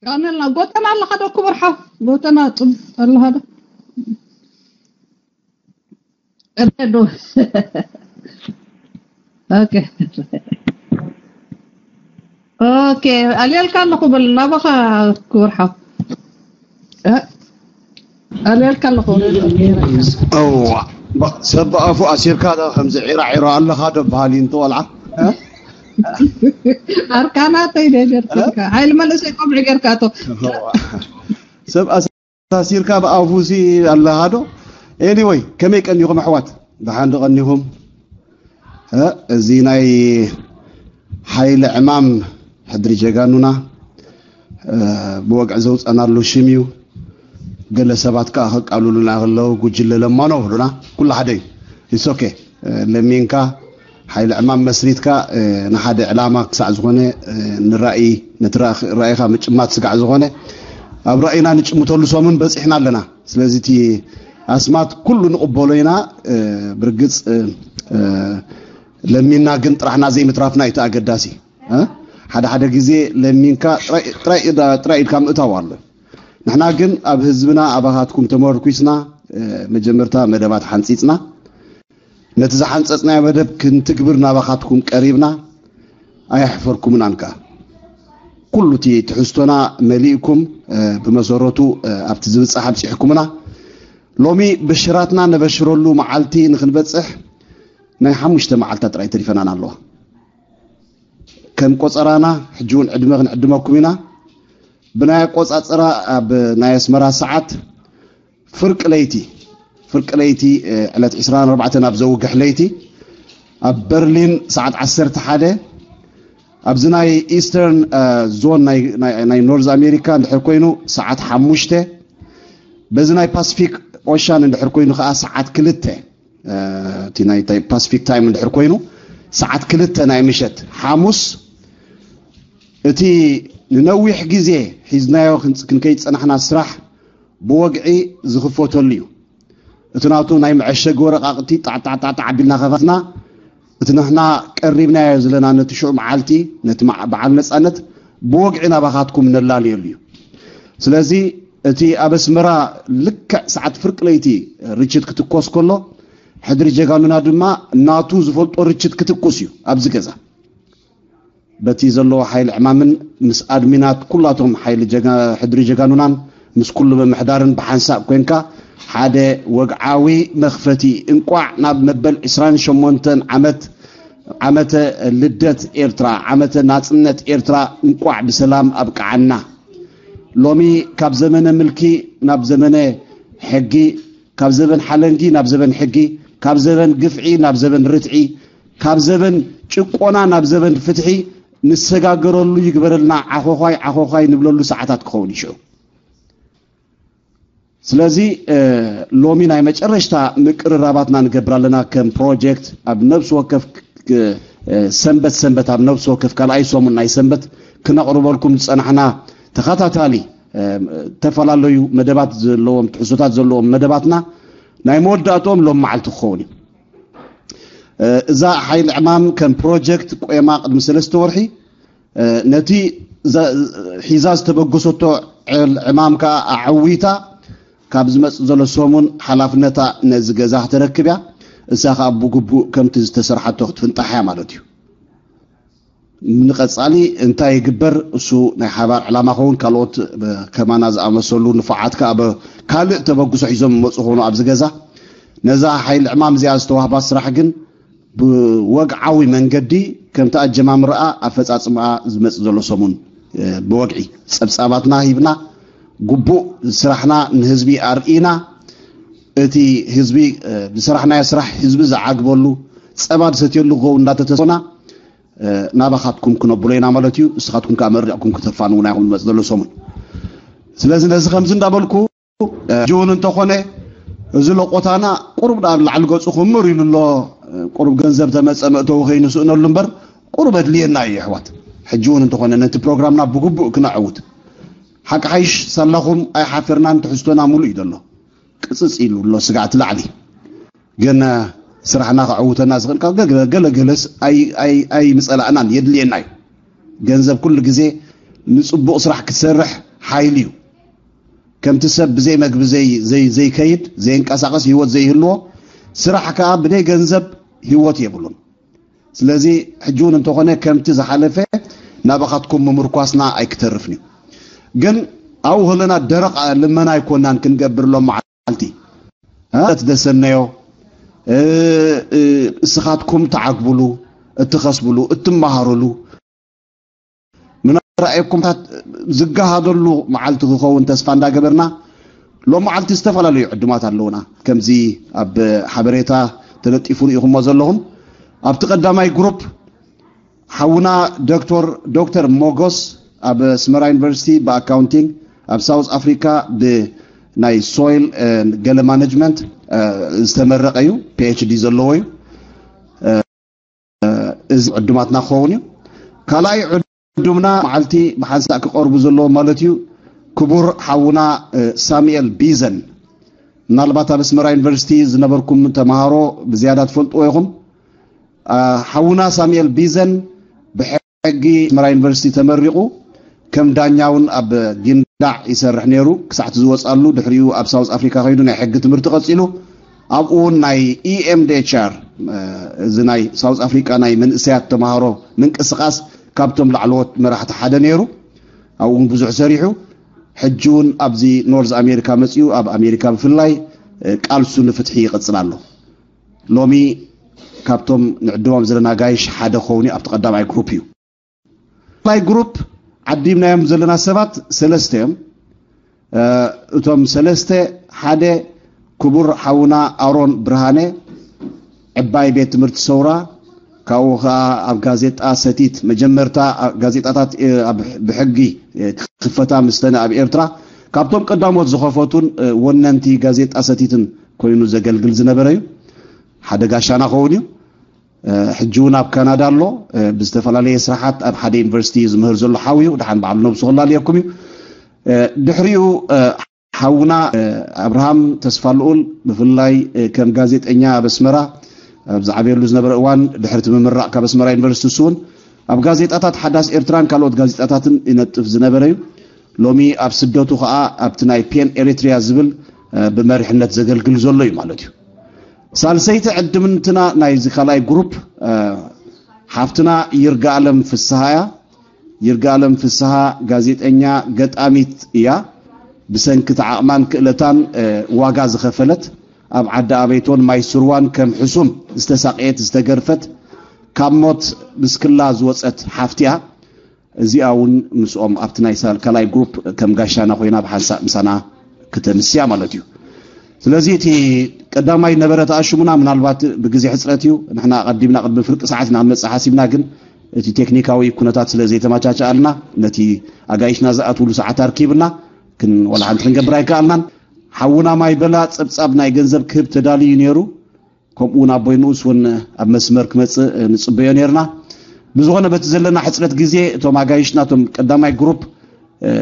ራነልና ጎተና ኣለኻ ዶ ክቡር ሓው? ጎተና ጽም ኣለኻ ዶ? እዶ። ኦኬ። ኦኬ፣ ኣልየልካ ኣለኹ በል ናባኻ ክቡር ሓው። እ? ኣልየልካ ኣለኹ። እዋ፣ ባ-፣ ሰብ ኣፉ ኣሲርካ ዶ ከምዚ ዒራ ዒራ ኣለኻ ዶ በሃል እዩ እንተ ቆልዓ? እ? ኣርካናተይ ዶ ጀርኩልካ? ሓይሊ መንእሰይ ቆምዒ ጌርካ ኣቶ። እዋ። ሰብ ኣስ-፣ ኣሲርካ ብኣፉ ሲ ኣለኻ ዶ? ኤኒወይ፣ ከመይ ቀኒኹም ኣሕዋት? ደሓን ዶ ቀኒኹም? እ? እዚ ናይ ሓይሊ ዕማም ሕድሪ ጀጋኑና፣ እ፣ ብወግዒ ዘውፀናሉ ሽም እዩ። ገለ ሰባት ከዓ ከቃልሉና ከለዉ ጉጅለ ለማኖ ብሉና፣ ኩሉ ሓደ እዩ። ኢትስ ኦኬ። እ፣ ለሚንካ ሓይሊ ዕማም መስሪትካ፣ እ፣ ንሓደ ዕላማ ክሳዕ ዝኾነ፣ እ፣ ንራእይ፣ ነቲ ራእይ-፣ ራእይኻ ምጭማት ስጋዕ ዝኾነ ኣብ ራእይና ንጭምተሉ ሰሙን በፂሕና ኣለና። ስለዚ እቲ ኣስማት ኩሉ ንቕበሎ ኢና። እ፣ ብርግፅ፣ እ፣ እ፣ ለሚንና ግን ጥራሕና ዘይምትራፍና እዩ እቲ ኣገዳሲ። እ? ሓደ ሓደ ግዜ ለሚንካ ጥራይ፣ ጥራይ ኢዳ-፣ ጥራይ ኢድካ ምእታው ኣሎ። ንሕና ግን ኣብ ህዝብና ኣባኻትኩም ተመርኩስና፣ እ፣ መጀመርታ መደባት ሓንጺጽና፣ ነቲ ዝሓንጸጽናዮ መደብ ክንትግብር ናባኻትኩም ቀሪብና፣ ኣየሕፈርኩምናን ከኣ። ኩሉ እቲ ትሕዝቶና መሊእኩም፣ እ፣ ብመሰረቱ፣ እ፣ ኣብቲ ዝብጻሕ ኣብጺሕኩምና። ሎሚ ብሽራትና ነበሽረሉ መዓልቲ ንኽንበጽሕ ናይ ሓሙሽተ መዓልታት ጥራይ ተሪፈናን ኣለዋ። ከም ቆጸራና ሕጂ እውን ዕድመ ክንዕድመኩም ኢና። ብናይ ኣቆጻጽራ ኣብ ናይ ኣስመራ ሰዓት ፍርቂ ለይቲ፣ ፍርቂ ለይቲ፣ እ፣ ዕለት ዕስራን ኣርባዕተን ኣብ ዘውግሕ ለይቲ፣ ኣብ በርሊን ሰዓት ዓሰርተ ሓደ፣ ኣብዚ ናይ ኢስተርን፣ እ፣ ዞን ናይ፣ ናይ፣ ናይ ኖርዝ ኣሜሪካ እንድሕር ኮይኑ ሰዓት ሓሙሽተ፣ በዚ ናይ ፓስፊክ ኦሻን እንድሕር ኮይኑ ከዓ ሰዓት ክልተ፣ እ፣ እቲ ናይ ታይ-፣ ፓስፊክ ታይም እንድሕር ኮይኑ ሰዓት ክልተ ናይ ምሸት ሓሙስ፣ እቲ ንነዊሕ ግዜ ሒዝናዮ ክንጽ-፣ ክንከይድ ዝጸናሕና ስራሕ ብወግዒ ዝኽፈተሉ እዩ። እቲ ናቱ ናይ መዐሸጊ ወረቓቕቲ ጣዕጣዕጣዕጣዕ ኣቢልና ከፈትና፣ እቲ ንሕና ቀሪብናዮ ዘለና ነቲ ሽዑ መዓልቲ፣ ነቲ መዓ-፣ በዓል ነጻነት ብወግዒ ናባኻትኩም ነላልየሉ እዩ። ስለዚ እቲ ኣብ ኣስመራ ልክዕ ሰዓት ፍርቂ ለይቲ ርችት ክትኮስ ከሎ፣ ሕድሪ ጀጋኑና ድማ ናቱ ዝፈልጦ ርችት ክትኩስ እዩ ኣብዚ ገዛ። በቲ ዘለዎ ሓይሊ ዕማምን ምስ ኣድሚናት ኩላቶም ሓይሊ ጀጋ-፣ ሕድሪ ጀጋኑናን ምስ ኩሉ ምምሕዳርን ብሓንሳእ ኮንካ ሓደ ወግዓዊ መኽፈቲ እንቋዕ ናብ መበል ዕስራን ሸሞንተን ዓመት ዓመተ ልደት ኤርትራ፣ ዓመተ ናጽነት ኤርትራ እንቋዕ ብሰላም ኣብቅዓና። ሎሚ ካብ ዘመነ ምልኪ ናብ ዘመነ ሕጊ፣ ካብ ዘበን ሓለንጊ ናብ ዘበን ሕጊ፣ ካብ ዘበን ግፍዒ ናብ ዘበን ርትዒ፣ ካብ ዘበን ጭቆና ናብ ዘበን ፍትሒ ንሰጋገረሉ ይግበረልና፣ ዓኾዃይ ዓኾዃይ ንብለሉ ሰዓታት ክኸውን እዩ ሽዑ። ስለዚ፣ እ፣ ሎሚ ናይ መጨረሽታ ምቅርራባትና ንገብር ኣለና። ከም ፕሮጀክት ኣብ ነብሲ ወከፍ ክ-፣ እ፣ ሰንበት ሰንበት ኣብ ነብሲ ወከፍ ካልኣይ ሰሙን ናይ ሰንበት ክነቕርበልኩም ዝጸናሕና ተኸታታሊ፣ እ፣ ዝተፈላለዩ መደባት ዘለዎም፣ ትሕዝቶታት ዘለዎም መደባትና ናይ መወዳእትኦም ሎም መዓልቲ ክኸውን እዩ። እ፣ እዛ ሓይሊ ዕማም ከም ፕሮጀክት ቆይማ ቅድሚ ሰለስተ ወርሒ፣ እ፣ ነቲ ዘ-፣ ሒዛ ዝተበገሰቶ ዕል-፣ ዕማም ከኣ ኣዐዊታ ካብ ዝመጽእ ዘሎ ሰሙን ሓላፍነታ ነዚ ገዛ ክተረክብ እያ። እሳ ከኣ ብግቡእ ከምቲ ዝተሰርሓቶ ክትፍንጣሕ እያ ማለት እዩ። ንቐጻሊ እንታይ ይግበር፣ እሱ ናይ ሓባር ዕላማ ኸውን፣ ካልኦት ብ-፣ ከማና ዝኣመሰሉ ንፉዓት ከኣ ብ-፣ ካልእ ተበግሶ ሒዞም ይመጹ ኾኑ ኣብዚ ገዛ። ነዛ ሓይሊ ዕማም እዚኣ ዝተዋህባ ስራሕ ግን ብወግዓዊ መንገዲ ከምቲ ኣጀማምርኣ ኣፈጻጽምኣ ዝመጽእ ዘሎ ሰሙን፣ እ፣ ብወግዒ ጸብጻባትና ሂብና፣ ግቡእ ስራሕና ንህዝቢ ኣርኢና፣ እቲ ህዝቢ፣ እ፣ ዝሰራሕናዮ ስራሕ ህዝቢ ዝዓግበሉ፣ ጸባ ዝሰትየሉ ክኸውን እንዳተተስፋና፣ እ፣ ናባኻትኩም ክነብሎ ኢና ማለት እዩ። ንስኻትኩም ከኣ መሪቕኩም ክተፋንዉና ኢኹም ዝመጽእ ዘሎ ሰሙን። ስለዚ ነዚ ከምዚ እንዳበልኩ፣ እ፣ ሕጂ እውን እንተኾነ እዚ ለቆታና ቁሩብ ናብ ላዕሊ ገጹ ክምር ኢሉ ኣሎ። እ፣ ቁሩብ ገንዘብ ተመጸ መእተዊ ከይንስእነሉ እምበር ቁሩብ ኣድልየና እዩ ኣሕዋት። ሕጂ እውን እንተኾነ ነቲ ፕሮግራምና ብግቡእ ክነዕውት። ሓቂ ሓይሽ ሳላኹም ኣይሓፈርናን፣ ትሕዝቶና ሙሉእ እዩ ዘሎ። ቅጽጽ ኢሉ ኣሎ ስጋዕቲ ላዕሊ። ግን፣ እ፣ ስራሕና ከዕውተና ዝኽእል ካብ ገለ፣ ገለ፣ ገለስ ኣይ-፣ ኣይ-፣ ኣይምጸላእናን፣ የድልየና እዩ። ገንዘብ ኩሉ ግዜ ንጽቡቕ ስራሕ ክትሰርሕ ሓይሊ እዩ። ከምቲ ሰብ ብዘይ መግቢ ዘይ- ዘይ- ዘይከይድ፣ ዘይንቀሳቐስ፣ ህይወት ዘይህልዎ፣ ስራሕ ከዓ ብደይ ገንዘብ ህይወት የብሉን። ስለዚ ሕጂ እውን እንተኾነ ከምቲ ዝሓለፈ ናባኻትኩም ምምርኳስና ኣይክተርፍን እዩ። ግን ኣብኡ ከለና ደረቕ ልመና ኣይኮናን ክንገብር ሎም መዓልቲ እ፣ ትደሰነዮ እ፣ እ፣ እስኻትኩም ትዓግብሉ፣ እትኸስብሉ፣ እትመሃሩሉ፣ ምናልባት ራእየኩምታት ዝገሃደሉ መዓልቲ ክኸውን ተስፋ እንዳገበርና፣ ሎም መዓልቲ ዝተፈላለዩ ዕዱማት ኣለውና። ከምዚ ኣብ ሓበሬታ ተለጢፉ ርኢኹሞ ዘለኹም፣ ኣብቲ ቀዳማይ ግሩፕ ሓውና ዶክተር ዶክተር ሞጎስ ኣብ ኣስመራ ዩኒቨርሲቲ ብኣካውንቲንግ፣ ኣብ ሳውዝ ኣፍሪካ ብናይ ሶይል ገለ ማኔጅመንት ዝተመረቀ እዩ፣ ፒኤችዲ ዘለዎ እዩ። እዚ ዕዱማትና ክኸውን እዩ። ካልኣይ ዕዱምና መዓልቲ ብሓንሳእ ክቐርቡ ዘለዎ ማለት እዩ፣ ክቡር ሓውና ሳሙኤል ቢዘን። ምናልባት ኣብ ኣስመራ ዩኒቨርሲቲ ዝነበርኩም ተምሃሮ ብዝያዳ ትፈልጥዎ ኢኹም። ሓውና ሳሙኤል ቢዘን ብሕጊ ኣስመራ ዩኒቨርሲቲ ተመሪቑ ከም ዳኛ እውን ኣብ ጊንዳዕ ይሰርሕ ነይሩ ክሳዕ እቲ ዝወፅኣሉ። ድሕሪኡ ኣብ ሳውዝ ኣፍሪካ ከይዱ ናይ ሕጊ ትምህርቲ ቀፂሉ፣ ኣብኡ እውን ናይ ኢኤምዲኤችኣር፣ እዚ ናይ ሳውዝ ኣፍሪካ ናይ መንእሰያት ተምሃሮ ምንቅስቃስ ካብቶም ላዕለዎት መራሕቲ ሓደ ነይሩ። ኣብኡ እውን ብዙሕ ሰሪሑ። ሕጂ እውን ኣብዚ ኖርዝ ኣሜሪካ መፂኡ ኣብ ኣሜሪካ ብፍላይ ቃልሱ ንፍትሒ ይቕፅል ኣሎ። ሎሚ ካብቶም ንዕድሞም ዘለና ኣጋይሽ ሓደ ክኸውን እዩ፣ ኣብቲ ቀዳማይ ግሩፕ እዩ። ካልኣይ ግሩፕ ዓዲምናዮም ዘለና ሰባት ሰለስተ እዮም። እቶም ሰለስተ፣ ሓደ ክቡር ሓውና ኣሮን ብርሃነ፣ ዕባይ ቤት ትምህርቲ ሰውራ፣ ካብኡ ከዓ ኣብ ጋዜጣ ሰቲት መጀመርታ ጋዜጣታት ብሕጊ ክኽፈታ ምስተነ ኣብ ኤርትራ ካብቶም ቀዳሞት ዝኸፈቱን ወነንቲ ጋዜጣ ሰቲትን ኮይኑ ዘገልግል ዝነበረ እዩ። ሓደ ጋሻና ኸውን እዩ። ሕጂ እውን ኣብ ካናዳ ኣሎ። ብዝተፈላለየ ስራሓት ኣብ ሓደ ዩኒቨርሲቲ ዝምህር ዘሎ ሓው እዩ። ድሓን በዓሉ ነብሱ ክላለየኩም እዩ። ድሕሪኡ ሓውና ኣብርሃም ተስፋ ልኡል፣ ብፍላይ ከም ጋዜጠኛ ኣብ ኣስመራ ኣብ ዝዓበየሉ ዝነበረ እዋን፣ ድሕርቲ ምምራቕ ካብ ኣስመራ ዩኒቨርሲቲ፣ እሱ እውን ኣብ ጋዜጣታት ሓዳስ ኤርትራን ካልኦት ጋዜጣታትን ይነጥፍ ዝነበረ እዩ። ሎሚ ኣብ ስደቱ ከዓ ኣብቲ ናይ ፔን ኤሪትሪያ ዝብል ብመሪሕነት ዘገልግል ዘሎ እዩ ማለት እዩ። ሳልሰይቲ ዕድምትና ናይዚ ካልኣይ ግሩፕ ሓፍትና ይርጋኣለም ፍስሃ እያ። ይርጋለም ፍስሃ ጋዜጠኛ፣ ገጣሚት እያ። ብሰንኪ እቲ ዓቕማን ክእለታን ዋጋ ዝኸፈለት፣ ኣብ ዓዲ ኣበይቶን ማይ ስርዋን ከም ሕሱም ዝተሳቀየት ዝተገርፈት፣ ካብ ሞት ብስክላ ዝወፀት ሓፍቲ እያ። እዚኣ እውን ምስኦም ኣብቲ ናይ ካልኣይ ግሩፕ ከም ጋሻና ኮይና ብሓንሳእ ምሳና ክተምስያ ማለት እዩ። ስለዚ እቲ ቀዳማይ ነበረ ተኣሽሙና፣ ምናልባት ብግዜ ሕፅረት እዩ፣ ንሕና ኣቐዲምና ቅድሚ ፍርቂ ሰዓት ኢና ክንመፅእ ሓሲብና፣ ግን እቲ ቴክኒካዊ ኩነታት ስለ ዘይተመቻቸኣልና ነቲ ኣጋይሽና ዝኣትውሉ ሰዓት ኣርኪብና ክን- ዋላ ሓንቲ ክንገብር ኣይከኣልናን። ሓውና ማይ በላ ፀብፃብ ናይ ገንዘብ ክህብ ተዳልዩ ነይሩ። ከምኡ እውን ኣቦይ ንኡስ እውን ኣብ መስመር ክመፅእ ንፅበዮ ነይርና። ብዝኾነ በቲ ዘለና ሕፅረት ግዜ እቶም ኣጋይሽና እቶም ቀዳማይ ግሩፕ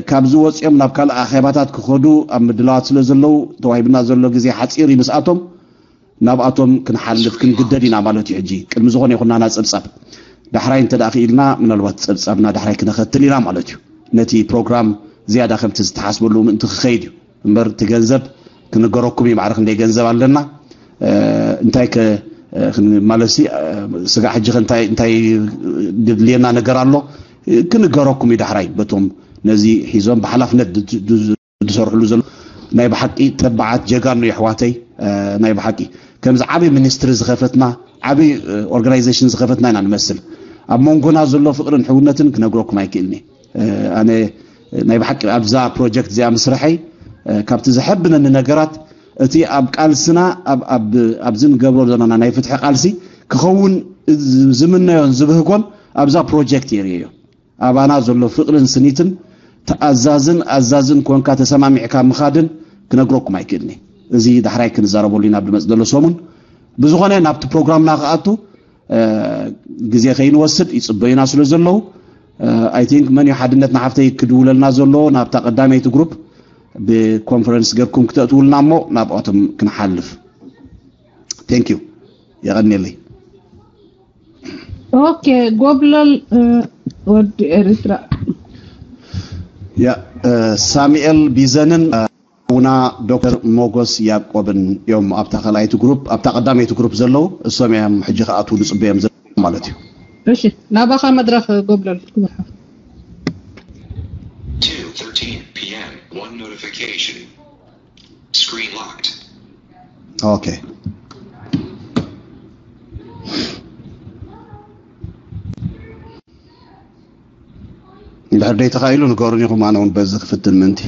ካብዚ ወፂኦም ናብ ካልእ ኣኼባታት ክኸዱ ኣብ ምድላዋት ስለ ዘለዉ ተዋሂብና ዘሎ ግዜ ሓፂር እዩ። ምስኣቶም ናብኣቶም ክንሓልፍ ክንግደድ ኢና ማለት እዩ። ሕጂ ቅድሚ ዝኾነ ይኹን ናና ፀብፃብ ዳሕራይ እንተ ደኣ ክኢልና ምናልባት ፀብፃብና ዳሕራይ ክነኸትል ኢና ማለት እዩ። ነቲ ፕሮግራም ዝያዳ ከምቲ ዝተሓስበሉ ምእንቲ ክኸይድ እዩ እምበር እቲ ገንዘብ ክንገረኩም እዩ። ማዕረ ክንደይ ገንዘብ ኣለና እንታይ ከ ክንማለሲ ስጋዕ ሕጂ እንታይ እንታይ ድድልየና ነገር ኣሎ ክንገረኩም እዩ። ዳሕራይ በቶም ነዚ ሒዞም ብሓላፍነት ዝሰርሕሉ ዘሎ ናይ ብሓቂ ተባዓት ጀጋኑ የሕዋተይ፣ ናይ ብሓቂ ከምዚ ዓቢ ሚኒስትሪ ዝኸፈትና ዓቢ ኦርጋናይዜሽን ዝኸፈትና ኢና ንመስል። ኣብ መንጎና ዘሎ ፍቕርን ሕውነትን ክነግረኩም ኣይክእልኒ። ኣነ ናይ ብሓቂ ኣብዛ ፕሮጀክት እዚኣ ምስርሐይ ካብቲ ዘሐብነኒ ነገራት እቲ ኣብ ቃልስና ኣብዚ ንገብሮ ዘለና ናይ ፍትሒ ቃልሲ ክኸውን ዝምነዮን ዝብህጎን ኣብዛ ፕሮጀክት የርእዮ። ኣባና ዘሎ ፍቕርን ስኒትን ተኣዛዝን ኣዛዝን ኮንካ ተሰማሚዕካ ምኻድን ክነግረኩም ኣይክእልኒ። እዚ ዳሕራይ ክንዛረበሉ ኢና ኣብ ዝመፅ ዘሎ ሰሙን። ብዝኾነ ናብቲ ፕሮግራምና ክኣቱ ግዜ ከይንወስድ ይፅበዩና ስለ ዘለዉ ኣይ ቲንክ መን እዩ ሓድነት ንሓፍተይ ክድውለልና ዘሎ ናብታ ቀዳመይቲ ግሩፕ ብኮንፈረንስ ገርኩም ክተእትውልና እሞ ናብኣቶም ክንሓልፍ። ቴንክ ዩ። የቐንየለይ። ኦኬ ጎብለል ወዲ ኤርትራ። ያ ሳሙኤል ቢዘንን ሓውና ዶክተር ሞጎስ ያዕቆብን እዮም ኣብታ ካልኣይቲ ግሩፕ። ኣብታ ቀዳመይቲ ግሩፕ ዘለዉ እሶም እዮም ሕጂ ክኣትዉ ዝፅበዮም ዘለዉ ማለት እዩ። እሺ፣ ናባኻ መድረኽ ጎብለል። Two thirteen p.m. One notification. Screen locked. ኦኬ፣ እንድሕር ደይ ተኻኢሉ ንገሩን ኢኹም፣ ኣነ እውን በዚ ክፍትን ምእንቲ።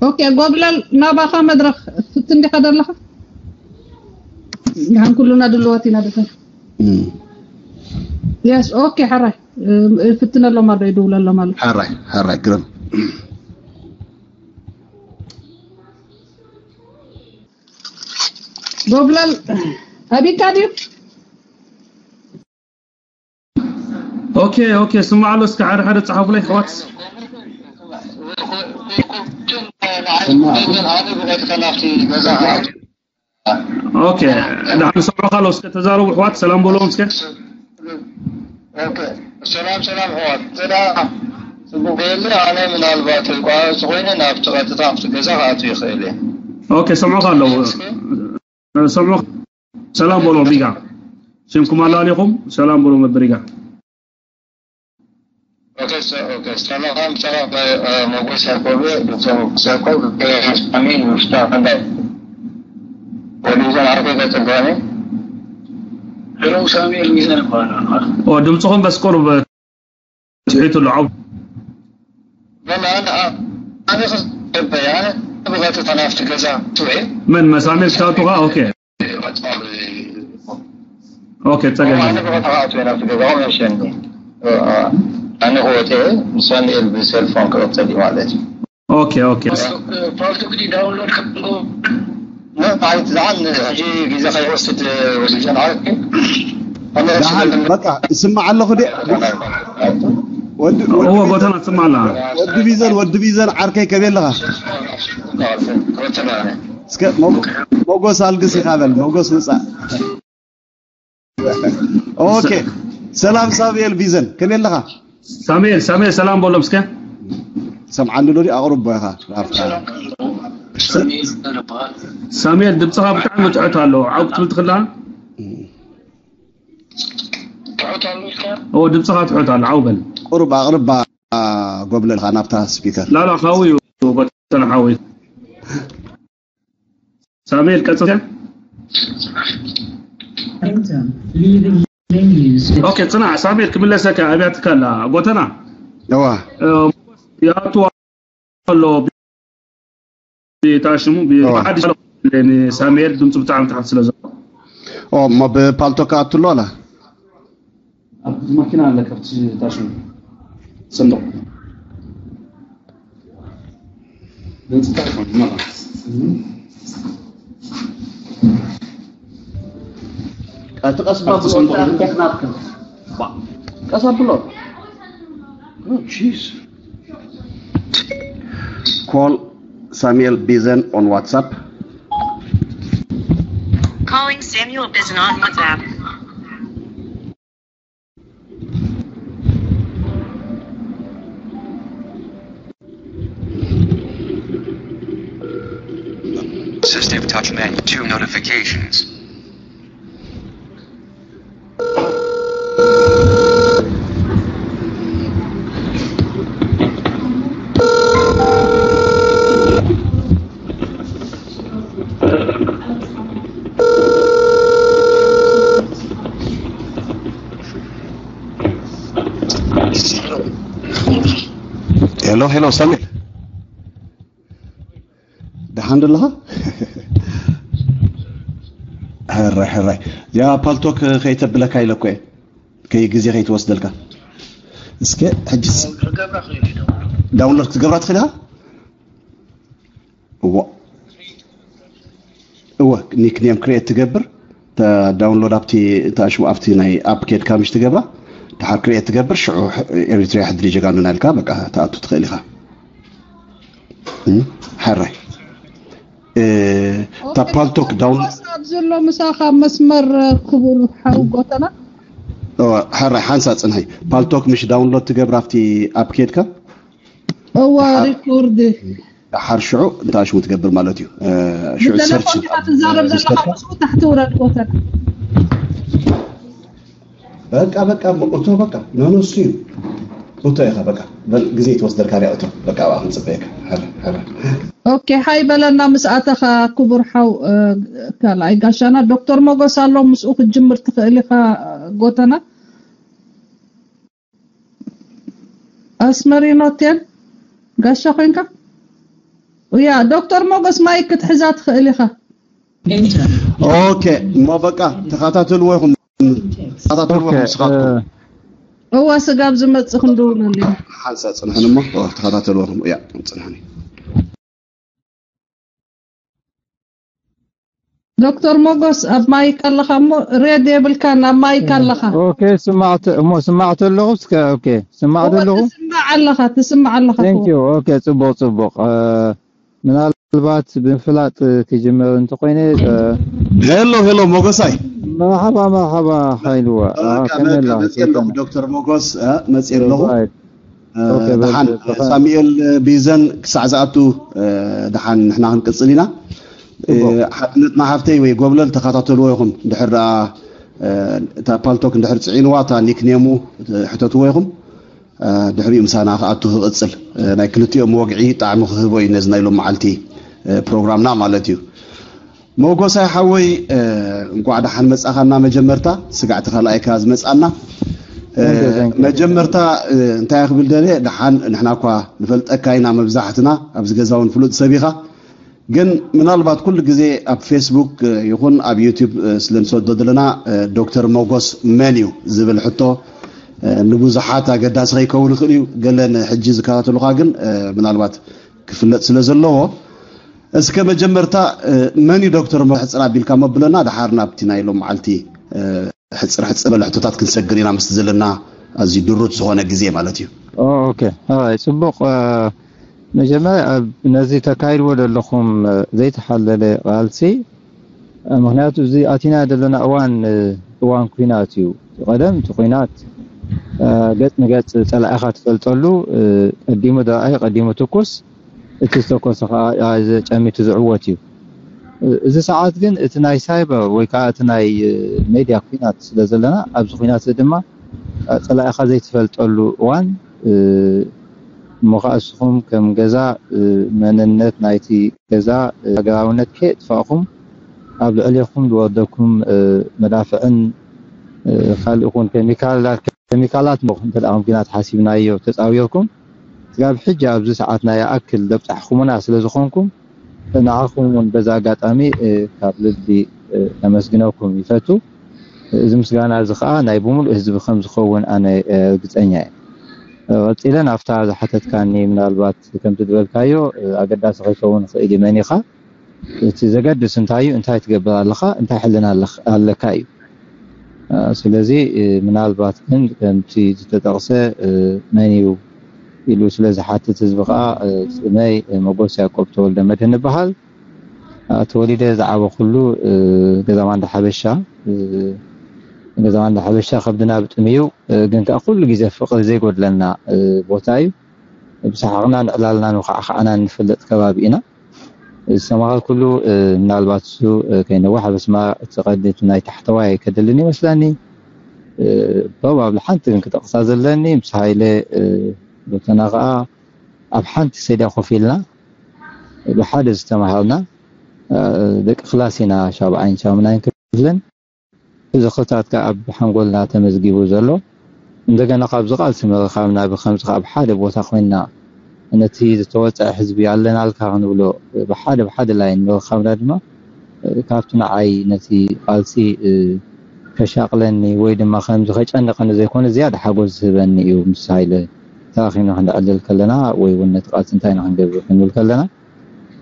ኦኬ፣ ጎብለል፣ ናባኻ መድረኽ። ፍትን ዲኻ ዘለኻ? ንሓን ኩሉና ድልዋት ኢና ደፈን። የስ፣ ኦኬ፣ ሓራይ። ፍትነሎም ኣሎ፣ ይድውለሎም ኣሎ። ሓራይ ሓራይ፣ ግርም። ጎብለል፣ ኣቢካ ድዩ? ኦኬ ኦኬ፣ ስማዕ ኣሎ። እስከ ሓደ ሓደ ጸሓፉለይ ኣሕዋት። ኦኬ፣ ንሓን ሰምዑኻ ኣሎ። እስከ ተዛረቡ ኣሕዋት፣ ሰላም በሎም እስከ። ሰላም ሰላም ኣሕዋት፣ እንተ ጽቡቕ የለ ኣነ ምናልባት ቋረጽ ኮይነ ናብቲ ቀጥታ ኣብቲ ገዛ ክኣቱ ይኽእል እየ። ኦኬ፣ ሰምዑኻ ኣለዉ። ሰምዑ። ሰላም በሎም ቢጋ። ሽምኩም ኣላሊኹም ሰላም በሎም ነበር ቢጋ። ኦኬ፣ ሰላም ሰላም። መጎስ ያዕቆብ፣ ዶክተር መጎስ ያዕቆብ፣ ሳሚ ምፍታ ከንዳይ ወዲዘን ዓርኮ ይቀጽል። ሄሎ፣ ሳሚ ሚዛን ይባላል። ድምፅኹም በስ ቁሩብ ትሒቱ ኣሎ። ዓው በላ ኣነ ኣነ ክዝበይ ኣነ ብቐጥታ ናብቲ ገዛ ትውዒ መን መሳሚር ክታቱኻ? ኦኬ ኦኬ፣ ጸገም ኣነ ብቐጥታ ክኣትወ ናብቲ ገዛ መሸኒ ኣነ ክወፀ ንሳሙኤል ብሰልፎን ክቐፀል እዩ ማለት እዩ። ኦኬ ኦኬ። ፓልቶክ ዲ ዳውንሎድ ከም ማለት ዝዓን ሕጂ ግዜ ከይወስድ ወዲዘን ዓርኪ ደሓን በቃ እስማዕ ኣለኹ ዲ ወዲ እዎ ጎተና ትስማዕ ኣላ። ወዲ ቢዘን ወዲ ቢዘን ዓርከይ ከመይ ኣለኻ? እስከ ሞጎስ ኣልግስ ኢኻ በል፣ ሞጎስ ውፃእ። ኦኬ፣ ሰላም ሳሙኤል ቢዘን ከመይ ኣለኻ? ሳሙኤል ሳሙኤል ሰላም በሎም እስከ። ሰምዓኒ ዶ ኣቕርቦ ኢኻ ናብታ ሳሙኤል ድምፅኻ ብጣዕሚ ትሕት ኣሎ። ዓው ክትብል ትኽእላ? ትሑት ኣሎ ኢልካ እዎ ድምፅኻ ትሕት ኣሎ። ዓው በል። ቁሩብ ኣቕርባ ጎብለልካ ናብታ ስፒከር። ላላ ካብኡ እዩ ጎተና ሓወይ። ሳሙኤል ቀጽል። ኦኬ፣ ጽናሕ ሳሙኤል ክምለሰካ ኣብያትካ ኣላ ጎተና። እዋ ያቱ ኣሎ። ታሽሙ ብሓዲሽ ሳሙኤል ድምፁ ብጣዕሚ ትሓት ስለ ዘሎ ኦ እሞ ብፓልቶክ ኣትሎ ኣላ። ኣብቲ መኪና ኣለካ ኣብቲ ታሽሙ ሰንዱቕ። እቲ ቀስ ባብሎ ቀስ ኣብሎ። ጂስ። Call Samuel Bizen on WhatsApp. Calling Samuel Bizen on WhatsApp. Assistive touch menu, two notifications. ሄሎ ሄሎ ሳሚ ደሓን ደለኻ? ሕራይ ሕራይ ያ ፓልቶክ ከይተብለካ ኢለ እኮ እየ። ከይ ግዜ ከይትወስደልካ እስከ ሕጅስ ዳውንሎድ ክትገብራ ትኽእል ኢኻ። እዎ እወ ኒክኔም ክሬት ትገብር ዳውንሎድ ኣብቲ ታሽሙ ኣብቲ ናይ ኣፕ ኬድካ ምሽ ትገብራ ድሓር ክሬት ትገብር ሽዑ ኤሪትሪያ ሕድሪ ጀጋኑና ኢልካ በቃ ትኣቱ ትኽእል ኢኻ። ሕራይ እታ ፓልቶክ ዳውን ኣብ ዘሎ ምሳኻ መስመር ክቡር ሓው ጎተና ሕራይ ሓንሳ ፅንሐይ ፓልቶክ ምሽ ዳውንሎድ ትገብር ኣብቲ ኣፕ ኬድካ እዋ ደሓር- ሪኮርድ ደሓር ሽዑ እንታይ ሽሙ ትገብር ማለት እዩ። እ፣ ሽዑ ሰርች ብተለፎን ኢኻ ትዛረብ ዘለኻ፣ ምስኡ ታሕቲ ውረድ ኮተት። በቃ በቃ እቶ በቃ ነነሱ እዩ እቶ ኢኻ በቃ በል ግዜ ትወስደልካ ሪያ እቶ በቃ ኣብኣ ክንፅበየካ። ሕረ ሕረ ኦኬ፣ ሓይ በለና ምስ ኣተኻ ክቡር ሓው። እ፣ ካልኣይ ጋሻና ዶክተር ሞጎስ ኣሎ፣ ምስኡ ክትጅምር ትኽእል ኢኻ። እ፣ ጎተና ኣስመሪኖ ቴን ጋሻ ኮይንካ። ያ ዶክተር ሞጎስ ማይክ ክትሕዛ ትኽእል ኢኻ። ኦኬ እሞ በቃ ተኸታተልዎ ይኹም ተኸታተልዎ ኦኬ ይኹም ስኻትኩም እ፣ እዋ ስጋብ ዝመጽእ ክንድውለሉ ኢና። ሓንሳ ፅንሕን እሞ ተኸታተልዎ ይኹም እያ ፅንሕኒ። ዶክተር ሞጎስ ኣብ ማይክ ኣለኻ እሞ ሬድ የብልካን፣ ኣብ ማይክ ኣለኻ። ኦኬ ስማዕተ እሞ ስማዕተ ኣለኹ እስከ ኦኬ ስማዕተ እወ ኣለኹ። ትስማዕ ኣለኻ፣ ትስማዕ ኣለኻ። Thank you. ኦኬ ጽቡቕ ጽቡቕ። እ፣ ምናልባት ብምፍላጥ ክጅምር እንተኮይነ እ፣ ሄሎ ሄሎ ሞጎሳይ መርሓባ መርሓባ ሓይልዋ እ፣ በቃ ከመይ በቃ ኣላ መፅእ ኣለኹ ሰይጣና? ዶክተር ሞጎስ እ፣ መፅእ ኣለኹ። ራይት። እ፣ ኦኬ፣ በ- ደሓን በ- ሳሙኤል ቢዘን ክሳዕ ዝኣቱ እ፣ ደሓን ንሕና ክንቅፅል ኢና። እ፣ ጽቡቕ። ሓትነትና ሓፍተይ ወይ ጎብለል ተኸታተልዎ ይኹም ድሕር ደኣ እ፣ እታ ፓልቶክ እንድሕር ፅዒንዋ እታ ኒክኔሙ እ፣ ሕተትዎ ይኹም። እ፣ ድሕሪኡ ምሳና ክኣቱ ክቕፅል እ፣ ናይ ክልቲኦም ወግዒ ጣዕሚ ክህቦ እዩ ነዚ ናይ ሎም መዓልቲ እ፣ ፕሮግራምና ማለት እዩ። መጎሳይ ሓወይ እ፣ እንኳዕ ደሓን መጻኻና። መጀመርታ ስጋዕቲ ካልኣይካ ዝመጻና እ፣ Thank you, thank you. መጀመርታ እ፣ እንታይ ክብል ደልየ ደሓን ንሕና እኳ ንፈልጠካ ኢና መብዛሕትና ኣብዚ ገዛ እውን ፍሉጥ ሰብ ኢኻ። ግን ምናልባት ኩሉ ግዜ ኣብ ፌስቡክ እ፣ ይኹን ኣብ ዩቲዩብ እ፣ ስለ ንሰዶ ዘለና እ፣ ዶክተር ሞጎስ መን እዩ ዝብል ሕቶ እ፣ ንብዙሓት ኣገዳሲ ከይከውን ይኽእል እዩ። ገለ ንሕጂ ዝከታተሉኻ ግን እ፣ ምናልባት ክፍለጥ ስለ ዘለዎ እስከ መጀመርታ እ፣ መን እዩ ዶክተር ሞጎስ ሕፅር ኣቢልካ መብለና ደሓር ናብቲ ናይ ሎም መዓልቲ እ፣ ሕፅር ሕፅር በለ ሕቶታት ክንሰግር ኢና ምስቲ ዘለና ኣዝዩ ድሩት ዝኾነ ግዜ ማለት እዩ። ኦ፣ ኦኬ ኣይ ጽቡቕ። እ፣ መጀመርያ ኣብ ነዚ ተካይድዎ ዘለኹም እ፣ ዘይተሓለለ ቃልሲ እ፣ ምክንያቱ እዚ ኣቲና ዘለና እዋን እ፣ እዋን ኩናት እዩ። ቀደም እቲ ኩናት እ፣ ገጽ ንገጽ ጸላኢኻ ትፈልጠሉ እ፣ ቀዲሙ ደራኢ ቀዲሙ ትኩስ እቲ ዝተኮሰ ከዓ እ፣ ጨሚቱ ዝዕወት እዩ። እ፣ እዚ ሰዓት ግን እቲ ናይ ሳይበር ወይ ከዓ እቲ ናይ እ፣ ሜድያ ኩናት ስለ ዘለና ኣብዚ ኩናት እዚ ድማ እ፣ ጸላኢኻ ዘይትፈልጠሉ እዋን እ፣ እሞ ከዓ እስኹም ከም ገዛ እ፣ መንነት ናይቲ ገዛ እ፣ ሃገራውነት ከየጥፋእኹም ኣብ ልዕሌኹም ዝወርደኩም እ፣ መዳፍዕን እ፣ ካልእ ኹን ኬሚካላት ኬሚካላት ሞ እንተ ደኣ ከም ኲናት ሓሲብናዮ ተጻዊርኩም ስጋብ ሕጂ ኣብዚ ሰዓት ናይ ኣክል ዘብጻሕኹሙና ስለ ዝኾንኩም ንዓኹም እውን በዛ ኣጋጣሚ እ፣ ካብ ልቢ እ፣ ከመስግነኩም ይፈቱ። እዚ ምስጋና እዚ ኸዓ ናይ ብምሉእ ህዝቢ ከም ዝኸውን ኣነ እ፣ ርግጸኛ እየ። እ፣ ቀጺለ ናብታ ዝሓተትካኒ ምናልባት ከምቲ ዝበልካዮ እ፣ ኣገዳሲ ከይከውን ይኽእል እዩ መኒኻ እቲ ዘገድስ እንታይ እዩ እንታይ ትገብር ኣለኻ እንታይ ሕልና ኣለኽ- ኣለካ እዩ እ፣ ስለዚ እ፣ ምናልባት ግን ከምቲ ዝተጠቕሰ እ፣ መን እዩ ኢሉ ስለ ዝሓትት ህዝቢ ከዓ እ፣ ስመይ እ፣ መጎስ ያቆብ ተወልደ መድህን ይበሃል እ፣ ተወሊደ ዝዓበኹሉ እ፣ ገዛ ማንዳ ሓበሻ እ፣ ገዛ ማንዳ ሓበሻ ከብድና ብጥም እዩ እ፣ ግን ከዓ ኩሉ ግዜ ፍቕሪ ዘይጎድለና እ፣ ቦታ እዩ ብሰሓቕና ንዕላልና ንኸዓኸዓና እንፈልጥ ከባቢ ኢና ዝተማሃርኩሉ እ፣ ምናልባት እሱ እ፣ ከይነውሕ ኣብ ኣስመራ እቲ ቀዲ እቲ ናይ ታሕተዋይ ከድልን ይመስለኒ እ፣ ፕሮባብሊ ሓንቲ ግን ክጠቕሳ ዘለኒ ምስ ሃይለ እ፣ ጎተና ከዓ ኣብ ሓንቲ ሰድያ ኮፍ ኢልና ብሓደ ዝተማሃርና እ፣ ደቂ ክላስ ኢና ሻብዓይን ሻሙናይን ክፍልን እዚ ክታትካ ኣብ ሓንጎልና ተመዝጊቡ ዘሎ እንደገና ካብዚ ቃልሲ ምርኻብና ብከምዚ ካብ ሓደ ቦታ ኮይንና ነቲ ዝተወፀዐ ህዝቢ ኣለናልካ ክንብሎ ብሓደ ብሓደ ላይን ምርኻብና ድማ ካብቲ ንዓይ ነቲ ቃልሲ ከሻቕለኒ ወይ ድማ ከምዚ ከጨንቐኒ ዘይኮነ ዝያዳ ሓጎስ ዝህበኒ እዩ ምስ ሃይለ ተራኺብና ክንዕልል ከለና ወይ እውን ነቲ ቃልሲ እንታይ ኢና ክንገብር ክንብል ከለና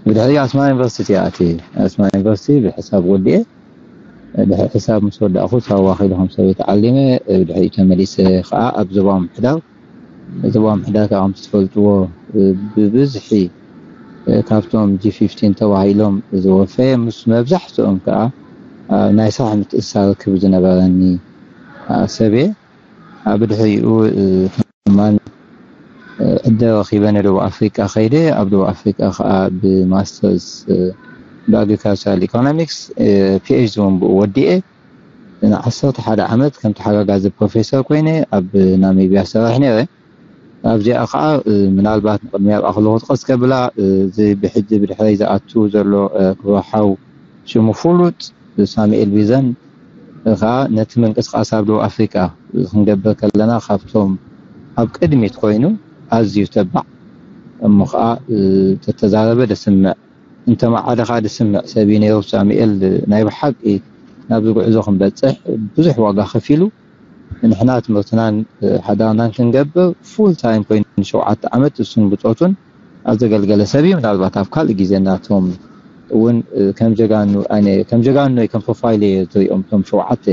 ብድሕሪ ኣስመራ ዩኒቨርሲቲ ኣትየ ኣስመራ ዩኒቨርሲቲ ብሕሳብ ወዲኤ ድሕሪ ሕሳብ ምስ ወዳእኹ ሳዋ ከይደ ከም ሰበይቲ ዓሊመ ድሕሪኡ ተመሊሰ ከዓ ኣብ ዞባዊ ምምሕዳር ዞባዊ ምምሕዳር ከዓ ከምቲ ትፈልጥዎ ብብዝሒ ካብቶም ጂ ፊፍቲን ተባሂሎም ዝወፈየ ምስ መብዛሕትኦም ከዓ ናይ ስራሕ ምትእስሳር ርክብ ዝነበረኒ ሰብየ ብድሕሪኡ ከማን ዕደ ረኺበ ንደቡብ ኣፍሪቃ ከይደ። ኣብ ደቡብ ኣፍሪቃ ከዓ ብማስተርስ ብኣግሪካልቸራል ኢኮኖሚክስ ፒኤችዲ እውን ብኡ ወዲኤ። ንዓሰርተ ሓደ ዓመት ከም ተሓጋጋዚ ፕሮፌሰር ኮይነ ኣብ ናሚብያ ሰርሕ ነይረ። ኣብዚኣ ከዓ ምናልባት ንቅድሚያ ኣብኣ ከለኹ ጥቀስ ከብላ፣ እዚ ብሕጂ ብድሕረይ ዝኣቱ ዘሎ ክብርሓው ሽሙ ፍሉጥ ሳሙኤል ቢዘን ከዓ ነቲ ምንቅስቃስ ኣብ ደቡብ ኣፍሪቃ ክንገብር ከለና ካብቶም ኣብ ቅድሚት ኮይኑ ኣዝዩ ተባዕ እሞ ከዓ ተተዛረበ ደስምዕ እንተመዓደ ከዓ ደስምዕ ሰብ እዩ ነይሩ። ሳሙኤል ናይ ብሓቂ ናብዚ ጉዕዞ ክንበፅሕ ብዙሕ ዋጋ ከፊሉ ንሕና ትምህርትናን ሓዳርናን ክንገብር ፉል ታይም ኮይኑ ሸውዓተ ዓመት እሱን ብፆቱን ኣብ ዘገልገለ ሰብ እዩ። ምናልባት ኣብ ካልእ ግዜ እናቶም እውን ከም ጀጋኑ ኣነ ከም ጀጋኑ ከም ፕሮፋይል እየ ዝሪኦም እቶም ሸውዓተ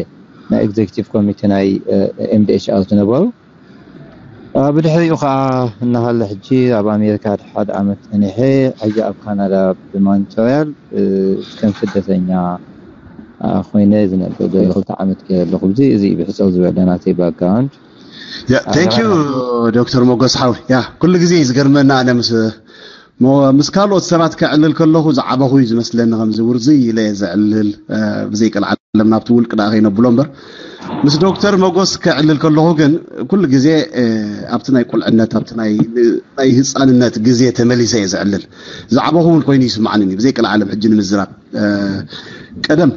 ናይ ኤግዜክቲቭ ኮሚቴ ናይ ኤምዲኤችኣር ዝነበሩ። ብድሕሪኡ ከዓ እናሃለ ሕጂ ኣብ ኣሜሪካ ሓደ ዓመት ፀኒሐ ሕጂ ኣብ ካናዳ ብማንቶሪያል ከም ስደተኛ ኮይነ ዝነብር ክልተ ዓመት ገይረ ኣለኹ። እዚ እዚ ብሕፅር ዝበለ ናተይ ባክግራውንድ። ቴንክ ዩ ዶክተር ሞጎስ ሓው። ያ ኩሉ ግዜ እዩ ዝገርመና። ኣነ ምስ ሞ- ምስ ካልኦት ሰባት ከዕልል ከለኹ ዝዓበኹ እዩ ዝመስለኒ፣ ከምዚ ውርዝይ ኢለ እየ ዘዕልል። ብዘይ ቀልዓለም ናብቲ ውልቂ ደኣ ከይነብሎ እምበር፣ ምስ ዶክተር ሞጎስ ከዕልል ከለኹ ግን ኩሉ ግዜ ኣብቲ ናይ ቁልዕነት ኣብቲ ናይ ህፃንነት ግዜ ተመሊሰ እየ ዘዕልል። ዝዓበኹ እውን ኮይኑ ይስማዓኒ ብዘይ ቀልዓለም ሕጂ ንምዝራብ። ቀደም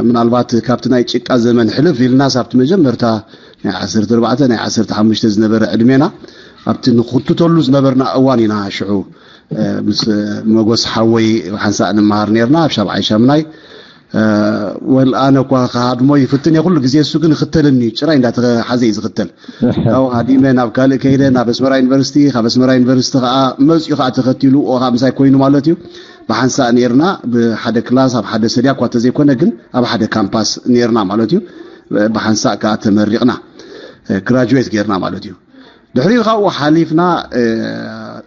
ምናልባት ካብቲ ናይ ጭቃ ዘመን ሕልፍ ኢልናስ ኣብቲ መጀመርታ ናይ ዓሰርተ ኣርባዕተ ናይ ዓሰርተ ሓሙሽተ ዝነበረ ዕድሜና ኣብቲ ንኽትተሉ ዝነበርና እዋን ኢና ሽዑ ምስ መጎስ ሓወይ ሓንሳእ ንመሃር ነርና ኣብ ሻብዓይ ሻምናይ። ወል ኣነ እኳ ክሃድሞ ይፍትን እየ ኩሉ ግዜ፣ እሱ ግን ይኽተለኒ እዩ። ጭራይ እንዳተሓዘ እዩ ዝኽተል። ካብኡ ሃዲመ ናብ ካልእ ከይደ፣ ናብ ኣስመራ ዩኒቨርሲቲ፣ ካብ ኣስመራ ዩኒቨርሲቲ ከዓ መፅኡ ከዓ ተኸቲሉ ኦ ከዓ ምሳይ ኮይኑ ማለት እዩ። ብሓንሳእ ነርና ብሓደ ክላስ ኣብ ሓደ ሰድያ እኳ ተዘይኮነ ግን ኣብ ሓደ ካምፓስ ነርና ማለት እዩ። ብሓንሳእ ከዓ ተመሪቕና ግራጁዌት ጌርና ማለት እዩ። ድሕሪኡ ካብኡ ሓሊፍና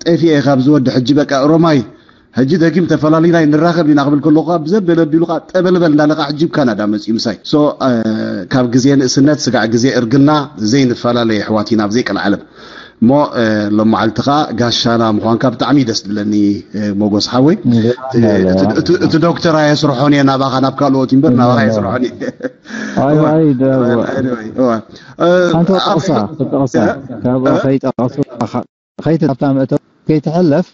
ጠፊኤ ካብ ዝወዲ ሕጂ በቃ ሮማይ ሕጂ ደጊም ተፈላሊና ንራኸብ ኢና ክብል ከለኹ ብዘበለ ኣቢሉ ከዓ ጠበልበል እንዳለካ ሕጂ ካናዳ መፅኡ ምሳይ። ሶ ካብ ግዜ ንእስነት ስጋዕ ግዜ እርግና ዘይንፈላለ ኣሕዋት ኢና ብዘይ ቀልዓለም። እሞ ሎም መዓልቲ ከዓ ጋሻና ምኳንካ ብጣዕሚ ደስ ዝብለኒ። ሞጎስ ሓወይ እቲ ዶክተር ኣየስርሖን እየ ናባኻ ናብ ካልኦት እምበር ናባኻ ኣየስርሖን እየ። ሓንቲ ጠቕሳ ጠቕሳ ካብ ከይጠቐሱ ከይትናብታ መእተው ከይትሕለፍ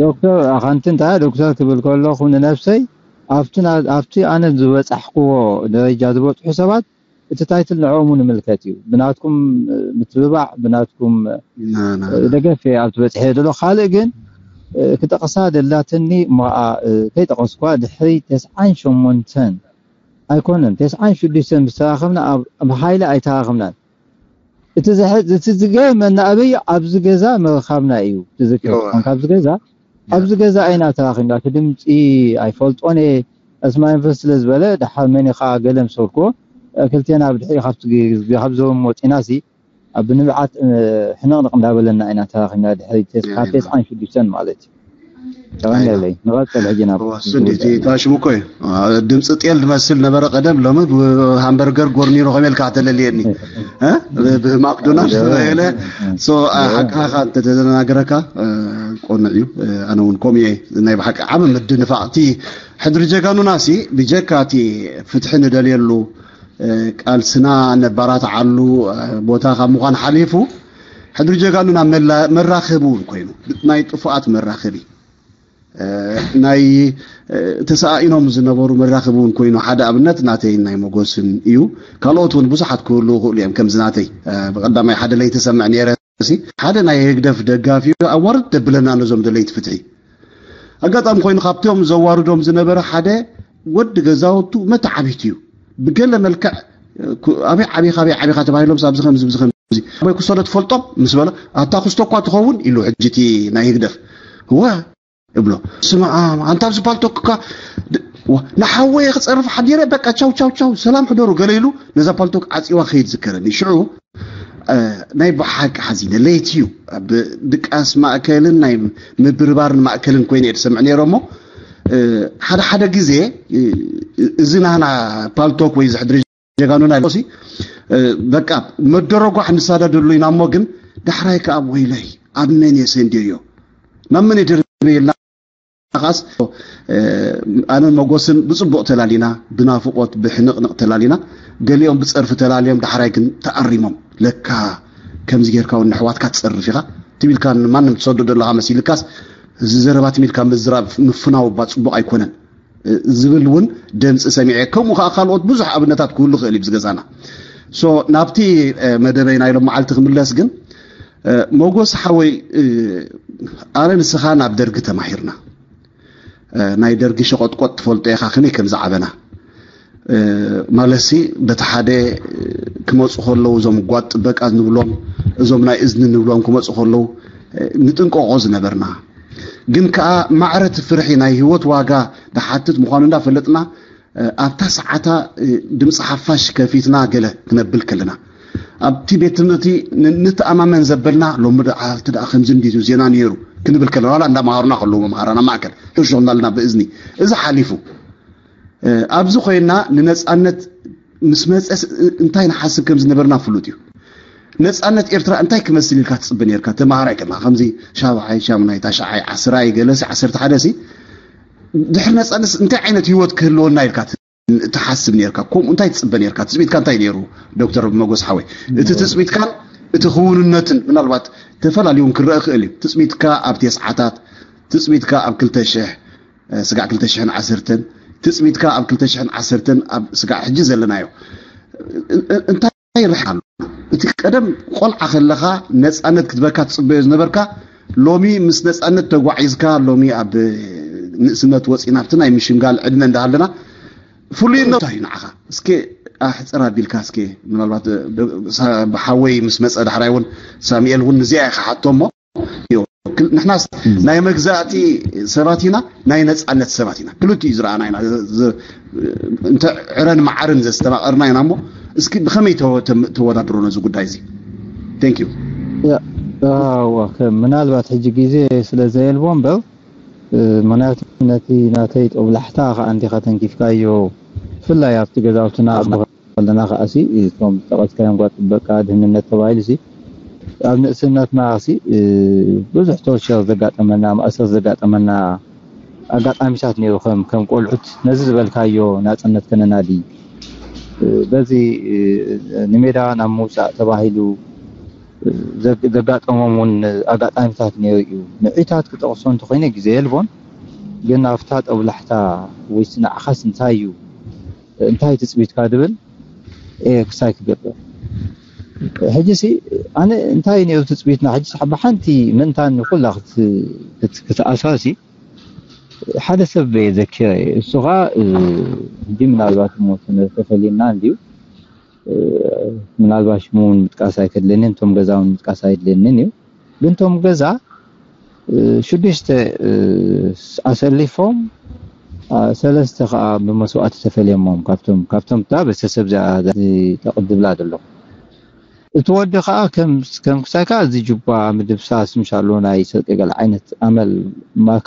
ዶክተር ኣኻንቲ እንታይ ዶክተር ክብል ከለኹ ንነብሰይ ኣብቲ ኣነ ዝበፃሕክዎ ደረጃ ዝበፅሑ ሰባት እቲ ታይትል ንዕኦም ንምልከት እዩ። ብናትኩም ምትብባዕ ብናትኩም ደገፍ እየ ኣብቲ በፅሐ ዘሎ። ካልእ ግን ክጠቕሳ ደላትኒ እሞ ከይጠቐስኳ ድሕሪ ተስዓን ሸሞንተን ኣይኮነን ተስዓን ሽዱሽተን ምስ ተራኸብና ብሓይሊ ኣይተራኸብናን። እቲ ዝገርመና ኣበይ ኣብዚ ገዛ ምርኻብና እዩ ትዝክር ትኾን ካብዚ ገዛ ኣብዚ ገዛ ኣይና ተራኺብና እቲ ድምፂ ኣይፈልጦን እየ። ኣስማ ዩኒቨርሲቲ ስለ ዝበለ ደሓር መን ኢኻ ገለ ምስ በልክዎ ክልቴና ብድሕሪ ካብ ዝህቦም ወፂና ሲ ኣብ ንብዓት ሕንቕንቕ እንዳበለና ኢና ተራኺብና ድሕሪ ካብ ተስዓን ሽዱሽተን ማለት እዩ። ተቐንደለይ ንቐፅል ሕጂ ናብ ሽሙ እኮ እዩ። ድምፂ ጤል ዝመስል ነበረ ቀደም፣ ሎሚ ብሃምበርገር ጎርኒሮ ከመልካ ተለልየኒ ብማክዶናልድ ተባሂለ። ሓቃኻ እንተተናገረካ ቆንዕ እዩ። ኣነ እውን ከምኡ እየ። ናይ ብሓቂ ዓብ ምድንፋቕ እቲ ሕድሪ ጀጋኑና ሲ ብጀካ እቲ ፍትሒ ንደልየሉ ቃልስና ነባራትዓሉ ቦታ ካብ ምዃን ሓሊፉ ሕድሪ ጀጋኑና መራኸቢ እውን ኮይኑ ናይ ጥፉኣት መራኸቢ ናይ ተሰኣኢኖም ዝነበሩ መራኸቢ እውን ኮይኑ ሓደ ኣብነት ናተይን ናይ መጎስን እዩ። ካልኦት እውን ብዙሓት ክህልዉ ይኽእሉ እዮም። ከምዚ ናተይ ብቐዳማይ ሓደ ለይቲ ሰምዕ ነይረ ሲ ሓደ ናይ ህግደፍ ደጋፊ ኣዋርድ ደብለና ነዞም ደለይቲ ፍትሒ። ኣጋጣሚ ኮይኑ ካብቶም ዘዋርዶም ዝነበረ ሓደ ወዲ ገዛውቱ መተዓቢት እዩ። ብገለ መልክዕ ኣበይ ዓቢኻ ኣበይ ዓቢኻ ተባሂሎም ኣብዚ ከምዚ ብዚ ከምዚ ኣበይ ክሰዶ ትፈልጦም ምስ በለ ኣታ ክስቶ እኳ ትኸውን ኢሉ ሕጂ እቲ ናይ ህግደፍ እወ እብሎ ስማ ኣንታ ኣብዚ ፓልቶክካ ንሓወየ ክፀርፍ ሓዲረ በቃ ቻው ቻው ቻው ሰላም ሕደሩ ገለ ኢሉ ነዛ ፓልቶክ ዓፂዋ ከይድ ዝከረኒ ሽዑ ናይ ብሓቂ ሓዚነ ለይቲ እዩ ድቃስ ማእከልን ናይ ምብርባርን ማእከልን ኮይነ እየ ዝሰምዕ ነይረ እሞ ሓደ ሓደ ግዜ እዚ ናህና ፓልቶክ ወይ ዝሕድሪ ጀጋኑና ሲ በቃ መደረጓሕ ንሳዳደሉ ኢና እሞ ግን ዳሕራይ ከኣ ወይለይ፣ ኣብ መን እየ ሰንድዮ? ናብ መን እየ ደርበየልና? ኻስ ኣነ መጎስን ብጽቡቕ ተላሊና፣ ብናፍቖት ብሕንቕንቕ ተላሊና፣ ገሊኦም ብጸርፊ ተላልዮም ዳሕራይ ግን ተኣሪሞም። ለካ ከምዚ ጌርካ እውን ንሕዋትካ ትጸርፍ ኢኻ ትቢልካ ንማንም ትሰዶ ዘለኻ መሲልካስ፣ እዚ ዘረባ ትሚልካ ምዝራብ ምፍናው እባ ጽቡቕ ኣይኮነን ዝብል እውን ደምፂ ሰሚዐ። ከምኡ ከዓ ካልኦት ብዙሕ ኣብነታት ክህሉ ክእል እዩ ብዝገዛና። ሶ ናብቲ መደበይ ናይ ሎም መዓልቲ ክምለስ ግን፣ መጎስ ሓወይ፣ ኣነ ንስኻ ናብ ደርጊ ተማሂርና፣ ናይ ደርጊ ሸቆጥቆጥ ትፈልጦ ኢኻ ከመይ ከም ዝዓበና። ማለትሲ በቲ ሓደ ክመፁ ከለዉ እዞም ጓጥ ጥበቃ ንብሎም፣ እዞም ናይ እዝኒ ንብሎም ክመፁ ከለዉ ንጥንቀቆ ዝነበርና፣ ግን ከዓ ማዕረ እቲ ፍርሒ ናይ ህይወት ዋጋ ድሓትት ምዃኑ እንዳፈለጥና፣ ኣብታ ሰዓታ ድምፂ ሓፋሽ ከፊትና ገለ ክነብል ከለና፣ ኣብቲ ቤት ትምህርቲ ንተኣማመን ዘበልና፣ ሎሚ ደኣ ከምዚ እንዲዩ ዜና ነይሩ ክንብል ከለና፣ ዋላ እንዳመሃሩና ከለዉ መምሃራና ማእከል ሕሾ እናልና ብእዝኒ፣ እዚ ሓሊፉ ኣብዚ ኮይና ንነፃነት ምስ መፀስ እንታይ ንሓስብ ከም ዝነበርና ፍሉጥ እዩ። ነፃነት ኤርትራ እንታይ ክመስል ኢልካ ትፅበ ነርካ? ተማሃራይ ከለካ ከምዚ ሻብዓይ፣ ሻምናይ፣ ታሽዓይ፣ ዓስራይ ገለሲ ዓሰርተ ሓደ ሲ ድሕሪ ነፃነት እንታይ ዓይነት ህይወት ክህልወና ኢልካ ትሓስብ ነርካ? ከምኡ እንታይ ትፅበ ነርካ? ትፅቢትካ እንታይ ነይሩ? ዶክተር መጎስ ሓወይ፣ እቲ ትፅቢትካን እቲ ክውንነትን ምናልባት ተፈላለዩ እውን ክረአ ክእል እዩ። ትፅቢትካ ኣብ ቴስዓታት፣ ትፅቢትካ ኣብ ክልተ ሽሕ ስጋዕ ክልተ ሽሕን ዓሰርተን ትፅቢትካ ኣብ ክልተ ሽሕን ዓሰርተን ኣብ ስጋዕ ሕጂ ዘለናዮ እንታይ ይርሕ ኣሎ? እቲ ቀደም ቆልዓ ከለኻ ነፃነት ክትበካ ትፅበዮ ዝነበርካ፣ ሎሚ ምስ ነፃነት ተጓዒዝካ፣ ሎሚ ኣብ ንእስነት ወፂና ኣብቲ ናይ ምሽምጋል ዕድመ እንዳሃለና ፍሉይነቱ እንታይ እዩ ንዓኻ? እስኪ ኣሕፅር ኣቢልካ እስኪ ምናልባት ብሓወይ ምስ መፀ ዳሕራይ እውን ሳሚኤል እውን ንዚኣ ኢኻ ሓቶ እሞ ንሕናስ ናይ መግዛእቲ ሰባት ኢና፣ ናይ ነፃነት ሰባት ኢና። ክልቲኡ ዝረኣና ኢና። እንተ ዕረን መዓርን ዘስተማቐርና ኢና እሞ እስኪ ብኸመይ ተወዳድሮ ነዚ ጉዳይ እዚ? Thank you። ምናልባት ሕጂ ግዜ ስለ ዘየልቦ እምበር ምክንያቱ ነቲ ናተይ ጦብላሕታ ከዓ እንዲኻ ተንኪፍካዮ ብፍላይ ኣብቲ ገዛውትና ከለና ከዓሲ እቶም ዝጠቐስካዮም ጓል ጥበቃ ድህንነት ተባሂሉ ሲ ኣብ ንእስነትና ሲ ብዙሕ ቶርቸር ዘጋጠመና ማእሰር ዘጋጠመና ኣጋጣሚታት ነይሩ ከም ከም ቆልዑት ነዚ ዝበልካዮ ናፅነት ከነናዲ በዚ ንሜዳ ናብ ምውፃእ ተባሂሉ ዘጋጠሞም እውን ኣጋጣሚታት ነይሩ እዩ። ንዒታት ክጠቕሶ እንተኮይነ ግዜ የልቦን ግን ኣብታ ጠብላሕታ ወይ ንዓኻስ እንታይ እዩ እንታይ ትፅቢትካ ድብል ክሳይ ክገብር ሕጂ ሲ ኣነ እንታይ ነይሩ ትፅቢትና ሕጂ ብሓንቲ ምእንታን ኩላ ክትኣሳሲ ሓደ ሰብ ዘኪረ እሱ ከዓ ሕጂ ምናልባት ሞ ተፈሊና እንድዩ ምናልባት ሽሙ እውን ምጥቃስ ኣይከድለንን እቶም ገዛ እውን ምጥቃስ ኣይድለንን እዩ ግን እቶም ገዛ ሽዱሽተ ኣሰሊፎም ሰለስተ ከዓ ብመስዋእቲ ተፈልዮሞም ካብቶም ካብቶም እታ ቤተሰብ ተቕድብላ ዘሎ እቲ ወዲ ከዓ ከም ክሳይካ እዚ ጁባ ምድብሳስ ምሻሎ ናይ ስርቂ ገለ ዓይነት ኣመል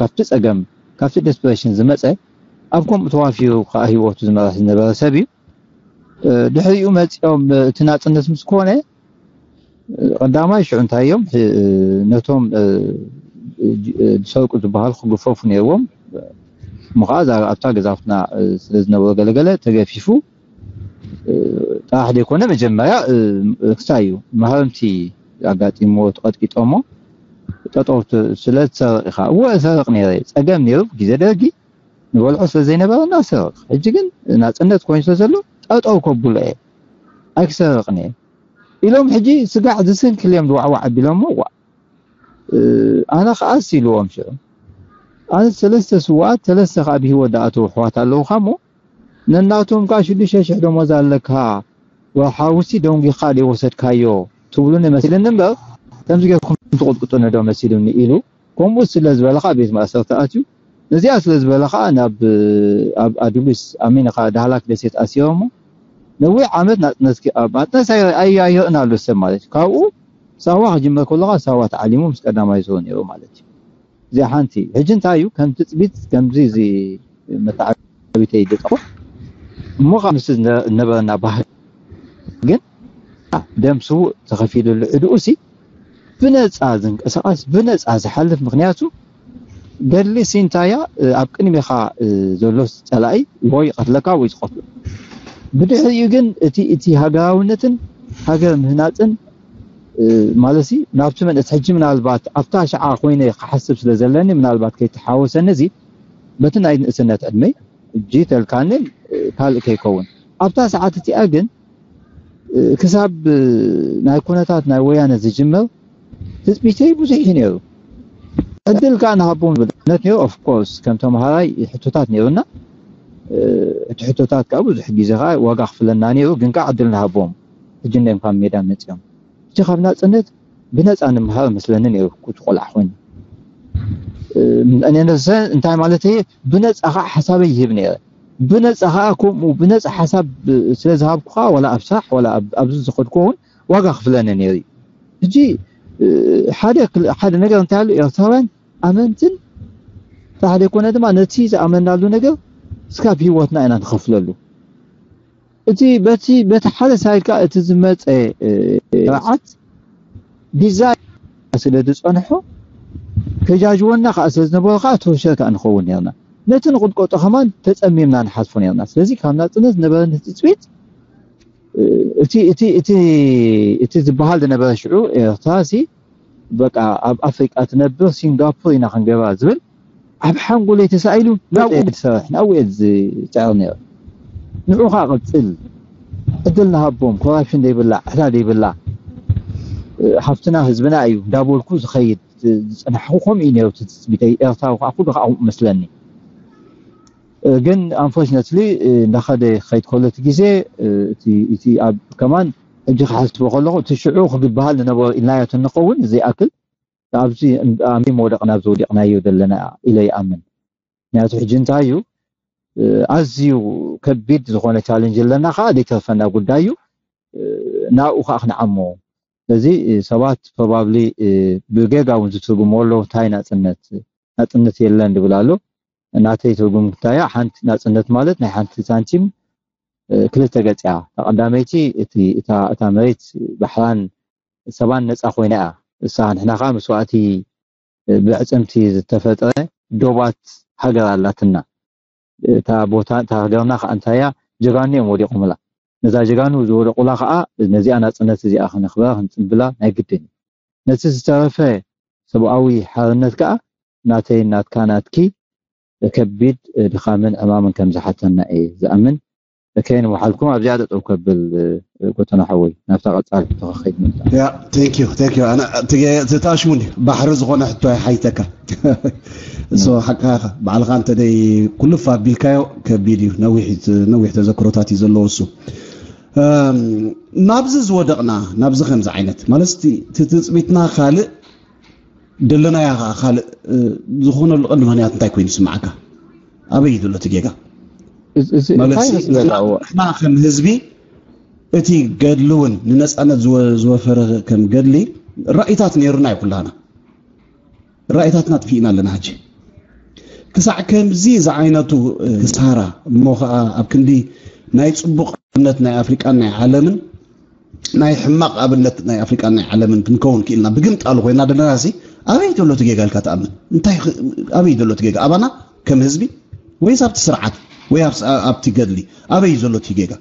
ካብቲ ፀገም ካብቲ ዴስፕሬሽን ዝመፀ ኣብ ከምኡ ተዋፊሩ ከዓ ህይወቱ ዝመራሕ ዝነበረ ሰብ እዩ ድሕሪኡ መፂኦም እቲ ናፅነት ምስ ኮነ ቀዳማይ ሽዑ እንታይ እዮም ነቶም ዝሰርቁ ዝበሃሉ ክግፈፉ ነይርዎም እሞ ከዓ ኣብታ ገዛውትና ስለ ዝነበሩ ገለገለ ተገፊፉ ጥራሕ ዘይኮነ መጀመርያ ክሳይ እዩ ማህረምቲ ኣጋጢምዎ ተቐጥቂጦሞ ጠጠው ስለ ትሰርቕ ኢኻ እወ እሰርቕ ነይረ ፀገም ነይሩ ግዜ ደርጊ ንበልዖ ስለ ዘይነበረና እሰርቕ ሕጂ ግን ናፅነት ኮይኑ ስለ ዘሎ ጠጠው ከብሎ እየ ኣይክሰርቕን እየ ኢሎም ሕጂ ስጋዕ ዝስንክል እዮም ዝዋዕዋዕ ኣቢሎሞ ዋዕ ኣነ ከዓ ኢልዎም ሽዑ ኣነ ሰለስተ ስዋኣት ሰለስተ ከዓ ብሂወት ዝኣተው ኣሕዋት ኣለውካ እሞ ነናቶም ከዓ ሽዱሽተ ሽሕ ደሞዝ ኣለካ ወርሓዊ ሲ ደንጒኻ ዘይወሰድካዮ ትብሉኒ መሲልኒ እምበር ከምዚ ጌርኩም ትቕጥቅጡኒ ዶ መሲሉኒ ኢሉ ከምኡ ስለ ዝበለ ከዓ ቤት ማእሰርቲ ኣትዩ ነዚኣ ስለ ዝበለ ከዓ ናብ ኣብ ኣዱሊስ ኣሜን ከዓ ዳህላክ ደሴት ኣሲሮሞ ነዊሕ ዓመት ናፅነት ናፅነት ኣይርእን ኣሎ ሰብ ማለት እዩ ካብኡ ሳዋ ክጅመር ከለካ ሳዋ ተዓሊሙ ምስ ቀዳማይ ዝሮ ነይሩ ማለት እዩ እዚኣ ሓንቲ ሕጂ እንታይ እዩ ከም ትፅቢት ከምዚ እዚ መተዓቢተይ ዝጠቁ እሞ ከዓ ምስ ነበረና ባህል ግን ደም ስውእ ተኸፊሉሉ ዕድኡ ሲ ብነፃ ዝንቀሳቐስ፣ ብነፃ ዝሓልፍ። ምክንያቱ ገድሊ ሲንታያ ኣብ ቅድሜኻ ዘሎ ፀላኢ ወይ ይቐትለካ ወይ ዝቐትሎ። ብድሕሪኡ ግን እቲ እቲ ሃገራውነትን ሃገር ምህናፅን ማለት ናብቲ መንእስ ሕጂ ምናልባት ኣብታ ሸዓ ኮይነ ክሓስብ ስለ ዘለኒ ምናልባት ከይተሓወሰኒ እዚ በቲ ናይ ንእስነት ዕድመይ እጂ ተልካኒ ካልእ ከይከውን ኣብታ ሰዓት እቲኣ ግን ክሳብ ናይ ኩነታት ናይ ወያነ ዝጅመር ትፅቢተይ ብዙሕ እዩ ነይሩ። ዕድል ከዓ ንሃቦም ዝብል እምነት ነይሩ። Of course ከም ተምሃራይ ሕቶታት ነይሩና። እቲ ሕቶታት ከዓ ብዙሕ ግዜ ከዓ ዋጋ ክፍለና ነይሩ፣ ግን ከዓ ዕድል ንሃቦም። ሕጂ እንዲም ካብ ሜዳ መፂኦም እቲ ካብ ናፅነት ብነፃ ንምሃር መስለኒ ነይሩ። ኩቲ ቆልዓ ኮይኑ ነሰ እንታይ ማለት እየ ብነፃ ከዓ ሓሳበይ ይህብ ነይረ። ብነፃ ከዓ ከምኡ ብነፃ ሓሳብ ስለ ዝሃብኩ ከዓ ዋላ ኣብ ስራሕ ዋላ ኣብዚ ዝኸድኩ እውን ዋጋ ክፍለኒ ነይሩ እዩ። ሕጂ ሓደ ነገር እንታይ ኣሎ ኤርትራውያን ኣመንትን ተሓደ ኮነ ድማ ነቲ ዝኣመናሉ ነገር እስካብ ህይወትና ኢና ንኸፍለሉ። እቲ በቲ በቲ ሓደ ሳይድ ከዓ እቲ ዝመፀ ስርዓት ዲዛይን ስለ ዝፀንሖ ከጃጅወና ከዓ ስለ ዝነበሩ ከዓ ተወሸር ከዓ ንኸውን ነርና። ነቲ ንቕጥቀጦ ከማን ተፀሚምና ንሓልፎ ነርና። ስለዚ ካብ ናፅነት ዝነበረኒ ትፅቢት እቲ እቲ እቲ እቲ ዝበሃል ዝነበረ ሽዑ ኤርትራ ሲ በቃ ኣብ ኣፍሪቃ ትነብር ሲንጋፖር ኢና ክንገብራ ዝብል ኣብ ሓንጎለይ ተሳኢሉ ናብኡ ዝሰርሕ ናብኡ እየ ዝፅዕር ነይረ። ንዑ ከዓ ቅፅል ዕድል ንሃቦም። ኮራፕሽን ዘይብላ ዕዳ ዘይብላ ሃፍትና ህዝብና እዩ እንዳበልኩ ዝኸይድ ዝፅናሕኩ ከምኡ እዩ ነይሩ ትፅቢተይ። ኤርትራዊ ከዓ ኩሉ ከዓ መስለኒ። ግን ኣንፎርችነትሊ እንዳኸደ ክኸይድ ከሎ እቲ ግዜ እቲ ኣብ ከማን ሕጂ ክሓስቦ ከለኹ እቲ ሽዑ ክግበሃል ዝነበሮ ኢልናዮ እንኸውን ዘይኣክል ኣብዚ ኣሚ መውደቕ ናብ ዝወዲቕናዮ ዘለና ኢለ ይኣምን። ምክንያቱ ሕጂ እንታይ እዩ ኣዝዩ ከቢድ ዝኾነ ቻለንጅ ኣለና ከዓ ዘይተርፈና ጉዳይ እዩ። ናብኡ ከዓ ክንዓሞ ስለዚ ሰባት ፕሮባብሊ ብጌጋ እውን ዝትርጉምዎ ኣለዉ እንታይ ናፅነት ናፅነት የለን ዝብል ኣሎ። ናተይ ትርጉም እንታይ እያ ሓንቲ ናፅነት ማለት ናይ ሓንቲ ሳንቲም ክልተ ገፅ እያ። እታ ቀዳመይቲ እቲ እታ እታ መሬት ባሕራን ሰባን ነፃ ኮይና እያ። እሳ ንሕና ከዓ መስዋእቲ ብዕፅምቲ ዝተፈጥረ ዶባት ሃገር ኣላትና። እታ ቦታ እታ ሃገርና ከዓ እንታይ እያ ጀጋኑ እዮም ወዲቖምላ። ነዛ ጀጋኑ ዝወደቑላ ከዓ ነዚኣ ናፅነት እዚኣ ክነኽብራ ክንፅብላ ናይ ግድን እዩ። ነቲ ዝተረፈ ሰብኣዊ ሓርነት ከዓ ናተይ ናትካ ናትኪ ከቢድ ድኻምን ዕማምን ከም ዝሓተና እየ ዝኣምን። ከይንወሓልኩም ኣብዚኣ ጠጠው ከብል ጎተና ሓወይ ናብታ ቀፃል ተኸኸይድ ምምፃእ ያ thank you thank you ኣነ ትታሽሙኒ ባሕሪ ዝኾነ ሕቶ ኣይሓይተካ እሶ ሓቃኻ ባዕልኻ እንተ ደይ ኩልፍ ኣቢልካዮ ከቢድ እዩ ነዊሕ ነዊሕ ተዘክሮታት እዩ ዘለዎ እሱ ናብዚ ዝወደቕና ናብዚ ከምዚ ዓይነት ማለት እቲ ትፅቢትና ካልእ ደለናያ ከዓ ካልእ ዝኾነሉ ቀንዲ ምክንያት እንታይ ኮይኑ ይስምዓካ ኣበይ እዩ ዘሎ እቲ ጌጋ ንሕና ከም ህዝቢ እቲ ገድሊ እውን ንነፃነት ዝወፈረ ከም ገድሊ ራእይታት ነይሩና እዩ ኩላና ራእይታትና ጥፊእና ኣለና ሕጂ ክሳዕ ከምዚ ዝዓይነቱ ክሳራ እሞ ከዓ ኣብ ክንዲ ናይ ፅቡቅ ኣብነት ናይ ኣፍሪቃን ናይ ዓለምን ናይ ሕማቅ ኣብነት ናይ ኣፍሪቃን ናይ ዓለምን ክንከውን ክኢልና ብግምጣሉ ኮይና ዘለና ሲ ኣበይ ዘሎ እቲ ጌጋ ኢልካ ትኣምን እንታይ ኣበይ ዘሎ እቲ ጌጋ ኣባና ከም ህዝቢ ወይስ ኣብቲ ስርዓት ወይ ኣብቲ ገድሊ ኣበይ ዘሎ እቲ ጌጋ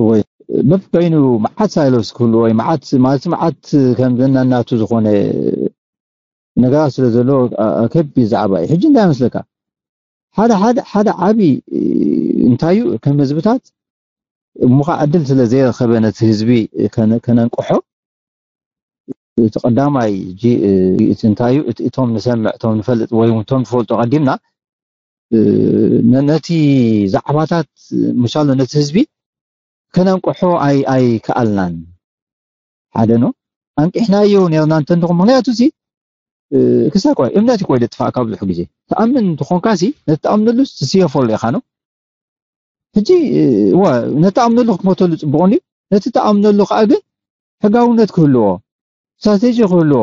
ወይ በብበይኑ መዓት ሳይሎስ ክህሉ ወይ መዓት ማለት መዓት ከም ዘናናቱ ዝኾነ ነገራት ስለ ዘሎ ከቢድ ዛዕባ እዩ ሕጂ እንታይ መስለካ ሓደ ሓደ ሓደ ዓቢ እንታይ እዩ ከም ህዝብታት እሞ ከዓ ዕድል ስለ ዘይረኸበ ነቲ ህዝቢ ከነንቅሖ እቲ ቀዳማይ እንታይ እዩ እቶም ንሰምዕ እቶም ንፈልጥ ወይ እቶም ንፈልጦ ቀዲምና ነቲ ዛዕባታት ምሻሎ ነቲ ህዝቢ ከነንቅሖ ኣይከኣልናን ሓደ ነው ኣንቂሕናዮ ነርና እንተንትኹም ምክንያቱ ሲ ክሳብ እምነት ይኮይ ደጥፋእካ ብዙሕ ግዜ ተኣምን እንትኾንካ ሲ ነቲ ተኣምነሉ ትስየፈሉ ኢኻ ነው ሕጂ እዋ ነቲ ኣምነሉ ክትሞተሉ ፅቡቕ እንድዩ ነቲ ተኣምነሉ ከዓ ግን ሕጋውነት ክህልዎ ስትራቴጂ ክህልዎ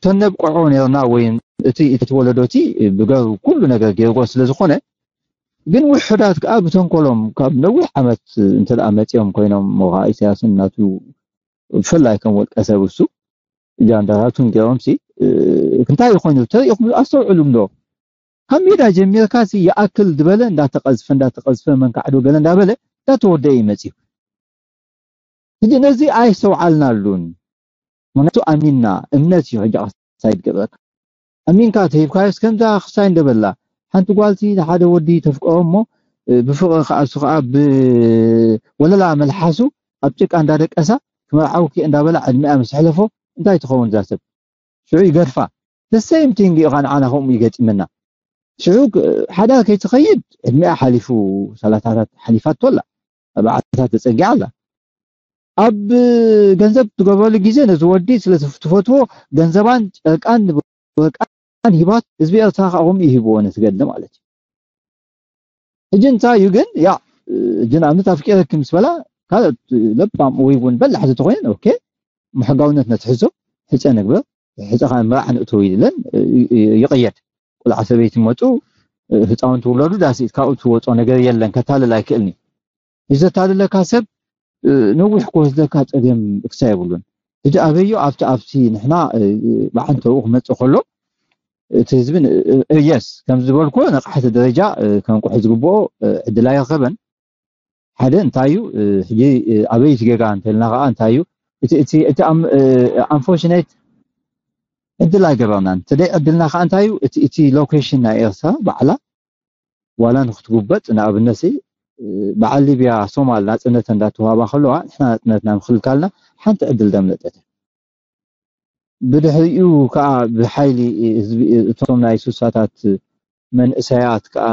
ተነብቅዖ ነርና ወይ እቲ እቲ ወለዶ እቲ ብገሩ ኩሉ ነገር ገይርዎ ስለ ዝኾነ ግን ውሑዳት ከዓ ብተንኮሎም ካብ ነዊሕ ዓመት እንተ ደኣ መፂኦም ኮይኖም፣ እሞ ከዓ ኢሳያስን ናቱ ብፍላይ ከም ወልቀ ሰብ እሱ ጃንዳታቱን ገይሮም ሲ እንታይ ይኾይኑ ተሪኢኹም ኣስተውዕሉ እንዶ ካብ ሜዳ ጀሚርካ ሲ ይኣክል ዝበለ እንዳተቐዝፈ እንዳተቐዝፈ መንካዕዶ ገለ እንዳበለ እንዳተወደአ ይመፅዩ። ሕጂ ነዚ ኣይስተውዓልናሉን። ምክንያቱ ኣሚንና እምነት እዩ ሕጂ ክሳይ ዝገብረካ። ኣሚንካ ተሂብካዮስ ከምዛ ክሳይ እንደበላ ሓንቲ ጓልቲ ሓደ ወዲ ተፍቀሮ እሞ ብፍቕሪ ከዓ እሱ ከዓ ብወለላ መልሓሱ ኣብ ጭቃ እንዳደቀሳ ክመርዓውኪ እንዳበላ ዕድሚኣ ምስ ሕለፎ እንታይ ትኸውን እዛ ሰብ? ሽዑ ይገድፋ። The same thing እዩ ከዓ ንዓና ከምኡ ይገጢመና። ሽዑ ሓዳር ከይትኸይድ ዕድሚኣ ሓሊፉ ሰላሳታት ሓሊፋቶ ኣላ። ኣርባዓታት ተፀጊዓ ኣላ። ኣብ ገንዘብ ትገብረሉ ግዜ ነዚ ወዲ ስለ ትፈትዎ ገንዘባን ጨርቃን ወርቃን ሂባት ህዝቢ ኤርትራ ከዓ ከምኡ ይህብዎ ነቲ ገድሊ ማለት እዩ። ሕጂ እንታይ እዩ ግን ያ ሕጂ ንኣብነት ኣፍቂረኪ ምስ በላ ካልኦት ለባም ወይ እውን በላሕቲ ተኮይነን ኦኬ ሕጋውነት ነትሕዞ ሕፀ ንግበር ሕፀ ከዓ መርዓ ንእትው ኢለን ይቕየድ ቆልዓ ሰበይቲ መፁ ህፃውንቲ ውለዱ ዳስ ካብኡ ትወፆ ነገር የለን ከታልል ኣይክእልኒ እዩ ዘታልለካ ሰብ ነዊሕ ክወስደካ ፀገም እክሳ የብሉን ሕጂ ኣበዮ ኣብቲ ኣብቲ ንሕና ብዓንተኡ ክመፅእ ከሎ እቲ ህዝቢ የስ ከም ዝበልኩ ነቕሓቲ ደረጃ ከንቁሑ ዝግብኦ ዕድል ኣይረኸበን ሓደ እንታይ እዩ ሕጂ ኣበይ እቲ ጌጋ እንተልና ከዓ እንታይ እዩ እቲ unfortunate ዕድል ኣይገበርናን እቲ ደይ ዕድልና ከዓ እንታይ እዩ እቲ location ናይ ኤርትራ ባዕላ ዋላ ንክትጉበጥ ንኣብነት በዓል ሊብያ ሶማል ናፅነት እንዳተዋሃባ ከለዋ ንሕና ናፅነትና ምክልካልና ሓንቲ ዕድል ደምለጠት ብድሕሪኡ ከዓ ብሓይሊ ህዝቢ እቶም ናይ ሱሳታት መንእሰያት ከዓ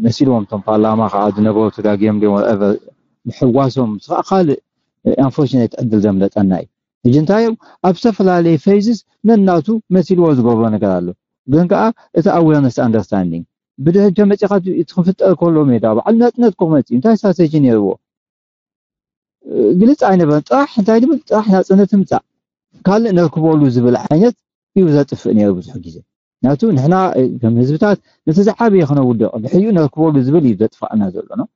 መሲልዎም እቶም ፓርላማ ከዓ ዝነበሩ ተጋግዮም ድዮም whatever ምሕዋሶም ከዓ ካልእ unfortunate ዕድል ዘምለጠና እዩ ሕጂ እንታይ እዮም ኣብ ዝተፈላለየ phases ነናቱ መሲልዎ ዝገብሮ ነገር ኣሎ ግን ከዓ እቲ awareness understanding ብድሕሪ መፂኻ እቲ ክፍጠር ከሎ ሜዳ በዓል ናፅነት ክመፅ እዩ እንታይ strategy ነይርዎ ግልፅ ኣይነበረን ጥራሕ እንታይ ድብል ጥራሕ ናፅነት ምፃእ ካልእ ነርክበሉ ዝብል ዓይነት እዩ ዘጥፍእ ነይሩ ብዙሕ ግዜ ናቱ ንሕና ከም ህዝብታት ነቲ ዝዓበየ ክነውድቕ ድሕሪኡ ነርክበሉ ዝብል እዩ ዘጥፋእና ዘሎ ነው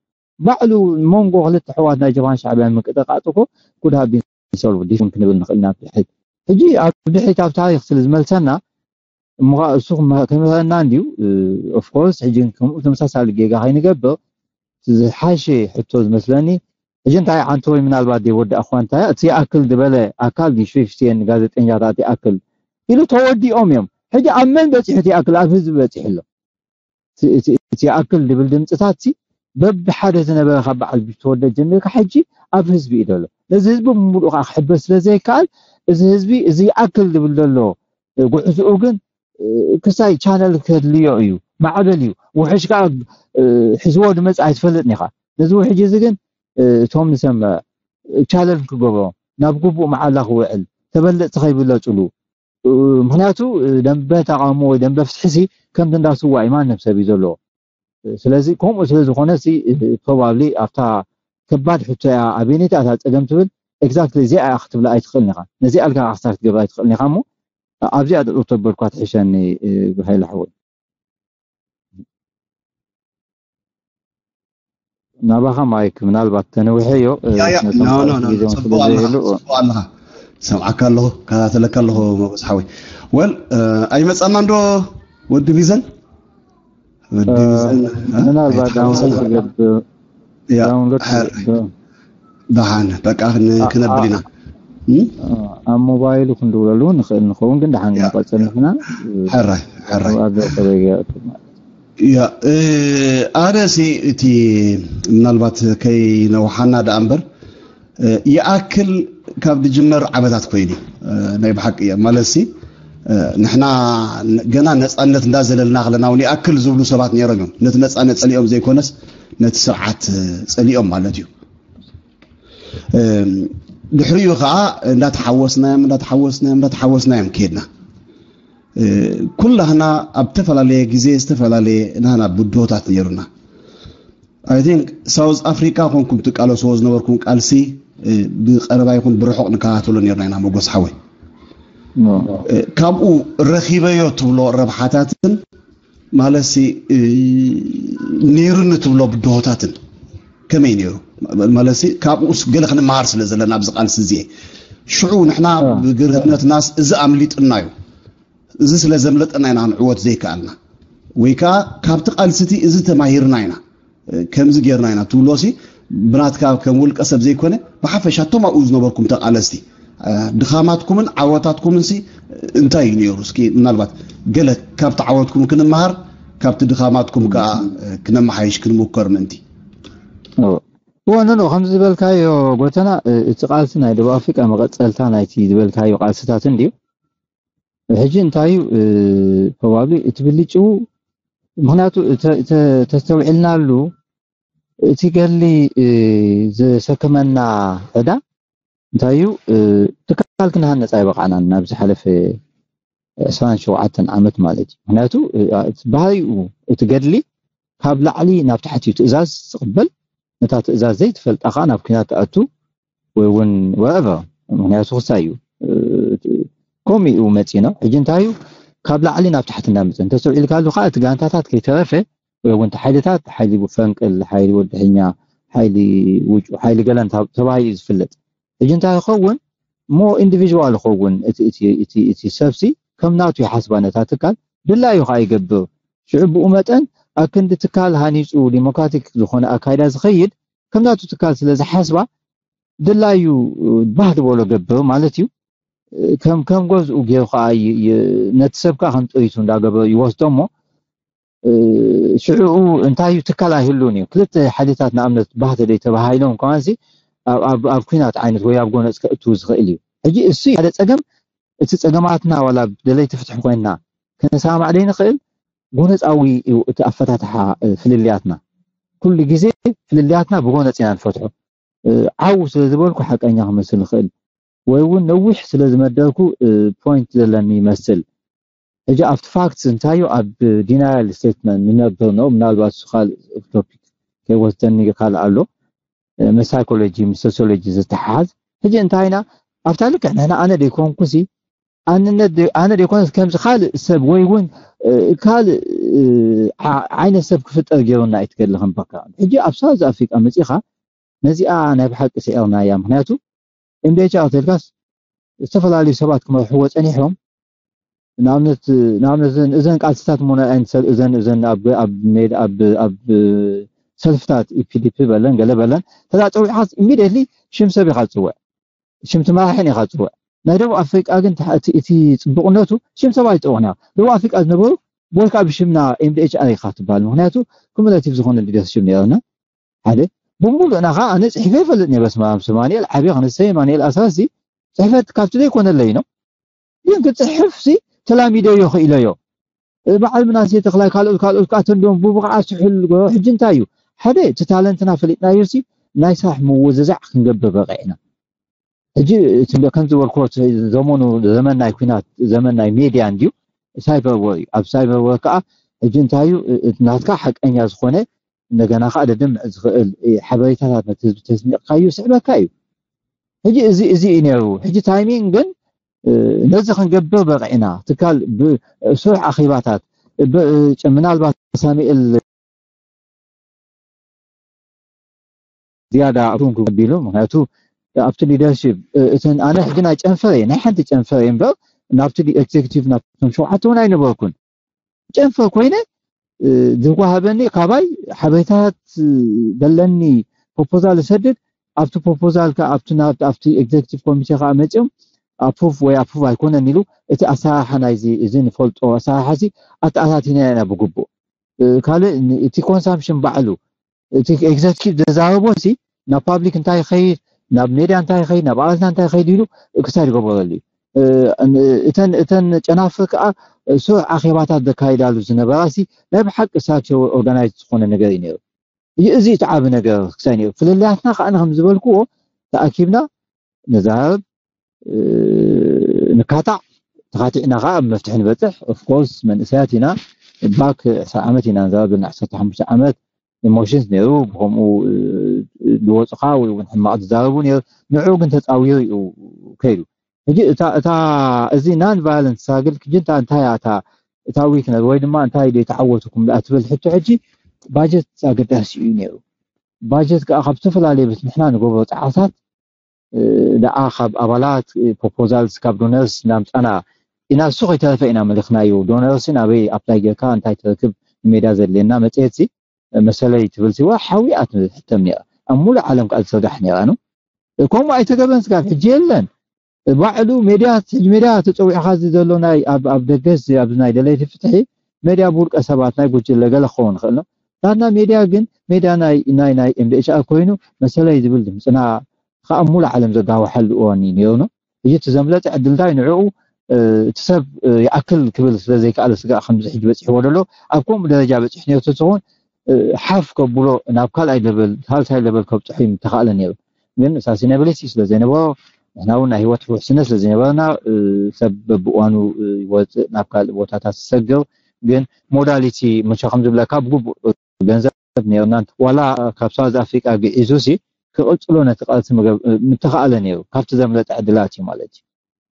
ባዕሉ መንጎ ክልተ ኣሕዋት ናይ ጀብሃን ሻዕብያን ምቅጥቃጥ እኮ could have been solved this ክንብል ንኽእል ኢና ብድሕሪት ሕጂ ኣብ ድሕሪት ኣብ ታሪክ ስለ ዝመልሰና እሞ እሱ ክምህረና እንድዩ of course ሕጂ ከምኡ ተመሳሳሊ ጌጋ ከይንገብር ዝሓሸ ሕቶ ዝመስለኒ ሕጂ እንታይ ዓንተ ወይ ምናልባት ዘይወዳእኳ እንታይ እቲ ይኣክል ዝበለ ኣካል ዲሽፍስቲየን ጋዜጠኛታት ይኣክል ኢሉ ተወዲኦም እዮም ሕጂ ኣብ መን በፂሑ እቲ ይኣክል ኣብ ህዝቢ በፂሑ ኣሎ እቲ ይኣክል ዝብል ድምፅታት ሲ በብሓደ ዝነበረ ካብ በዓል ዝተወደ ጀሚርካ ሕጂ ኣብ ህዝቢ እዩ ዘሎ ነዚ ህዝቢ ብምሉእ ከዓ ክሕበስ ስለ ዘይከኣል እዚ ህዝቢ እዚ ይኣክል ዝብል ዘሎ ጉዕዝኡ ግን ክሳይ ቻነል ከድልዮ እዩ ማዕበል እዩ ውሕሽ ከዓ ሒዝዎ ድመፅ ኣይትፈልጥን ኢኻ ነዚ ውሕጅ እዚ ግን እቶም ንሰምዕ ቻለል ክገብሮ ናብ ግቡእ መዓላ ክውዕል ተበለፅቲ ከይብለፅሉ ምክንያቱ ደንበ ተቃውሞ ወይ ደንበ ፍትሒ ሲ ከምቲ እንዳስዋ እዩ ማንም ሰብ እዩ ዘለዎ ስለዚ ከምኡ ስለ ዝኾነ ሲ probably ኣብታ ከባድ ሕቶ እያ ኣበየነይቲ እታ ፀገም ትብል exactly እዚኣ እያ ክትብላ ኣይትኽእልን ኢኻ ነዚኣ ኢልካ ክሳብ ክትገብራ ኣይትኽእልን ኢኻ እሞ ኣብዚኣ ጥጡር ተበልኳ ትሕሸኒ ብሃይለ ሓወይ ናባኻ ማይክ ምናልባት ተነውሐዮ ጽቡቅ ኣለኻ ሰምዓካ ኣለኹ ከታተለካ ኣለኹ መጎስ ሓወይ ወል ኣይመጻና እንዶ ወዲ ቢዘን ወዲ ቢዘን ምናልባት ዳውንሎድ ክገብር ዳውንሎድ ደሓን በቃ ክነብል ኢና ኣብ ሞባይሉ ክንድውለሉ ንኽእል ንኸውን ግን ደሓን ክንቆፅል ንሕና ሕራይ ሕራይ ኣብ ዘተበየ ያ ኣነ ሲ እቲ ምናልባት ከይነውሓና ደኣ እምበር ይኣክል ካብ ዝጅመር ዓመታት ኮይኑ ናይ ብሓቂ እየ ማለት ሲ ንሕና ገና ነፃነት እንዳዘለልና ከለና እውን ይኣክል ዝብሉ ሰባት ነይሮም እዮም ነቲ ነፃነት ፀሊኦም ዘይኮነስ ነቲ ስርዓት ፀሊኦም ማለት እዩ ድሕሪኡ ከዓ እንዳተሓወስናዮም እንዳተሓወስናዮም እንዳተሓወስናዮም ከድና ኩላህና ኣብ ዝተፈላለየ ግዜ ዝተፈላለየ ናህና ብድሆታት ነይሩና I think ሳውዝ ኣፍሪካ ኮንኩም ትቃለስዎ ዝነበርኩም ቃልሲ ብቀረባ ይኹን ብርሑቕ ንከታተሎ ነርና ኢና መጎስ ሓወይ ካብኡ ረኺበዮ ትብሎ ረብሓታትን ማለትሲ ነይሩ ንትብሎ ብድሆታትን ከመይ ነይሩ? ማለትሲ ካብኡስ ገለ ክንመሃር ስለ ዘለና ኣብዚ ቃልሲ እዚኤ ሽዑ ንሕና ብግርህነትናስ እዚ ኣምሊጥና እዩ፣ እዚ ስለ ዘምለጠና ኢና ክንዕወት ዘይከኣልና፣ ወይ ከዓ ካብቲ ቃልሲ እቲ እዚ ተማሂርና ኢና፣ ከምዚ ጌርና ኢና ትብሎ ሲ ብናትካ ከም ውልቀ ሰብ ዘይኮነ ብሓፈሻ እቶም ኣብኡ ዝነበርኩም ተቃለስቲ ድኻማትኩምን ዓወታትኩምን ሲ እንታይ እዩ ነይሩ? እስኪ ምናልባት ገለ ካብቲ ዓወትኩም ክንመሃር ካብቲ ድኻማትኩም ከዓ ክነመሓይሽ ክንምኮር ምእንቲ። እወ ኖ ኖ ከምዚ ዝበልካዮ ጎተና እቲ ቃልሲ ናይ ደቡብ ኣፍሪቃ መቐፀልታ ናይቲ ዝበልካዮ ቃልስታት እንድዩ። ሕጂ እንታይ እዩ ፕሮባብሊ እቲ ብልጭው ምክንያቱ ተስተውዒልናሉ እቲ ገሊ ዘሰከመና ዕዳ እንታይ እዩ ትካል ክንሃነፅ ኣይበቃዕናን ናብ ዝሓለፈ ዕስራን ሸውዓተን ዓመት ማለት እዩ። ምክንያቱ ባህሪኡ እቲ ገድሊ ካብ ላዕሊ ናብ ታሕቲ እዩ ትእዛዝ ዝቕበል፣ ነታ ትእዛዝ ዘይትፈልጣ ከዓ ናብ ኩናት ትኣቱ ወይ እውን whatever ምክንያቱ ክሳይ እዩ ከምኡ እዩ መፂና። ሕጂ እንታይ እዩ ካብ ላዕሊ ናብ ታሕቲ እናመፀ እንተስተውዒልካሉ ከዓ እቲ ጋንታታት ከይተረፈ ወይ እውን ሓይልታት ሓይሊ ፈንቅል ሓይሊ ወድሕኛ ሓይሊ ውጩ ሓይሊ ገለን ተባሂሉ እዩ ዝፍለጥ። ሕጂ እንታይ ይኸውን ሞ ኢንዲቪዥዋል ይኸውን እቲ ሰብሲ ከም ናቱ ይሓስባ ነታ ትካል ድላዩ ከዓ ይገብር። ሽዑ ብኡ መጠን ኣብ ክንዲ ትካል ሃኒፁ ዲሞክራቲክ ዝኾነ ኣካይዳ ዝኸይድ ከም ናቱ ትካል ስለ ዝሓስባ ድላዩ ባህ ዝበሎ ገብር ማለት እዩ። ከም ከም ገዝኡ ገይሩ ከዓ ነቲ ሰብ ከዓ ከም ጥሪቱ እንዳገበሩ ይወስዶ እሞ ሽዑ እንታይ እዩ ትካል ኣይህሉን እዩ። ክልተ ሓይልታት ንኣብነት ባህ ተደይ ተባሃሂሎም ከማንሲ ኣብ ኩናት ዓይነት ወይ ኣብ ጎነፅ ከእትዉ ዝኽእል እዩ። ሕጂ እሱ ሓደ ፀገም እቲ ፀገማትና ዋላ ደለይቲ ፍትሒ ኮይንና ክንሰማማዕ ደይንኽእል ጎነፃዊ እዩ እቲ ኣፈታትሓ ፍልልያትና። ኩሉ ግዜ ፍልልያትና ብጎነፅ ኢና ንፈትሖ። ዓው ስለ ዝበልኩ ሓቀኛ ክመስል ይኽእል ወይ እውን ነዊሕ ስለ ዝመደርኩ ፖይንት ዘለኒ ይመስል። ሕጂ ኣብቲ ፋክት እንታዩ ኣብ ዲናያል ስቴትመንት ንነብር ነው ምናልባት እሱ ካልእ ቶፒክ ከይወስደኒ ካልእ ኣሎ ምስ ሳይኮሎጂ ምስ ሶሲዮሎጂ ዝተሓሓዝ። ሕጂ እንታይና ኣብታ ልክዕ ንሕና ኣነ ደይኮንኩሲ ኣንነት ኣነ ደይኮነስ ከምዚ ካልእ ሰብ ወይ እውን ካልእ ዓይነት ሰብ ክፍጠር ገይሩና ኣይትገድሊ ከም ባክግራውንድ። ሕጂ ኣብ ሳውዝ ኣፍሪቃ መፂኻ ነዚኣ ናይ ብሓቂ ስዒርናያ። ምክንያቱ ኤምዲኤች ኣተልካስ ዝተፈላለዩ ሰባት ክመርሕዎ ፀኒሖም። ንኣብነት ንኣብነት እዘን እዘን ቃልስታት ሞ እዘን እዘን ኣብ ኣብ ሜድ ኣብ ኣብ ሰልፍታት ኢፒዲፒ በለን ገለ በለን ተዛ ፀዊዕካ ኢሚዲየትሊ ሽም ሰብ ኢካ ዝፅውዕ ሽም ትመራሕን ኢካ ዝፅውዕ። ናይ ደቡብ ኣፍሪቃ ግን እቲ ፅቡቅነቱ ሽም ሰብ ኣይፅውዕና ደቡብ ኣፍሪቃ ዝነበሩ ወይ ከዓ ብሽምና ኤምዲኤች ኣር ኢካ ትበሃል። ምክንያቱ ኩሙላቲቭ ዝኮነ ሊደርሽፕ ነይርና ሓደ ብሙሉእና ከዓ ኣነ ፅሒፈ ይፈልጥ ነይረ። በስመ ኣብ ስማንኤል ዓብየ ክንሰይ ማንኤል ኣሳሲ ፅሕፈት ካብቲ ዘይኮነለይ ነው። ግን ክፅሕፍ ሲ ተላሚደዮ ክኢለዮ። በዓል ምናሴ ተክላይ ካልኦት ካልኦት ከዓ ተንዶም ብብቕዓት ስሑል ሕጂ እንታይ እዩ ሓደ እቲ ታለንትና ፈሊጥናዮ ሲ ናይ ስራሕ ምውዝዛዕ ክንገብር በቂዕና። ሕጂ ከም ዝበልክዎ ዘመኑ ዘመን ናይ ኩናት ዘመን ናይ ሜድያ እንድዩ። ሳይበር ወር እዩ። ኣብ ሳይበር ወር ከዓ ሕጂ እንታይ እዩ ናትካ ሓቀኛ ዝኾነ እንደገና ከዓ ደድምዕ ዝኽእል ሓበሬታታት ነቲ ህዝቢ ተስኒቕካዩ ስዕበካ እዩ። ሕጂ እዚ እዚ እዩ ነይሩ። ሕጂ ታይሚንግ ግን ነዚ ክንገብር በቂዕና ትካል ብስሩሕ ኣኼባታት ምናልባት ሳሚኤል ዝያዳ ሩን ክቢሉ ምክንያቱ ኣብቲ ሊደርሽፕ እተን ኣነ ሕጂ ናይ ጨንፈር እየ ናይ ሓንቲ ጨንፈር እየ እምበር ናብቲ ኤግዜክቲቭ ናብቶም ሸውዓተ እውን ኣይነበርኩን። ጨንፈር ኮይነ ዝዋሃበኒ ካባይ ሓበሬታት ዘለኒ ፕሮፖዛል ዝሰድድ ኣብቲ ፕሮፖዛል ከ ኣብቲ ናብቲ ኣብቲ ኤግዜክቲቭ ኮሚቴ ከዓ መፅኦም ኣፕሩቭ ወይ ኣፕሩቭ ኣይኮነን ኢሉ እቲ ኣሰራርሓ ናይዚ እዚ ንፈልጦ ኣሰራርሓ ሲ ኣተኣታቲና ኢና ብግቡእ ካልእ እቲ ኮንሳምፕሽን ባዕሉ እቲ ኤግዘኪቲቭ ዘዛረቦ ሲ ናብ ፓብሊክ እንታይ ይኸይድ ናብ ሜድያ እንታይ ይኸይድ ናብ ኣባላትና እንታይ ይኸይድ ኢሉ ክሳድ ይገበረሉ እዩ። እተን እተን ጨናፍር ከዓ ስሩዕ ኣኼባታት ዘካይዳሉ ዝነበራ ሲ ናይ ብሓቂ ሳቸው ኦርጋናይዝ ዝኾነ ነገር እዩ ነይሩ። እዚ እቲ ዓቢ ነገር ክሳይ ነይሩ። ፍልልያትና ከዓ ከም ዝበልክዎ ተኣኪብና ነዛረብ ንካታዕ ተኻቲዕና ከዓ ኣብ መፍትሒ ንበፅሕ። ኦፍኮርስ መንእሰያት ኢና ባክ ዕስራ ዓመት ኢና ንዛረብ ዘለና ዕሰርተ ሓሙሽተ ዓመት ኢሞሽንስ ነይሩ ብከምኡ ዝወፁኻ ወይ እውን ሕማቕ ዝዛረቡ ነይሩ። ንዑ ግን ተፃዊሩ እዩ ከይዱ። ሕጂ እታ እታ እዚ ናን ቫዮለንስ ሳግል ክጅንታ እንታይ እያ እታ እታ ዊክነስ ወይ ድማ እንታይ ዶ ተዓወትኩም ደኣ ትብል ሕቶ ሕጂ ባጀት ኣገዳሲ እዩ ነይሩ። ባጀት ከዓ ካብ ዝተፈላለዩ ቤት ንሕና ንገብሮ ፃዕርታት ደኣ ካብ ኣባላት ፕሮፖዛልስ ካብ ዶነርስ እናምፃና ኢና። እሱ ከይተረፈ ኢና መሊኽናዩ። ዶነርስ ናበይ ኣፕላይ ጌርካ እንታይ ትረክብ ንሜዳ ዘድልየና መፅሄት ሲ መሰለይ ትብል ሲዋ ሓዊኣ ትሕተም ነይራ። ኣብ ሙሉእ ዓለም ከዓ ዝስራሕ ነይራ ነው። ከምኡ ኣይተገብረን ስጋብ ሕጂ የለን። ባዕሉ ሜድያ ሕጂ ሜድያ ተፀዊዕካ እዚ ዘሎ ናይ ኣብ ኣብ ደገስ ኣብዚ ናይ ደለይቲ ፍትሒ ሜድያ ብውልቀ ሰባት ናይ ጉጅለ ገለ ክኸውን ይኽእል ነው። ናትና ሜድያ ግን ሜድያ ናይ ናይ ናይ ኤምዲኤችኣር ኮይኑ መሰለይ ዝብል ድምፅና ከዓ ሙሉ ዓለም ዘጋወሐሉ እዋን እዩ ነይሩ ነው። እዚ እቲ ዘምለጠ ዕድል እንታይ ንዕኡ እቲ ሰብ ይኣክል ክብል ስለ ዘይከኣለ ስጋዕ ከምዚ ሕጂ በፂሕዎ ዘሎ ኣብ ከምኡ ደረጃ በፂሕ ነይሩ ተትኸውን ሓፍ ከብሎ ናብ ካልኣይ ለበል ሳልሳይ ለበል ከብፅሑ ምተኻእለ ነይሩ። ግን ሳሲናብሊቲ ስለ ዘይነበሮ ንሕና እውን ናይ ህይወት ውሕስነት ስለ ዘይነበረና ሰብ በብእዋኑ ይወፅእ ናብ ካልእ ቦታታት ዝሰግር ግን ሞዳሊቲ መቸ ከም ዝብለካ ብግቡእ ገንዘብ ነርና ዋላ ካብ ሳውዝ ኣፍሪቃ ግዒዙ ሲ ክቕፅሎ ነቲ ቃልሲ ምተኻእለ ነይሩ ካብቲ ዘምለጠ ዕድላት እዩ ማለት እዩ።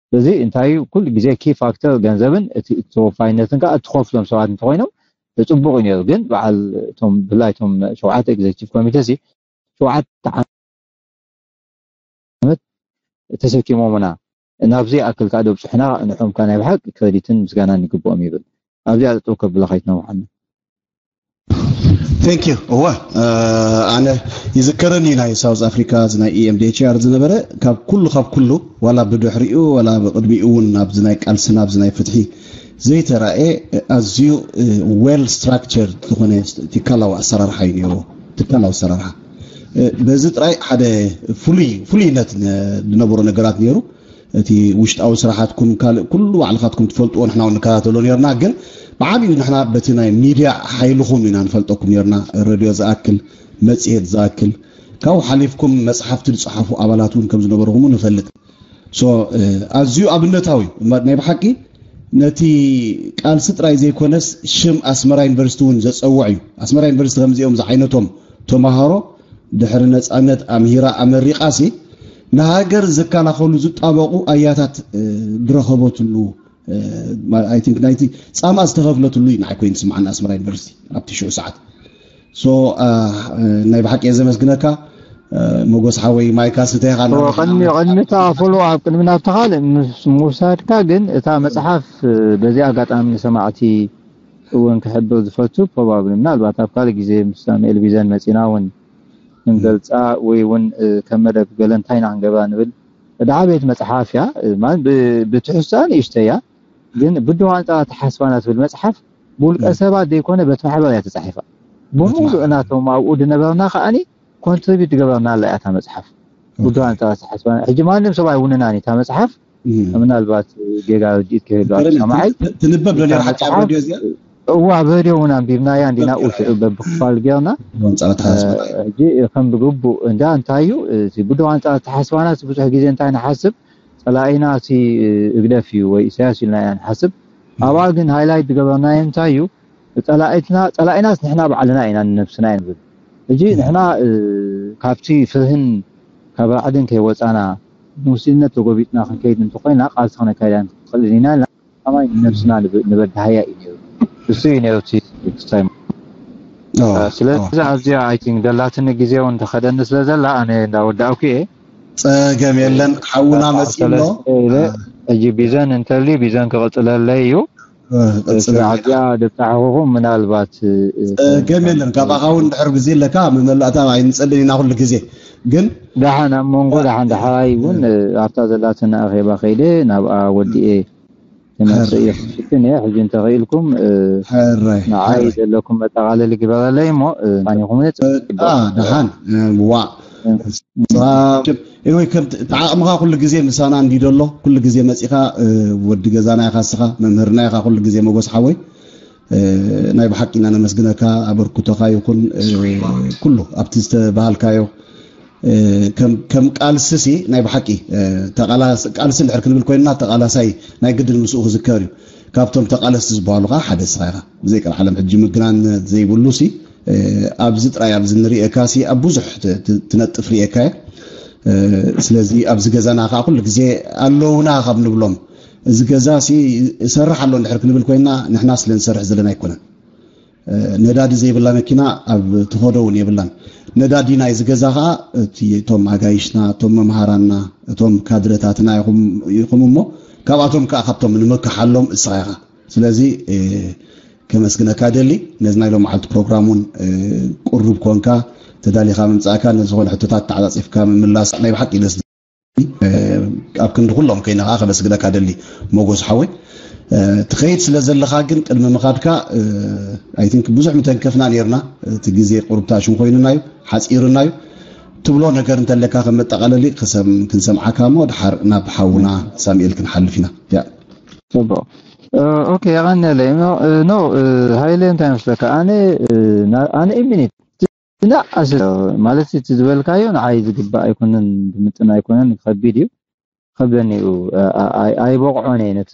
ስለዚ እንታይ እዩ ኩሉ ግዜ ኪ ፋክተር ገንዘብን እቲ ተወፋይነትን ከዓ እትኸፍሎም ሰባት እንተኮይኖም ፅቡቅ እዩ ነይሩ። ግን በዓል እቶም ብፍላይ እቶም ሸውዓተ ኤግዜክቲቭ ኮሚቴ ሲ ሸውዓተ ዓመት ተሰኪሞምና ናብዚ ኣክል ከዓ ደብፅሑና ንዖም ከዓ ናይ ብሓቂ ክረዲትን ምስጋናን ይግብኦም ይብል። ኣብዚኣ ጠጠው ከብለካ ይትነውሓና። Thank you እወ ኣነ ይዝከረኒ ናይ ሳውዝ ኣፍሪካ እዚ ናይ ኢኤምዲኤችኣር ዝነበረ ካብ ኩሉ ካብ ኩሉ ዋላ ብድሕሪኡ ዋላ ብቅድሚኡ እውን ኣብዚ ናይ ቃልስና ኣብዚ ናይ ፍትሒ ዘይተራእየ ኣዝዩ well structured ዝኾነ ትካላዊ ኣሰራርሓ እዩ ነይርዎ ትካላዊ ኣሰራርሓ በዚ ጥራይ ሓደ ፍሉይ ፍሉይነት ዝነበሮ ነገራት ነይሩ እቲ ውሽጣዊ ስራሓትኩም ካልእ ኩሉ ባዕልኻትኩም ትፈልጥዎ ንሕና እውን ንከታተሎ ነርና ግን ብዓብዩ ንሕና በቲ ናይ ሚድያ ሓይልኹም ኢና ንፈልጠኩም ነርና ረድዮ ዝኣክል መፅሄት ዝኣክል ካብኡ ሓሊፍኩም መፅሓፍቲ ዝፅሓፉ ኣባላት እውን ከም ዝነበርኹም ንፈልጥ so ኣዝዩ ኣብነታዊ ናይ ብሓቂ ነቲ ቃልሲ ጥራይ ዘይኮነስ ሽም ኣስመራ ዩኒቨርሲቲ እውን ዘፀውዕ እዩ ኣስመራ ዩኒቨርሲቲ ከምዚኦም ዝዓይነቶም ተምሃሮ ድሕሪ ነፃነት ኣምሂራ ኣመሪቓሲ ንሃገር ዝከላኸሉ ዝጣበቑ ኣያታት ዝረኸበትሉ ናይቲ ፃማ ዝተኸፍለትሉ እዩ ንዓይ ኮይኑ ዝስምዓኒ ኣስመራ ዩኒቨርሲቲ ኣብቲ ሽዑ ሰዓት ናይ ብሓቂ እየ ዘመስግነካ ሞጎስ ሓወይ ማይካ ስተኻ ቅድሚ ቅድሚ ተኣፈሉ ኣብ ቅድሚ ናብቲ ካልእ ምስ ምውሳድካ ግን እታ መፅሓፍ በዚ ኣጋጣሚ ንሰማዕቲ እውን ክሕብር ዝፈቱ ፕሮባብሊ ምናልባት ኣብ ካልእ ግዜ ምስ ሳሙኤል ቢዘን መፂና እውን ክንገልፃ ወይ እውን ከም መደብ ገለ እንታይ ኢና ክንገብራ ንብል እዳ ዓበየት መፅሓፍ እያ ብትሕዝቶኣ ንእሽተይ እያ ግን ብድሆ ኣንፃር ኣተሓስባና ትብል መፅሓፍ ብውልቀ ሰባት ዘይኮነ በት ማሕበር እያ ተፃሒፋ ብምሉእ እናቶም ኣብኡ ዝነበርና ከዓኒ ኮንትሪቢዩት ዝገበርና ኣላ እያ እታ መፅሓፍ ብድሆ ኣንፃር ኣተሓስባና ሕጂ ማንም ሰብ ኣይውንናን እታ መፅሓፍ ምናልባት ጌጋ ርድኢት ክህሉ ሰማዓይ ትንበብ ዶ ነራ ሓቂ ኣብ ረድዮ እዚኣ እዋ ኣብ ረድዮ እውን ኣንቢብናያ እንዲና ሽዑ በብክፋል ጌርና ሕጂ ከም ብግቡእ እንዳ እንታይ እዩ እቲ ብድሆ ኣንፃር ኣተሓስባና ብዙሕ ግዜ እንታይ ንሓስብ ፀላኢና እቲ ህግደፍ እዩ ወይ ኢሳያስ ኢልና ኢና ንሓስብ ኣብኣ ግን ሃይላይት ዝገበርናዮ እንታይ እዩ ፀላኢትና ፀላኢናስ ንሕና ባዕልና ኢና ንነብስና እዩ ንብል ሕጂ ንሕና ካብቲ ፍርህን ካብ ራዕድን ከይወፃና ሙስሊነት ተጎቢጥና ክንከይድ እንተኮይና ቃልሲ ክነካይዳ ንክእል ኢና ኢልና ከማይ ንነብስና ንበድሃያ እዩ ነይሩ እሱ እዩ ነይሩ ክስታይ ስለዚ ኣብዚኣ ኣይ ቲንክ ደላትኒ ግዜ እውን ተኸደኒ ስለ ዘላ ኣነ እንዳወዳእኩ እየ ፀገም የለን ሓውና መፂሎ ሕጂ ቢዘን እንተልዩ ቢዘን ክቕፅለለይ እዩ ስለ ኣብዚኣ ደብፃሕኹኹም ምናልባት ፀገም የለን ካባኻ እውን ድሕር ግዜ ኣለካ መመላእታ ኣይንፀልን ኢና ኩሉ ግዜ ግን ደሓን ኣብ መንጎ ደሓን ዳሕራይ እውን ኣብታ ዘላትና ኣኼባ ከይደ ናብኣ ወዲኤ ክመፅእ እየ ክፍትን እየ ሕጂ እንተኽኢልኩም ንዓይ ዘለኩም መጠቓለሊ ግበረለይ እሞ ማኒኹም ደሓን ዋ ወይ ከም ተዓቕምኻ ኩሉ ግዜ ምሳና እንዲ ደሎ ኩሉ ግዜ መፂኻ ወዲ ገዛና ኢኻ ስኻ መምህርና ኢኻ ኩሉ ግዜ መጎስ ሓወይ ናይ ብሓቂ ኢና ነመስግነካ ኣበርክቶኻ ይኹን ኩሉ ኣብቲ ዝተባሃልካዮ ከም ቃልስሲ ናይ ብሓቂ ቃልሲ እንድሕር ክንብል ኮይንና ተቃላሳይ ናይ ግድን ምስኡ ክዝከር እዩ ካብቶም ተቃለስቲ ዝበሃሉ ከዓ ሓደ ስኻ ኢኻ ብዘይ ቀልዓለም ሕጂ ምግናን ዘይብሉ ሲ ኣብዚ ጥራይ ኣብዚ ንርእየካ ሲ ኣብ ብዙሕ ትነጥፍ ርእየካ እየ ስለዚ ኣብዚ ገዛና ከዓ ኩሉ ግዜ ኣለውና ካብ ንብሎም እዚ ገዛ ሲ እሰርሕ ኣሎ እንድሕር ክንብል ኮይና፣ ንሕና ስለ ንሰርሕ ዘለና ኣይኮነን። ነዳዲ ዘይብላ መኪና ኣብ ትኸዶ እውን የብላን። ነዳዲ ናይዚ ገዛ ከዓ እቲ እቶም ኣጋይሽና፣ እቶም መምሃራና፣ እቶም ካድረታትና ይኹም እሞ፣ ካብኣቶም ከዓ ካብቶም ንምክሓሎም እስኻ ኢኻ። ስለዚ ከመስግነካ ደሊ። ነዚ ናይ ሎም መዓልቲ ፕሮግራም እውን ቅሩብ ኮንካ ተዳሊኻ ምምፃእካ፣ ነዝኾነ ሕቶታት ተዓፃፂፍካ ምምላስ ናይ ብሓቂ ደስ ኣብ ክንዲ ኩሎም ኮይነ ከዓ ከመስግነካ ደሊ። ሞጎስ ሓወይ፣ ትኸይድ ስለ ዘለኻ ግን ቅድሚ ምኻድካ፣ ኣይ ቲንክ ብዙሕ ምተንከፍና ነርና። እቲ ግዜ ቁርብታሽን ኮይኑና እዩ፣ ሓፂሩና እዩ። ትብሎ ነገር እንተለካ ከም መጠቃለሊ ክንሰምዓካ እሞ ድሓር ናብ ሓውና ሳሙኤል ክንሓልፍ ኢና። ያ ጽቡቅ። ኦኬ፣ የቐንየለይ። ኖ፣ ሃይለ፣ እንታይ መስለካ? ኣነ ኣነ ኢሚኒት እና ኣስ ማለት እቲ ዝበልካዮ ንዓይ ዝግባእ ኣይኮነን፣ ዝምጥን ኣይኮነን፣ ከቢድ እዩ፣ ከብደኒ እዩ፣ ኣይበቕዖን እየ ነቲ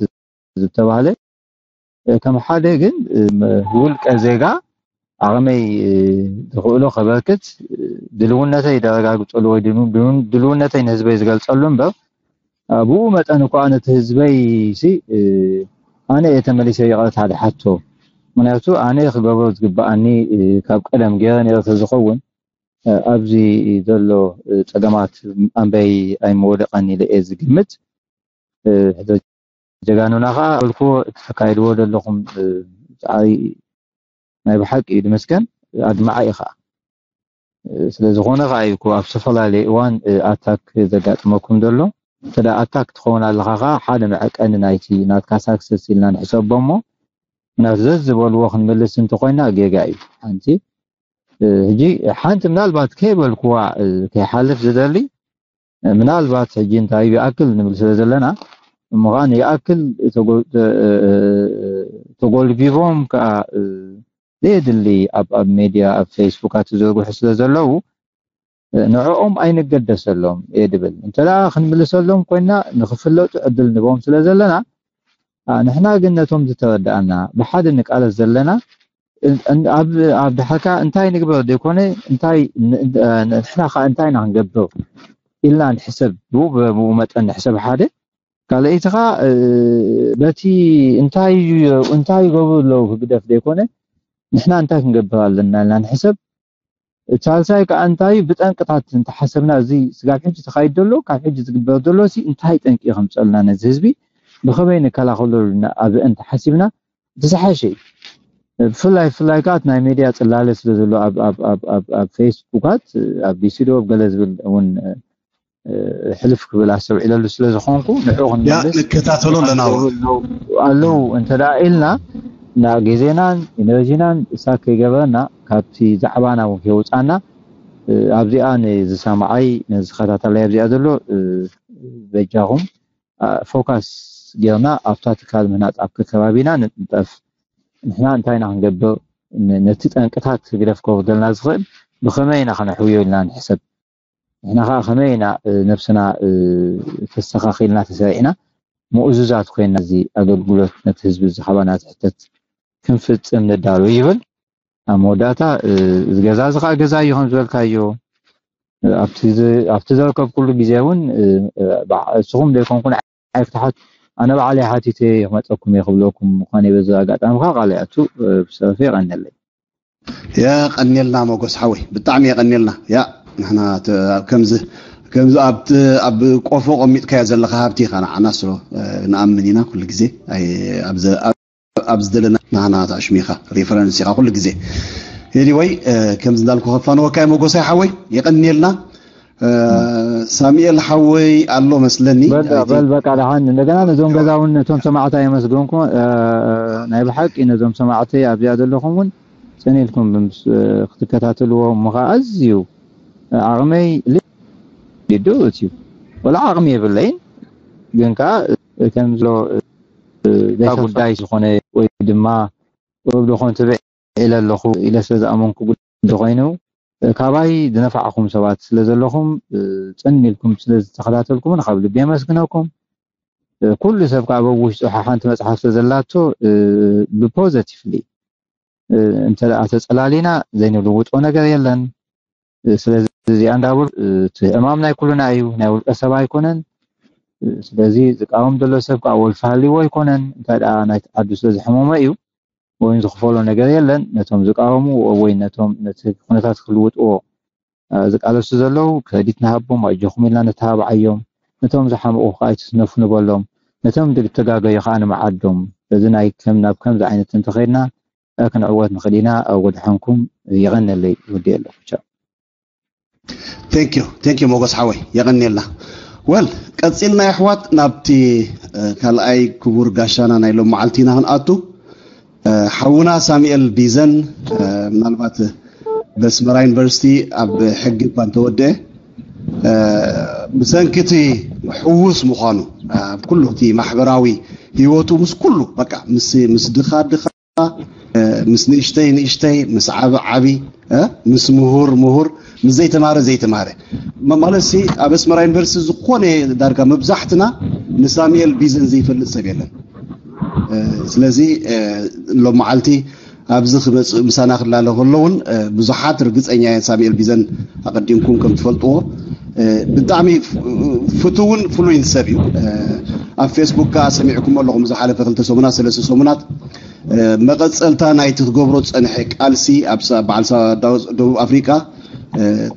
ዝተባህለ። ከም ሓደ ግን ውልቀ ዜጋ ዓቕመይ ዝኽእሎ ከበርክት፣ ድልውነተይ ደረጋግፀሉ ወይ ድልውነተይ ንህዝበይ ዝገልፀሉ እምበር፣ ብኡ መጠን እኳ ነቲ ህዝበይ ሲ ኣነ እየ ተመሊሰ ይቕረታ ዝሓቶ። ምክንያቱ ኣነ ክገብሮ ዝግበኣኒ ካብ ቀደም ገይረ ነይረ ተዝኸውን ኣብዚ ዘሎ ፀገማት ኣንበይ ኣይምወደቐን ኢለ እየ ዝግምት። ሕቶ ጀጋኑና ከዓ በልክዎ እቲ ተካይድዎ ዘለኹም ፃዕሪ ናይ ብሓቂ እዩ ድመስገን፣ ኣድማዓ እዩ ከዓ። ስለዝኾነ ከዓ እዩ እኮ ኣብ ዝተፈላለየ እዋን ኣታክ ዘጋጥመኩም ዘሎ። እንተ ኣታክ ትኸውን ኣለኻ ከዓ ሓደ መዐቀኒ ናይቲ ናትካ ሳክሰስ ኢልና ንሕሰቦ እሞ፣ ምክንያቱ ዘዝበልዎ ክንምልስ እንተኮይና ጌጋ እዩ። ሓንቲ ሕጂ ሓንቲ ምናልባት ከይበልክዋ ከይሓልፍ ዝደሊ ምናልባት ሕጂ እንታይ ይኣክል ንብል ስለ ዘለና እሞ ከዓ ይኣክል ተጎልቢቦም ከዓ ዘየድሊ ኣብ ኣብ ሜድያ ኣብ ፌስቡካት ዝዘርግሑ ስለ ዘለዉ ንዕኦም ኣይንገደሰሎም እየ ድብል። እንተ ደኣ ክንምልሰሎም ኮይና ንክፍለጡ ዕድል ንቦም ስለ ዘለና ንሕና ግን ነቶም ዝተረድኣና ብሓደ ንቃለስ ዘለና ኣብ ድሓርካ እንታይ ንግበር ዘይኮነ እንታይ ንሕና ከዓ እንታይ ኢና ክንገብር ኢልና ንሕሰብ። ብኡ ብኡ መጠን ንሕሰብ ሓደ ካልኣይቲ ከዓ በቲ እንታይ እንታይ ይገብሩ ኣለዉ ህግደፍ ዘይኮነ ንሕና እንታይ ክንገብር ኣለና ኢልና ንሕሰብ። ሳልሳይ ከዓ እንታይ ብጠንቅታት እንተሓሰብና እዚ ስጋብ ሕጂ ተኻይድ ዘሎ ካብ ሕጂ ዝግበር ዘሎ ሲ እንታይ ጠንቂ ከምፀልና ነዚ ህዝቢ ብኸመይ ንከላኸለሉ ኣብአን ተሓሲብና እቲ ዝሓሸ እዩ። ብፍላይ ብፍላይ ከዓ ናይ ሜድያ ፅላለ ስለ ዘሎ ኣብ ፌስቡካት ኣብ ዲሲዶ ገለ ዝብል እውን ሕልፍ ክብል ኣስተውዒለሉ ስለ ዝኾንኩ ንዑ ክንመልስ ንከታተሎ ኣለና ኣለዉ እንተ ደኣ ኢልና እና ግዜናን ኢነርጂናን እሳት ከይገበረና ካብቲ ዛዕባና እውን ከይወፃና ኣብዚኣ ንዝሰማዓይ ንዝኸታተላይ ኣብዚኣ ዘሎ በጃኹም ፎካስ ጌርና ኣብታ ትካል ምህናፅ ኣብቲ ከባቢና ንጥንጠፍ። ንሕና እንታይ ኢና ክንገብር ነቲ ጠንቅታት ግደፍ ከወርደልና ዝኽእል ብኸመይ ኢና ከነሕውዮ ኢልና ንሕሰብ። ንሕና ከዓ ከመይ ኢና ነብስና ተስተኻኺልና ተሰሪዕና ምኡዙዛት ኮይና እዚ ኣገልግሎት ነቲ ህዝቢ ዝሃባና ዝሕተት ክንፍፅም ንዳሎ ይብል። ኣብ መወዳእታ እዚ ገዛ እዚ ከዓ ገዛ እዩ ከም ዝበልካዮ ኣብቲ ዘረከብኩሉ ግዜ እውን እስኹም ዘይኮንኩን ኣይክትሓት ኣነ ባዕለይ ሓቲተ ክመፀኩም እየ ክብለኩም ምኳነ በዚ ኣጋጣሚ ከዓ ቃል ይኣቱ ብሰፊ ይቀነለይ። የቀንየልና ሞጎስ ሓወይ ብጣዕሚ የቀንየልና። ያ ንሕና ከምዚ ከምዚ ኣብቲ ኣብ ቆፎ ቆሚጥካዮ ዘለካ ሃብቲ ኢካ ንዓና ስሎ ንኣምን ኢና ኩሉ ግዜ ኣብ ዝደለና ናህና ኣሽሚኻ ሪፈረንስ ኢኻ ኩሉ ግዜ። ኤኒወይ ከምዚ እንዳልኩ ከፋንወካ እየ ሞጎሳይ ሓወይ የቀንየልና። ሳሙኤል ሓወይ ኣሎ መስለኒ በል በቃ ደሓን እንደገና ነዞም ገዛ እውን ነቶም ሰማዕታ የመስገንኩ። ናይ ብሓቂ ነዞም ሰማዕተይ ኣብዚኣ ዘለኹም እውን ፅን ኢልኩም ክትከታተልዎ እሞ ከዓ ኣዝዩ ዓቕመይ ሊዱ እዩ ወላ ዓቕሚ የብለይን ግን ከዓ ከም ዝሎ ዘይካ ጉዳይ ዝኾነ ወይ ድማ ወብዶ ኮን ትብዕ ኢለ ኣለኹ ኢለ ስለ ዝኣመንኩ ጉዳይ ኮይኑ ካባይ ዝነፋዕኹም ሰባት ስለ ዘለኹም ፅን ኢልኩም ስለ ዝተኸታተልኩምን ካብ ልቢ የመስግነኩም። ኩሉ ሰብ ከዓ በብ ውሽጡ ሓንቲ መፅሓፍ ስለ ዘላቶ ብፖዘቲቭሊ እንተ ተፀላሊና ዘይንልውጦ ነገር የለን። ስለዚ እዚኣ እንዳበሉ እቲ ዕማም ናይ ኩሉና እዩ፣ ናይ ውልቀ ሰብ ኣይኮነን። ስለዚ ዝቃወም ዘሎ ሰብ ከዓ ወልፊ ሃልይዎ ኣይኮነን። እንታይ ደኣ ናይቲ ዓዱ ስለ ዝሕመሞ እዩ፣ ወይ ዝኽፈሎ ነገር የለን። ነቶም ዝቃወሙ ወይ ነቶም ነቲ ኩነታት ክልውጥዎ ዝቃለሱ ዘለዉ ክሬዲት ንሃቦም፣ ኣጆኹም ኢልና ነተባብዓዮም። ነቶም ዝሓመቑ ከዓ ኣይትስነፉ ንበሎም። ነቶም ዝተጋገዩ ከዓ ንምዓዶም። ስለዚ ናይ ከም ናብ ከምዚ ዓይነት እንተኸይድና ክንዕወት ንኽእል ኢና። ኣብ ወድሓንኩም። የቐነለይ። ወዲ ኣለኩቻ። Thank you, thank you ሞጎስ ሓወይ፣ የቐንየልና። ወል ቀፂልና የሕዋት ናብቲ ካልኣይ ክቡር ጋሻና ናይ ሎም መዓልቲ ኢና ክንኣቱ። ሓውና ሳሙኤል ቢዘን ምናልባት በስመራ ዩኒቨርሲቲ ኣብ ሕጊ እኳ እንተወደአ፣ ብሰንኪ እቲ ሕዉስ ምዃኑ ኣብ ኩሉ እቲ ማሕበራዊ ህይወቱ ምስ ኩሉ በቃ ምስ ምስ ድኻ ድኻ፣ ምስ ንእሽተይ ንእሽተይ፣ ምስ ዓቢ ዓቢ፣ ምስ ምሁር ምሁር፣ ምስ ዘይተማረ ዘይተማረ፣ ማለት ሲ ኣብ ኣስመራ ዩኒቨርሲቲ ዝኾነ ዳርጋ መብዛሕትና ንሳሙኤል ቢዘን ዘይፈልጥ ሰብ የለን። ስለዚ ሎም መዓልቲ ኣብዚ ክመፅእ ምሳና ክላለ ከሎ እውን ብዙሓት ርግፀኛ እየ ሳሙኤል ቢዘን ኣቐዲምኩም ከም ትፈልጥዎ ብጣዕሚ ፍትውን ፍሉይን ሰብ እዩ። ኣብ ፌስቡክ ከዓ ሰሚዕኩም ኣለኹም ዝሓለፈ ክልተ ሰሙናት ሰለስተ ሰሙናት መቐፀልታ ናይቲ ክገብሮ ዝፀንሐ ቃልሲ ኣብ በዓል ደቡብ ኣፍሪቃ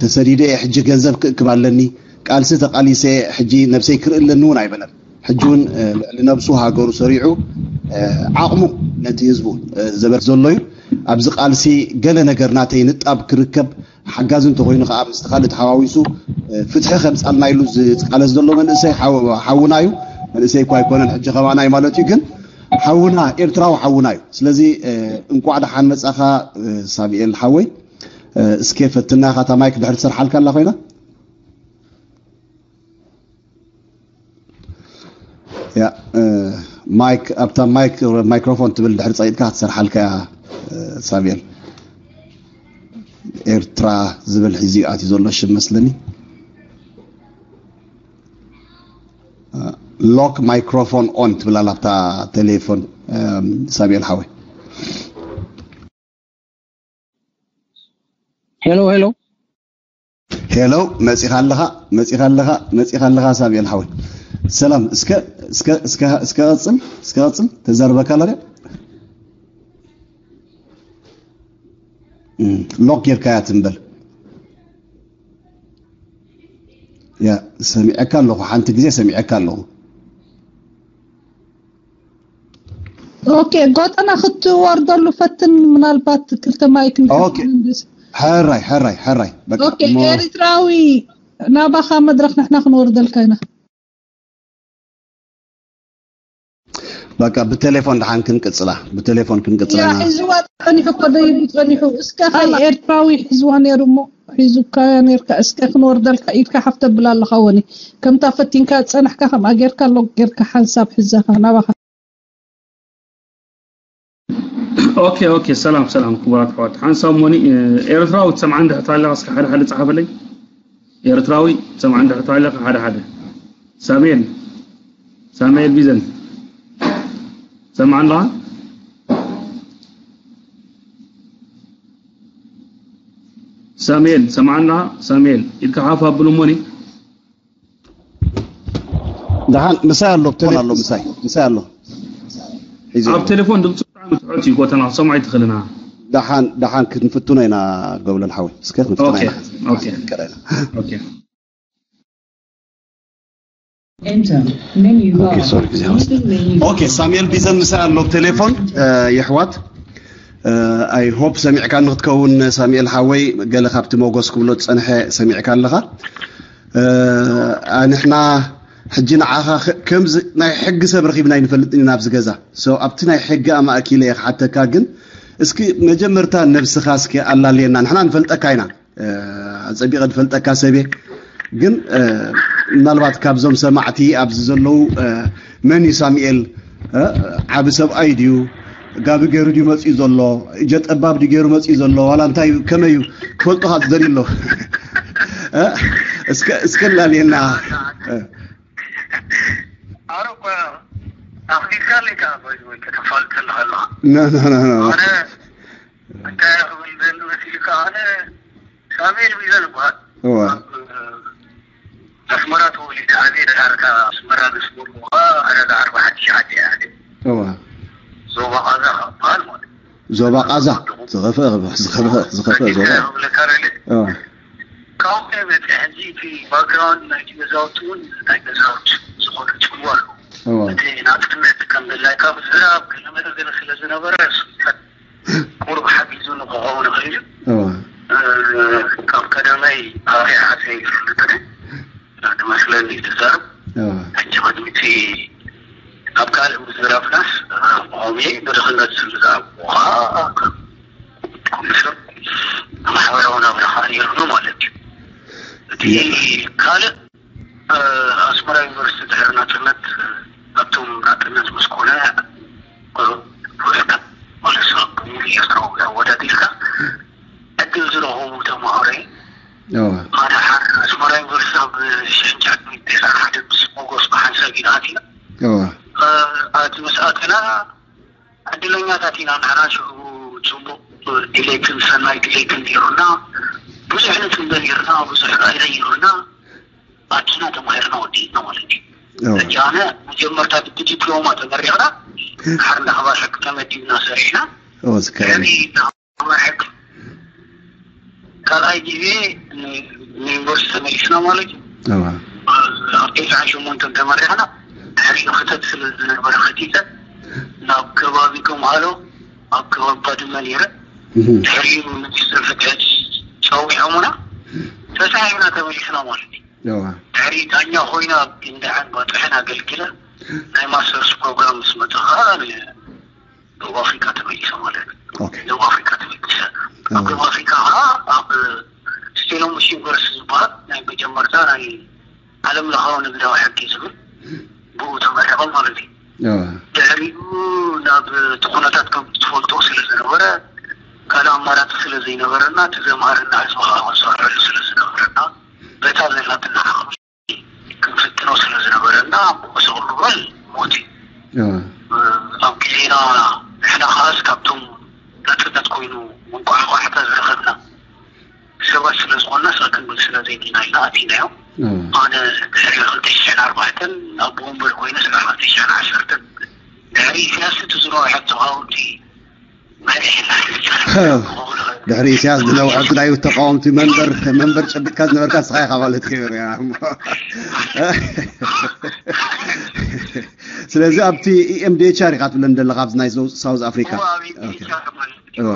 ተሰዲደ ሕጂ ገንዘብ ክእክብ ኣለኒ፣ ቃልሲ ተቃሊሰ ሕጂ ነብሰይ ክርኢ ኣለኒ እውን ኣይበለን። ሕጂ እውን ልዕሊ ነብሱ ሃገሩ ሰሪዑ ዓቕሙ ነቲ ህዝቡ ዘበርክት ዘሎ እዩ። ኣብዚ ቃልሲ ገለ ነገር ናተይ ንጣብ ክርከብ ሓጋዚ እንተኮይኑ ከዓ ምስቲ ካልእ ተሓዋዊሱ ፍትሒ ከምፃልና ኢሉ ዝቃለስ ዘሎ መንእሰይ ሓውና እዩ። መንእሰይ እኳ ኣይኮነን ሕጂ ከማና እዩ ማለት እዩ፣ ግን ሓውና ኤርትራዊ ሓውና እዩ። ስለዚ እንቋዕ ደሓን መፃኻ ሳሙኤል ሓወይ። እስከ ፈትና ኢኻ እታ ማይክ ድሕር ትሰርሓልካ ኣላ ኮይና ያ ማይክ ኣብታ ማይክ ማይክሮፎን ትብል ድሕር ፀቂጥካ ክትሰርሓልካ እያ። ሳሙኤል ኤርትራ ዝብል ሒዚ ኣትዩ ዘሎ ሽም መስለኒ። ሎክ ማይክሮፎን ኦን ትብል ኣላ ኣብታ ቴሌፎን። ሳሙኤል ሓወይ ሄሎ ሄሎ ሄሎ፣ መፂኻ ኣለኻ፣ መፂኻ ኣለኻ፣ መፂኻ ኣለኻ ሳሙኤል ሓወይ። ሰላም፣ እስከ እስከ እስከ እስከ ቀፅል፣ እስከ ቀፅል፣ ተዛርበካ ኣላ ድያ? ሎክ ጌርካያ ትንበል። ያ ሰሚዐካ ኣለኹ፣ ሓንቲ ግዜ ሰሚዐካ ኣለኹ። ኦኬ፣ ጎጠና ክትወርደሉ ፈትን፣ ምናልባት ክልተ ማይክ ኦኬ። ሕራይ ሕራይ ሕራይ በቃ ኦኬ። ኤርትራዊ ናባኻ መድረኽ ንሕና ክንወርደልካ ኢና። በቃ ብቴሌፎን ደሓን ክንቅጽላ፣ ብቴሌፎን ክንቅጽላ ኢና። ሒዝዋ ጸኒሑ እኮ ደይቡ ጸኒሑ። እስከ ኸ ኤርትራዊ ሒዝዋ ነይሩ እሞ ሒዙካ ነይርካ። እስከ ክንወርደልካ ኢድካ ሓፍ ተብል ኣለኻ ወኒ። ከምታ ፈቲንካ ጸናሕካ ከምኣ ጌርካ ሎግ ጌርካ ሓንሳብ ሕዘኻ ናባኻ። ኦኬ ኦኬ ሰላም ሰላም ክቡራት ኣሕዋት ሓንሳብ ሞኒ ኤርትራዊ ትሰምዓኒ እንድሕር ተሃለኻ እስከ ሓደ ሓደ ጸሓፈለይ። ኤርትራዊ ትሰምዓኒ እንድሕር ተሃለኻ ሓደ ሓደ። ሳሙኤል ሳሙኤል ቢዘን ትሰምዓኒ ኣለኻ? ሳሙኤል ትሰምዓኒ ኣለኻ? ሳሙኤል ኢድካ ሓፍ ኣብሉ ሞኒ። ደሓን ምሳይ ኣሎ ብትኾን ኣሎ ምሳይ ምሳይ ኣሎ ሒዙ ኣብ ቴሌፎን ድምፁ ብጣዕሚ ትሑት እዩ ጎተና ክሰምዖ ኣይትኽእልና ደሓን ደሓን ክንፍትኖ ኢና ገብለል ሓወይ እስከ ክንፍትኖ ኦኬ ኢና ኦኬ ይቀረና ኦኬ Enter menu bar. ሶሪ ግዜ ወስደ Using menu ኦኬ ሳሙኤል ቢዘን ምሳይ ኣሎ ቴሌፎን የሕዋት ኣይ ሆፕ ሰሚዕካ ንክትከውን ሳሙኤል ሓወይ ገለ ካብቲ ሞጎስ ክብሎ ዝፀንሐ ሰሚዕካ ኣለኻ ንሕና ሕጂ ንዓኻ ከምዚ ናይ ሕጊ ሰብ ረኺብና ይንፈልጥ ኢና ኣብዚ ገዛ ኣብቲ ናይ ሕጊ ኣማእኪለ እየ ክሓተካ ግን እስኪ መጀመርታ ነብስኻ እስኪ ኣላልየና ንሕና ንፈልጠካ ኢና ኣፀቢቐ ዝፈልጠካ ሰብየ ግን ምናልባት ካብዞም ሰማዕቲ ኣብዚ ዘለዉ መን እዩ ሳሙኤል ዓቢ ሰብኣይ ድዩ ጋቢ ገይሩ ድዩ መፅኡ ዘሎ እጀ ጠባብ ድዩ ገይሩ መፅኡ ዘሎ ዋላ እንታይ ከመይ እዩ ክፈልጦ ካብ ዝደልዩ ኣሎ እስከ ላልየና ኣረ እኮ ኣኽቢድካ ኣለካ ባይዘወይ ከተፋልጥ ከለኻ ኣለኻ ኣነ እንታይ ክብል ደሊ መሲልካ ኣነ ሳሙኤል ሚዛን ይበሃል እዋ ኣስመራ ተወሊደ ኣበይ ድሓር ካብ ኣስመራ ንስጉምካ ዕዳጋ ኣርባዓ ትሽዓተ እያ። እዋ። ዞባ ቃዛ ካብ በሃል ማለት እዩ። ዞባ ቃዛ ዝኸፍአ፣ ዝኸፍአ፣ ዝኸፍአ ዞባ። ክብለካ ደሊ። እዋ። ካብኡ መፅእ ሕጂ እቲ ባክግራውንድ ናይቲ ገዛውቲ እውን ናይ ገዛውቲ ዝኾነ ፅልዋ ኣሎ። እዋ። እቲ ናፅነት ከም ድላይካ ምዝራብ ገለመለ ገለ ስለ ዝነበረ እሱ ቁሩብ ሓጊዙ ንክኸውን ይኽእል እዩ። እዋ። እ፣ ካብ ቀዳማይ ኣርያ ዓፀ ይፈልጥኒ ንመስለኒ ትዛረብ። እዋ። ሕጂ ቅድሚቲ ኣብ ካልእ ምዝራብናስ፣ እ፣ ቆሜ ብድኽነት ዝዛረብ ከዓ ኩሉ ሰብ ማሕበራዊ ናብራ ከዓ ነይሩና ማለት እዩ። እቲ ካልእ ኣስመራ ዩኒቨርሲቲ ድሕሪ ናፅነት፣ ኣብቶም ናፅነት ምስ ኮነ ፖለቲካ ማለት ሰብ ሙሉ ኤርትራዊ ኣወዳዲርካ ዕድል ዝረኸቡ ተምሃሮ እዮም። ኣነ ሓደ ኣስመራ ዩኒቨርሲቲ ኣብ ሽሕን ትሽዓተ ሚእትን ተስዓን ሓደ ምስ ሞጎስ ብሓንሳብ ኢና ኣቲና። ኣቲ ምስ ኣተና ዕድለኛታት ኢና ንሕና። ሽዑ ፅቡቕ ድሌትን ሰናይ ድሌትን ነይሩና። ብዙሕ ንፅበ ነይርና፣ ብዙሕ ራእይ ነይሩና። ኣኪና ተማሂርና ወዲእና ማለት እዩ። ሕጂ ኣነ መጀመርታ ብዲፕሎማ ተመሪቕና ድሓር እንዳ ሓባር ሕጊ ተመዲብና ሰሪሕና። ድሕሪ እንዳ ሓባር ሕጊ ካልኣይ ግዜ ን-፣ ንዩኒቨርሲቲ ተመሊስና ማለት እዩ። ኣብ ተስዓን ሸሞንተን ተመሪቕና። ድሕሪኡ ክተት ስለ ዝነበረ ከቲተ ናብ ከባቢ ከምሃሎ ኣብ ከባቢ ባድመ ነይረ። ድሕሪኡ ሚኒስትሪ ፍትሒ ፀዊዖምና ተሳሒብና ተመሊስና ማለት እዩ። ድሕሪ ዳኛ ኮይና ኣብ ግንዳዕን ባፅሕን ኣገልግለ ናይ ማስተርስ ፕሮግራም ምስ መፀ ከዓ ንደቡብ ኣፍሪካ ተመሊሰ ማለት እዩ። ደቡብ ኣፍሪካ ተመሊሰ ኣብ ደቡብ ኣፍሪካ ከዓ ኣብ ስቴሎንቦሽ ዩኒቨርሲቲ ዝበሃል ናይ መጀመርታ ናይ ዓለም ለኻዊ ንግዳዊ ሕጊ ዝብል ብኡ ተመረቐ ማለት እዩ። ድሕሪኡ ናብ እቲ ኩነታት ከም ትፈልጦ ስለ ዝነበረ ካልእ ኣማራፂ ስለ ዘይነበረና እቲ ዘምሃረና ህዝቢ ከዓ ክንሰርሐሉ ስለ ዝነበረና በታ ዘላትና ዓቕሚ ክንፍትኖ ስለ ዝነበረና ብኡ ዝቕልበል ሞት እዩ። ኣብ ግዜና ንሕና ከዓስ ካብቶም ናፅነት ኮይኑ መንቋዕቋዕታ ዝረኸብና ሰባት ስለ ዝኾንና ስቕ ክንብል ስለ ዘይድልና ኢና ኣቲናዮ። ኣነ ድሕሪ ክልተ ሽሕን ኣርባዕተን ኣብ ወንበር ኮይነ ስጋዕ ክልተ ሽሕን ዓሰርተን ድሕሪ ኢሳያስ እቲ ዝነውሐ ተቓወምቲ መሪሕና። ድሕሪ ኢሳያስ ዝነውሐ ናይ ተቃወምቲ መንበር መንበር ጨቢጥካ ዝነበርካ ንስኻ ኢኻ ማለት እዩ። ስለዚ ኣብቲ ኢኤምዲኤችኣር ኢኻ ትብለን ዘለኻ ኣብዚ ናይ ሳውዝ ኣፍሪካ።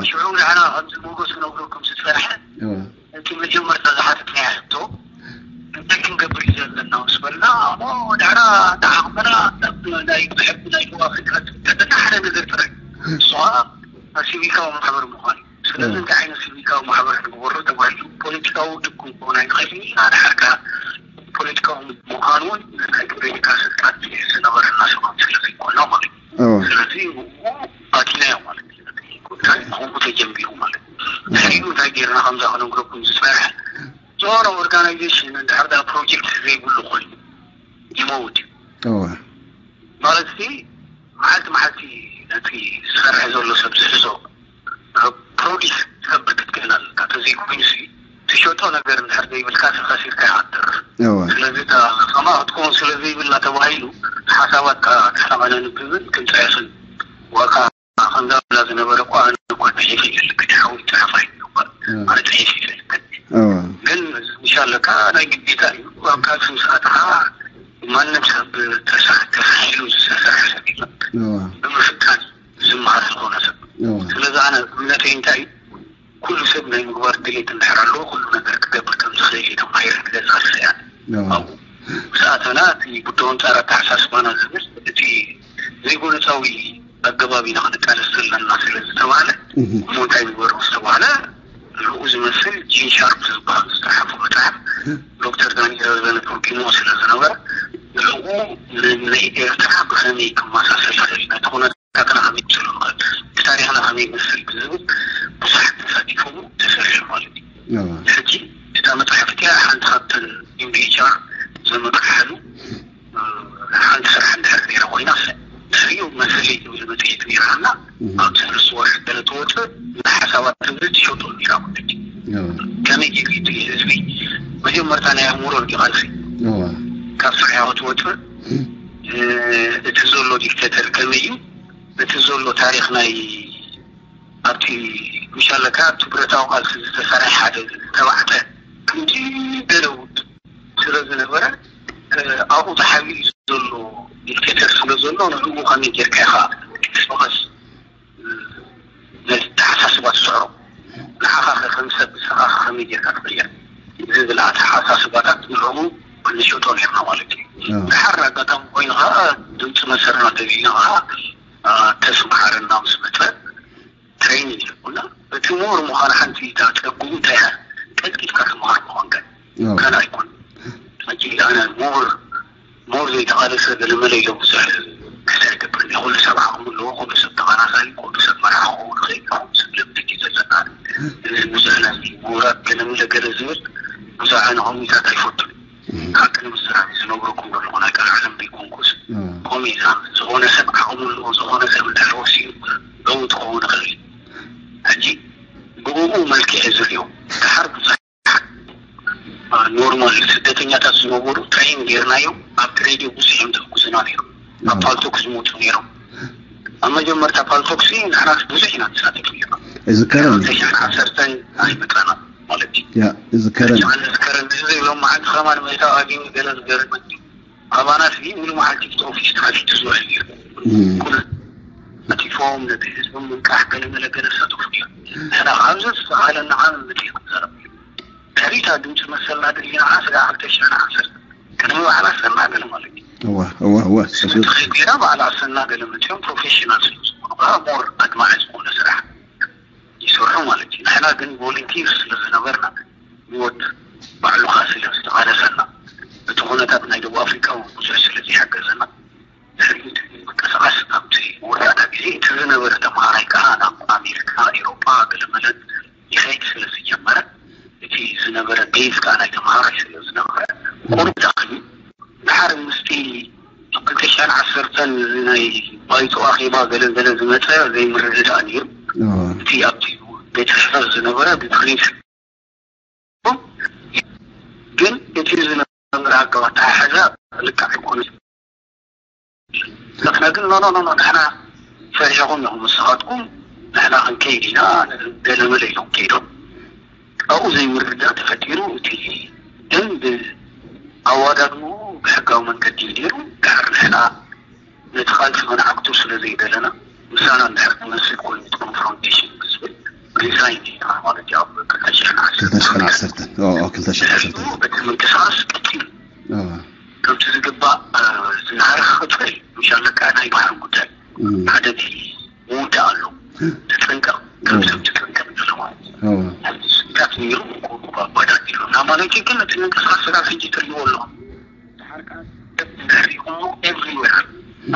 ሽዑ ንሕና ከምዚ ሞጎስ ክነግረኩም ዝፀንሐ እቲ መጀመርታ ዝሓተትናዮ ሕቶ እንታይ ክንገብር እዩ ዘለና ምስ በልና እሞ ድሕራ ንዓቕምና ናብ ናይ ብሕጊ ናይ ደቡብ ኣፍሪካ ዝምልከተና ሓደ ነገር ጥራይ እሱ ከዓ ሲቪካዊ ማሕበር ምዃን እዩ። ስለዚ እንታይ ዓይነት ሲቪካዊ ማሕበር ንግበሮ ተባሂሉ ፖለቲካዊ ውድብ ክንከውን ኣይንኽእልን ኢና። ድሓር ከዓ ፖለቲካዊ ምዃን እውን ናይ ፖለቲካ ስልጣን ዝነበረና ሰባት ስለ ዘይኮና ማለት እዩ። ስለዚ ብኡ ኣቲናዮ ማለት እዩ። እቲ ጉዳይ ብኡ ተጀሚሩ ማለት እዩ። ድሕሪኡ እንታይ ጌርና ከምዛ ክነግረኩም ዝፀንሐ ዝኾነ ኦርጋናይዜሽን እንድሕር ዳ ፕሮጀክት ዘይብሉ ኮይኑ ይመውት እዩ። ማለት ሲ መዓልቲ መዓልቲ ነቲ ዝሰርሐ ዘሎ ሰብ ዝሕዞ ፕሮዲስ ትገብር ክትክእል ኣለካ። ተዘይኮይኑ ሲ ትሸጦ ነገር እንድሕር ዘይብልካ ሲ ከሲርካ ኢኻ ትተርፍ። ስለዚ እታ ከማ ክትከውን ስለ ዘይብላ ተባሂሉ ሓሳባት ንሕና ከነንብብን ክንፅሕፍን ዋካ ከምዛ ብላ ዝነበረ እኮ ኣነ እኮ ፅሒፍ ይፈልግ ሓዊ ፅሕፍ ኣይግባእ ኣነ ፅሒፍ ይፈልግ ግን ምሻለካ ናይ ግዴታ እዩ። ኣብ ቃልሲ ምስ ኣተኻ ማንም ሰብ ተሳ- ተሳሒሉ ዝሰርሕ ሰብ የለን። ብምፍታን ዝመሃር ዝኾነ ሰብ። ስለዚ ኣነ እምነተይ እንታይ እዩ? ኩሉ ሰብ ናይ ምግባር ድሌት እንድሕር ኣለዎ ኩሉ ነገር ክገብር ከም ዝኽእል እዩ ተማሂረ ክገዛ ዝኽእል ኣብኡ ምስ ኣተና እቲ ጉዳዩ ኣንፃር ኣተሓሳስባና ዝብል እቲ ዘይጎነፃዊ ኣገባብ ኢና ክንቃለስ ዘለና ስለ ዝተባህለ እሞ እንታይ ንግበር ምስ ተባህለ ንኡ ዝመስል ጂን ሻርፕ ዝበሃል ዝፀሓፎ መፅሓፍ ዶክተር ዳንኤል ረዘነ ተርጉሞ ስለ ዝነበረ ንኡ ንኤርትራ ብኸመይ ክመሳሰል ይኽእል ነቲ ኩነታትና ከመይ ክስሉ ንኽእል እቲ ታሪኽና ከመይ ይመስል ብዝብል ብዙሓት ተሳቲፎም ተሰሪሑ ማለት እዩ። ሕጂ እታ መፅሓፍ እቲኣ ሓንቲ ካብተን ዩኤንኤችሲኣር ዘመጥሓሉ ሓንቲ ስራሕ እንድሕር ነይራ ኮይና ድሕሪኡ መሰለይ ትብል መፅሄት ነይራና ኣብ ሰለስተ ወርሒ ገለ ትወፅእ ንሓሳባት ትብል ትሸጡ ነይራ ማለት እዩ። ከመይ ጌሩ እቲ ህዝቢ መጀመርታ ናይ ኣእምሮ እንዲ ቃልሲ ካብ ካብ ስርሕኻ ክትወፅእ እቲ ዘሎ ዲክተተር ከመይ እዩ፣ እቲ ዘሎ ታሪኽ ናይ ኣብቲ ምሻለካ ኣብቲ ብረታዊ ቃልሲ ዝተሰርሐ ሓደ ዝተባዕጠ ክንዲ ገለ ውድ ስለ ዝነበረ ኣብኡ ተሓቢኡ ዘሎ ዲክተተር ስለ ዘሎ ንዕኡ ከመይ ጌርካ ኢኻ ክትስበኸስ ነቲ ተሓሳስባ ትስዕሮ ንዓኻ ከም ሰብ ንስኻ ከመይ ጌርካ ትቕየር ዝብል ኣተሓሳስባታት ንዕኡ ክንሸጦ ነርና ማለት እዩ። ድሓር ኣጋጣሚ ኮይኑ ከዓ ድምፂ መሰልና ተቢልና ከዓ ተስምሓረና ምስ መፀ ትሬኒንግ ይብሉና። እቲ ምሁር ምዃን ሓንቲ እታ ጸግኡ እንታይ እያ? ቀልጢፍካ ትምሃር ምዃንካ ካልእ ኣይኮን። ሕጂ ኣነ ምሁር ምሁር ዘይተቓለሰ ገለመለ ኢሎ ብዙሕ ክሳ ይገብር እየ። ኩሉ ሰብ ዓቕሚ ኣለዎ፣ ኩሉ ሰብ ተቓላሳይ፣ ኩሉ ሰብ መራሒ ክኸውን ይኽእል እዩ። ኩሉ ሰብ ልምዲ እዩ ዘለና። እዚ ብዙሕ ናይ ምሁራት ገለመለ ገለ ዝብል ብዙሕ ኣነ ከምኡታት ኣይፈቱን። ሓቂ ንምዝራብ ዝነግረኩም ዘለኹ ናይ ቃል ዓለም ዘይኮንኩስ ከምኡ ኢላ ዝኾነ ሰብ ዓቕሚ ኣለዎ፣ ዝኾነ ሰብ እንድሕር ወሲኑ ለውጢ ክኸውን ይኽእል እዩ። ሕጂ ብእኡ መልክዕ ዝሪኦ ድሓር ብዙሕ ኖርማል ስደተኛታት ዝነበሩ ትሬን ጌርናዮም ኣብቲ ሬድዮ ብዙሕ እዮም ዝሕግዙና ነይሮም። ኣብ ፓልቶክ ዝመፁ ነይሮም። ኣብ መጀመርታ ፓልቶክሲ ንሕና ብዙሕ ኢና ንሳተፍ ነይርና። እዝከረኒ። ክልተ ሽሕን ዓሰርተን ኣይመፃና ማለት እዩ። ያ እዝከረኒ። ኣነ ዝከረኒ እዚ ሎም መዓልቲ ከማን መእታው ኣግኝ ገለ ዝገርመኒ ኣባና ሲ ሙሉ መዓልቲ እቲ ኦፊስ ተኸፊቱ ዝውዕል ነይሩ። ኩሉ ኣቲፎም ነቲ ህዝቢ ምንቃሕ ገለ መለ ገለ ዝሳተፉ ነይሩ። ንሕና ኣብዚ ዝተኻለና ዓም ምድሪ ክንዛረብ ነይሩ። ድሕሪታ ድምፂ መሰልና ድልየና ስጋ ክልተ ሽሕን ዓሰርተ ቅድሚ በዓል ኣሰና ገለ ማለት እዩ። እዋ እዋ እዋ ስምቲ ከይገይራ በዓል ኣሰና ገለ መፅኦም ፕሮፌሽናል ስለ ዝኾኑ ከዓ ሞር ኣድማዒ ዝኾነ ስራሕ ይሰርሑ ማለት እዩ። ንሕና ግን ቮለንቲር ስለ ዝነበርና ህይወት ባዕሉኻ ስለ ዝተቓለሰና እቲ ኩነታት ናይ ደቡብ ኣፍሪቃ እውን ብዙሕ ስለ ዘይሓገዘና ድሕሪኡ ምንቅስቓስ ኣብቲ መወዳእታ ግዜ እቲ ዝነበረ ተምሃራይ ከዓ ናብ ኣሜሪካ፣ ኤውሮጳ ገለመለ ይኸይድ ስለ ዝጀመረ እቲ ዝነበረ ቤዝ ከዓ ናይ ተምሃራይ ስለ ዝነበረ ቁሩብ ደኺሙ። ድሓር ምስቲ ክልተ ሽሕን ዓሰርተን እዚ ናይ ባይቶ ኣኼባ ገለ ገለ ዝመፀ ዘይምርድዳእ ነይሩ። እቲ ኣብቲ ቤተ ጽሕፈት ዝነበረ ብፕሪንስ ግን እቲ ዝነበረ ኣገባብ ኣተሓሕዛ ልክዕ ኣይኮነን። ንሕና ግን ኖ ኖ ኖ ንሕና ፈሪሕኹም ኢኹም ንስኻትኩም ንሕና ክንከይድ ኢና ገለመለ ኢሎም ከይዶም። ኣብኡ ዘይምርድዳእ ተፈጢሩ እቲ ደንብ ኣዋዳድኡ ብሕጋዊ መንገዲ እዩ ነይሩ። ድሕር ንሕና ነቲ ቃልሲ ክንዓግቶ ስለ ዘይደለና ምሳና እንድሕር ክመስል ኮይኑ እቲ ኮንፍሮንቴሽን ብዝብል ሪዛይን ጌርና ማለት እዩ ኣብ ክልተ ሽሕን ዓሰርተን። ክልተ ሽሕን ዓሰርተን። ኦ፣ ኦ፣ ክልተ ሽሕን ዓሰርተን። ድሕሪኡ እቲ ምንቅስቃስ ቀፂሉ። ኦ። ከምቲ ዝግባእ ዝናረኸ ክፅል ምሻለካ ናይ ባህሪ ጉዳይ እም። ሓደ እቲ ምውዳእ ኣሎ። ተጠንቀቕ፣ ከም እም። ሰብ ተጠንቀቕ ዘሎ ማለት እዩ። እም። ኣብዚ ስጋት ነይሩ፣ ኮ-፣ ኮ-፣ ባዳት ነይሩ። እና ማለት ግን እቲ ምንቅስቃስ ስጋት ሕጂ ትርእይዎ ኣለኹም። ድሕሪኹም ኤቭሪዌር።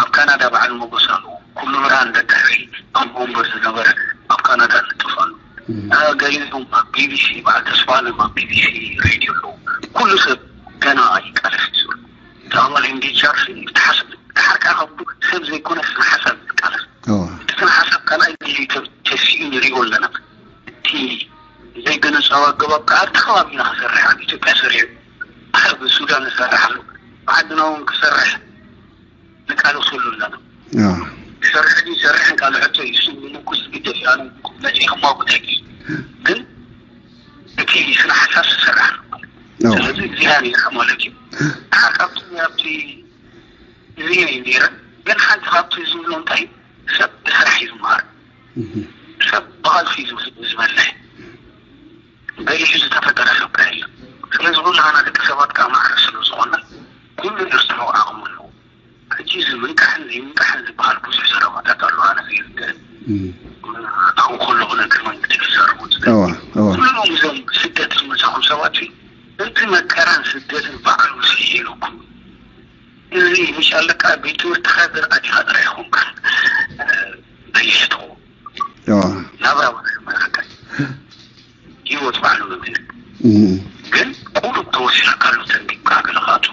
ኣብ ካናዳ በዓል ሞገስ ኣለዎ። ኩሉ ብርሃን ደድሕሪ ኣብ ወንበር ዝነበረ ኣብ ካናዳ ንጥፍ ኣሎ። እም። አ፣ ገሊኦም ኣብ ቢ ቢ ሲ፣ በዓል ተስፋ ኣለም ኣብ ቢ ቢ ሲ ሬድዮ ኣለዉ። ኩሉ ሰብ ገና ይቃለስ እዩ ዘሎ። እቲ ኣባል ኤም ዲ ኤች ኣር ሲ ብትሓስ-፣ ብትሓር ከኣ ካብ ሰብ ዘይኮነ ስነ ሓሳብ እዩ ዝቃለስ። እዋ። እቲ ስነ ሓሳብ ካልኣይ ግዜ ተ-፣ ተሲኡ ንሪኦ ኣለና። እቲ ዘይገነጻዊ ኣገባብ ከኣ ኣብቲ ከባቢና ክሰርሕ፣ ኣብ ኢትዮጵያ ሰሪሑ፣ ኣብ ሱዳን ዝሰርሕ ኣሎ። ብዓድና እውን ክሰርሕ ንቃለሰሉ ኣለና። እዋ። ክሰርሕ ድዩ ይሰርሕ እንቃልሐቶ እዩ። እሱ ምንኩስ ግደፍ እዩ። ኣነ መጺእ ክማጉት ኣይክእል። ግን እቲ ስነ ሓሳብ ዝሰርሕ ኣሎ። እዋ። ስለዚ እዚኣ ነይራ ማለት እዩ። ካብቲ ኣብቲ እዚ እዩ ነይረ። ግን ሓንቲ ካብቲ ዝብሎ እንታይ ሰብ ብስራሕ እዩ ዝመሃር። እህ። ሰብ ብቓልሲ እዩ ዝብ-፣ ዝበልሕ። በሊሑ ዝተፈጠረ ሰብ ከ የለን። ስለዚ ኩላህና ደቂ ሰባት ከዓ ማዕረ ስለ ዝኾነ ኩሉ ነስተውዕል ዓቕሙ ኣለዎ። ሕጂ እዚ ምንቃሕን ዘይምንቃሕን ዝበሃል ብዙሕ ዘረባታት ኣሎ። ኣነ ዘይርድእ። እም። ኣብኡ ከለኹ ነቲ መንግስቲ ክዛረቡ ዝደሊ። እዋ፣ እዋ። ኩሎም እዞም ስደት ዝመጻኹም ሰባት እዚ መከራን ስደትን ባዕሉ ስሒሉኩም እዚ ምሽ ኣለካ ቤት ትምህርቲ ኻድር ኣዲኻ ጥራይ ኾንካ በሊሕ ትኸውን። እዋ። ናብራ ወደ መረከት ህይወት ባዕሉ መምህር። እም። ግን ቁሩብ ተወሲኽካ ኣሎ ተንቢብካ ገለ ኻቱ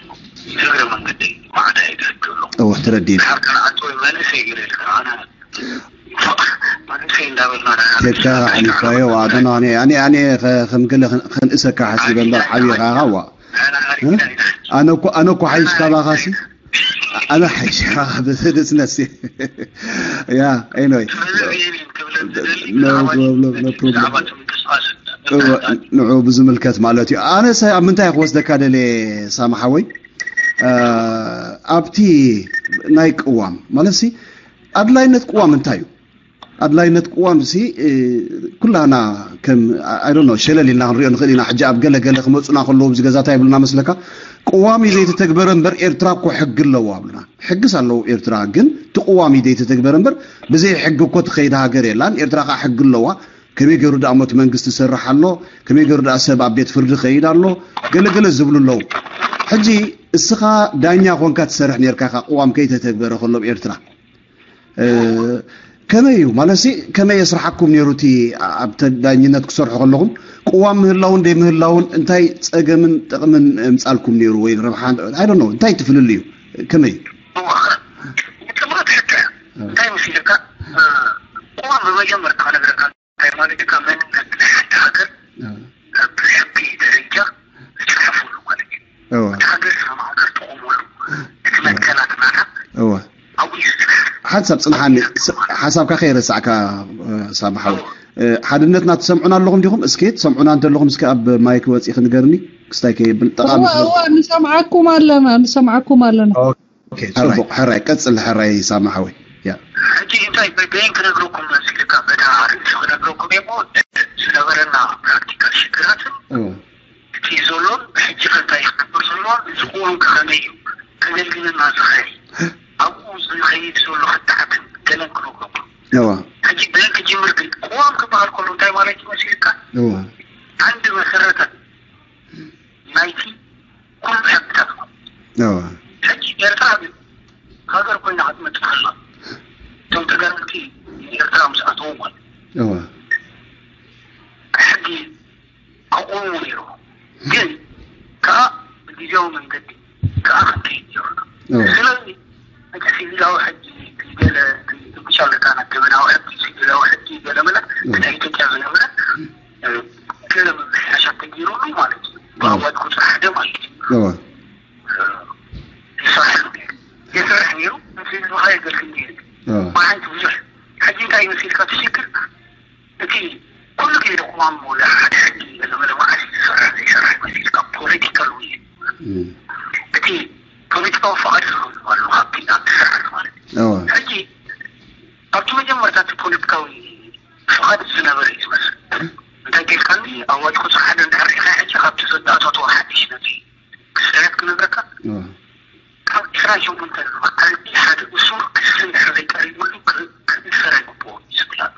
እግረ መንገደይ ማዕዳ ይገድ ኣሎ። እዋ፣ ተረዲእ። ድሓር ካልኣት ወይ መንእሰይ ገለ ኢልካ ኣነ መንእሰይ እንዳበልና ና-፣ ቴካ ኣሕሊፋዮ፣ ዋ፣ ኣነ፣ ኣነ፣ ኣነ፣ ኣነ ኸ-፣ ከም ገለ ኸን-፣ ኸንእሰካ ሓሲበ እምበር ዓብኻ ኸዋ። ኣነ ኣሪፍና ኢና። ኣነ እኮ ኣነ እኮ ሓይሽ ካባኻሲ ኣነ ሓይሽ ካባኻ ብስነሲ ያ ኤኖይ no problem no problem ንዑ ብዝምልከት ማለት እዩ ኣነ ኣብ ምንታይ ክወስደካ ደለ ሳማ ሓወይ ኣብቲ ናይ ቅዋም ማለት ሲ ኣድላይነት ቅዋም እንታይ እዩ ኣድላይነት ቅዋም ሲ ኩላና ከም ኣይ ዶንት ኖ ሸለል ኢልና ክንሪኦ ንኽእል ኢና ሕጂ ኣብ ገለ ገለ ክመፁና ከለዉ ኣብዚ ገዛ እንታይ ይብሉና መስለካ ቅዋም እዩ ዘይተተግበረ እምበር ኤርትራ እኮ ሕጊ ኣለዎ ኣብሉና ሕግስ ኣለዎ ኤርትራ ግን እቲ ቅዋም እዩ ዘይተተግበረ እምበር ብዘይ ሕጊ እኮ ትኸይድ ሃገር የላን ኤርትራ ከዓ ሕጊ ኣለዋ ከመይ ገይሩ ደኣ እሞ እቲ መንግስቲ ይሰርሕ ኣሎ ከመይ ገይሩ ደኣ ሰብ ኣብ ቤት ፍርዲ ይኸይድ ኣሎ ገለ ገለ ዝብሉ ኣለዉ ሕጂ እስኻ ዳኛ ኮንካ ትሰርሕ ነርካ ኢኻ ቅዋም ከይተተግበረ ከሎ ኣብ ኤርትራ ከመይ እዩ ማለት ከመይ የስርሓኩም ነይሩ እቲ ኣብ ዳኝነት ክሰርሑ ከለኹም ቅዋም ምህላውን ደይ ምህላውን እንታይ ፀገምን ጥቕምን ምፃልኩም ነይሩ ወይ ረብሓ I don't know እንታይ ትፍልል እዩ ከመይ ጥምረት ሕቶ እንታይ ምስ ኢልካ ቅዋም ብመጀመርታ ክነግረካ እንታይ ማለት እዩ ካብ መንነት ናይ ሓንቲ ሃገር ብሕጊ ደረጃ ዝፅሓፈሉ ማለት እዩ። እቲ ሃገር ስርናዕ ገርጥቑምሉ እቲ መትከላት ናታ ኣብኡ እዩ ዝፅናሕ። ሓንሳብ ፅንሓኒ ሓሳብካ ከይረሳዕካ ሳማ ሓወይ ሓድነትና ትሰምዑና ኣለኹም ዲኹም? እስኪ ትሰምዑና እንተለኹም እስኪ ኣብ ማይክ ወፂኺ ንገርኒ ክስታይ ከየብል ጠቓሚ እወ እወ ንሰምዓኩም ኣለና ንሰምዓኩም ኣለና። ጽቡቕ ሕራይ ቀጽል ሕራይ ሳማ ሓወይ። ሕጂ እንታይ በይን ክነግረኩም መሲልካ በታ ርእሲ ክነግረኩም እየ እሞ ዝነበረና ፕራክቲካል ሽግራትን እቲ ዘሎን ብሕጂ ከ እንታይ ክገብር ዘሎን እዚ ቅዋም ከ ከመይ እዩ ከገልግለና ዝኽእል ኣብኡ ዝኸይድ ዘሎ ክትዓትን ገለን ክነግረኩም ሕጂ በይን ክጅምር ግን ቅዋም ክበሃል ከሎ እንታይ ማለት እዩ መሲልካ ዓንዲ መሰረተን ናይቲ ኩሉ ሕግታት ማለት እዩ። ሕጂ ኤርትራ ግን ሃገር ኮይና ክትመፅእ ከላ እቶም ተጋደልቲ ንኤርትራ ምስ ኣተዉ ማለት እዩ። ሕጊ ከቑሙ ነይሩ ግን ከዓ ብግዜያዊ መንገዲ ከዓ ክንከይድ ነይሩና። ስለዚ እቲ ሲቪላዊ ሕጊ ገለ ትብሻ ኣለካ ናብ ገበናዊ ሕጊ ሲቪላዊ ሕጊ ገለ መለ ናይ ኢትዮጵያ ዝነበረ ገለ ምምሕያሻት ተገይሩሉ ማለት እዩ። ብኣዋጅ ቁፅሪ ሓደ ማለት እዩ። ይሰርሕ ነይሩ። ይሰርሕ ነይሩ። ህዝብኻ የገልግል ነይሩ። ብሓንቲ ብዙሕ ሕጂ እንታይ ይመስልካ እቲ ሽግር እቲ ኩሉ ግዜ ቁማም ወላ ሓደ ሕጊ ገለ መለ መዓስ ዝሰርሕ ዘይሰርሕ ይመስልካ ፖለቲካል ውይይት እቲ ፖለቲካዊ ፍቓድ ዝህብ ኣሎ ካብቲ ኣብቲ ስርዓት ማለት እዩ። ሕጂ ኣብቲ መጀመርታ እቲ ፖለቲካዊ ፍቓድ ዝነበረ እዩ ዝመስል። እንታይ ጌርካኒ ኣዋጅ ቁፅሪ ሓደ እንድሕር ሪኢኻ ሕጂ ካብቲ ዘተኣታተወ ሓድሽ ነቲ ክስታያት ክነግረካ ካብ ዕስራን ሸሞንተን መዓልቲ ሓደ እሱር ክሲ እንድሕር ዘይቀሪብሉ ክእሰር ኣይግብኦን እዩ ዝብል ኣሎ።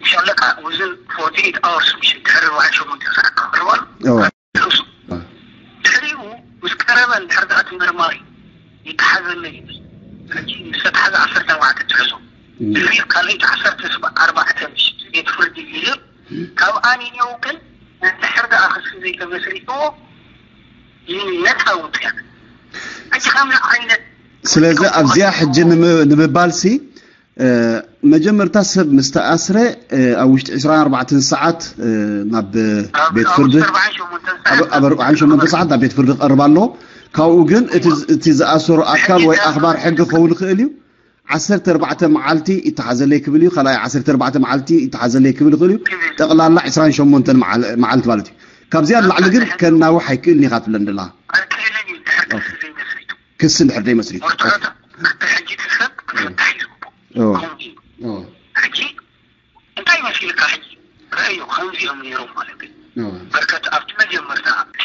ኢንሻላ ከዓ within forty eight hours ምሽ ድሕሪ ኣርባዓን ሸሞንተን ሰዓት ክቐርባሉ ድሕሪኡ ምስ ቀረበ እንድሕር ደኣ እቲ መርማሪ ይተሓዘለይ ይብል ሕጂ ምስ ተተሓዘ ዓሰርተ ኣርባዕተ ትሕዞ ድሕሪኡ ካልኣይቲ ዓሰርተ ኣርባዕተ ምሽ ቤት ፍርዲ ይህብ ካብ ኣንየው ግን እንድሕር ደኣ ክሲ ዘይተመስሪትዎ ነፃ ውፅያ ሕጂ ከምዚ ዓይነት ስለዚ ኣብዚኣ ሕጂ ንምባልሲ መጀመርታ ሰብ ምስ ተኣስረ ኣብ ውሽጢ ዕስራን ኣርባዕተን ሰዓት ናብ ቤት ፍርዲ ኣብ ኣርባዓን ሸሞንተ ሰዓት ናብ ቤት ፍርዲ ክቐርብ ኣለዎ። ካብኡ ግን እቲ ዝኣሰሮ ኣካል ወይ ኣኽባር ሕጊ ክኸውን ይኽእል እዩ። ዓሰርተ ኣርባዕተ መዓልቲ ይተሓዘለይ ክብል እዩ። ካልኣይ ዓሰርተ ኣርባዕተ መዓልቲ ይተሓዘለይ ክብል ይኽእል እዩ። ጠቕላላ ዕስራን ሸሞንተን መዓልቲ ማለት እዩ። ካብዚኣ ንላዕሊ ግን ከናውሕ ኣይክእልን ኢኻ ትብለን ደላ። ክሲ እንድሕር ዘይመስሪቱ ክሲ እንድሕር ዘይመስሪቱ ሕጂ እቲ ሰብ ክፍታሕ እዩ ዝግብኦ። ከምኡ እዩ። ሕጂ እንታይ መሲልካ ሕጂ ረአዮ ከምዚ እዮም ነይሮም ማለት እዩ። በርከት ኣብቲ መጀመርታ እቲ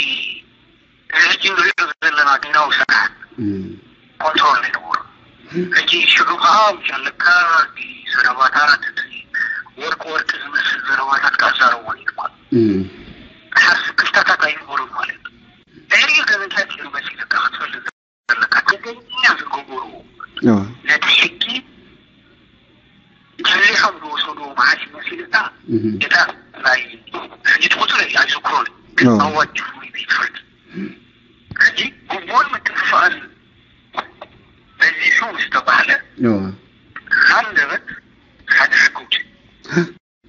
እዚ ሕጂ ንሪኦ ዘለና ዲናዊ ስርዓት ኮንትሮል ኣይነበሩ። ሕጂ ሽዑ ከዓ ኣለካ ዘረባታት እቲ ወርቂ ወርቂ ዝመስል ዘረባታት ክኣዛረቦ ነይሩ ማለት ሓስ ክፍታታት ኣይነበሩን ማለት እዩ። ድሕሪኡ ግን እንታይ ገይሩ መሲልካ ክትፈልጥ ዘለካ ትግርኛ ዝገበሩ ነቲ ሕጊ ጀሊሖም ዝወሰድዎ መዓስ ይመስልካ እታ ናይ ሕጂ ትቁፅር ኣይዝክሮን ግን ኣዋጅ ፍሉይ ቤት ፍርዲ ሕጂ ግቡን ምትፍፋእን በዚሑ ምስ ተባህለ ሃንደበት ሓደ ሕጊ ውፅእ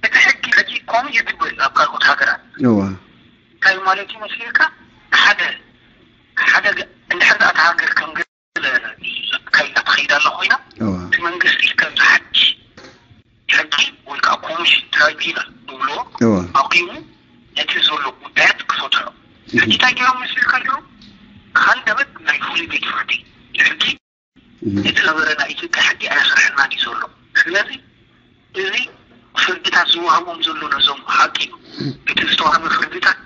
እቲ ሕጊ ሕጂ ከምኡ እዩ ዝብል ኣብ ካልኦት ሃገራት እንታይ ማለት እዩ መሲልካ ሓደ ኢልካ ዝሓድሽ ሕጊ ወይ ከዓ ኮሚሽን ትራይቢናል ንብሎ ኣቂሙ ነቲ ዘሎ ጉዳያት ክፈትሖ። ሕጂ እንታይ ገይሮም መስልካ ኣለዉ? ሃንደበት ናይ ፍሉይ ቤት ፍርዲ ሕጊ እቲ ነበረ ናይ ኢትዮጵያ ሕጊ ኣያስርሐና ድዩ ዘሎ? ስለዚ እዚ ፍርድታት ዝወሃቦም ዘሎ ነዞም ሓኪም እቲ ዝተዋሃበ ፍርድታት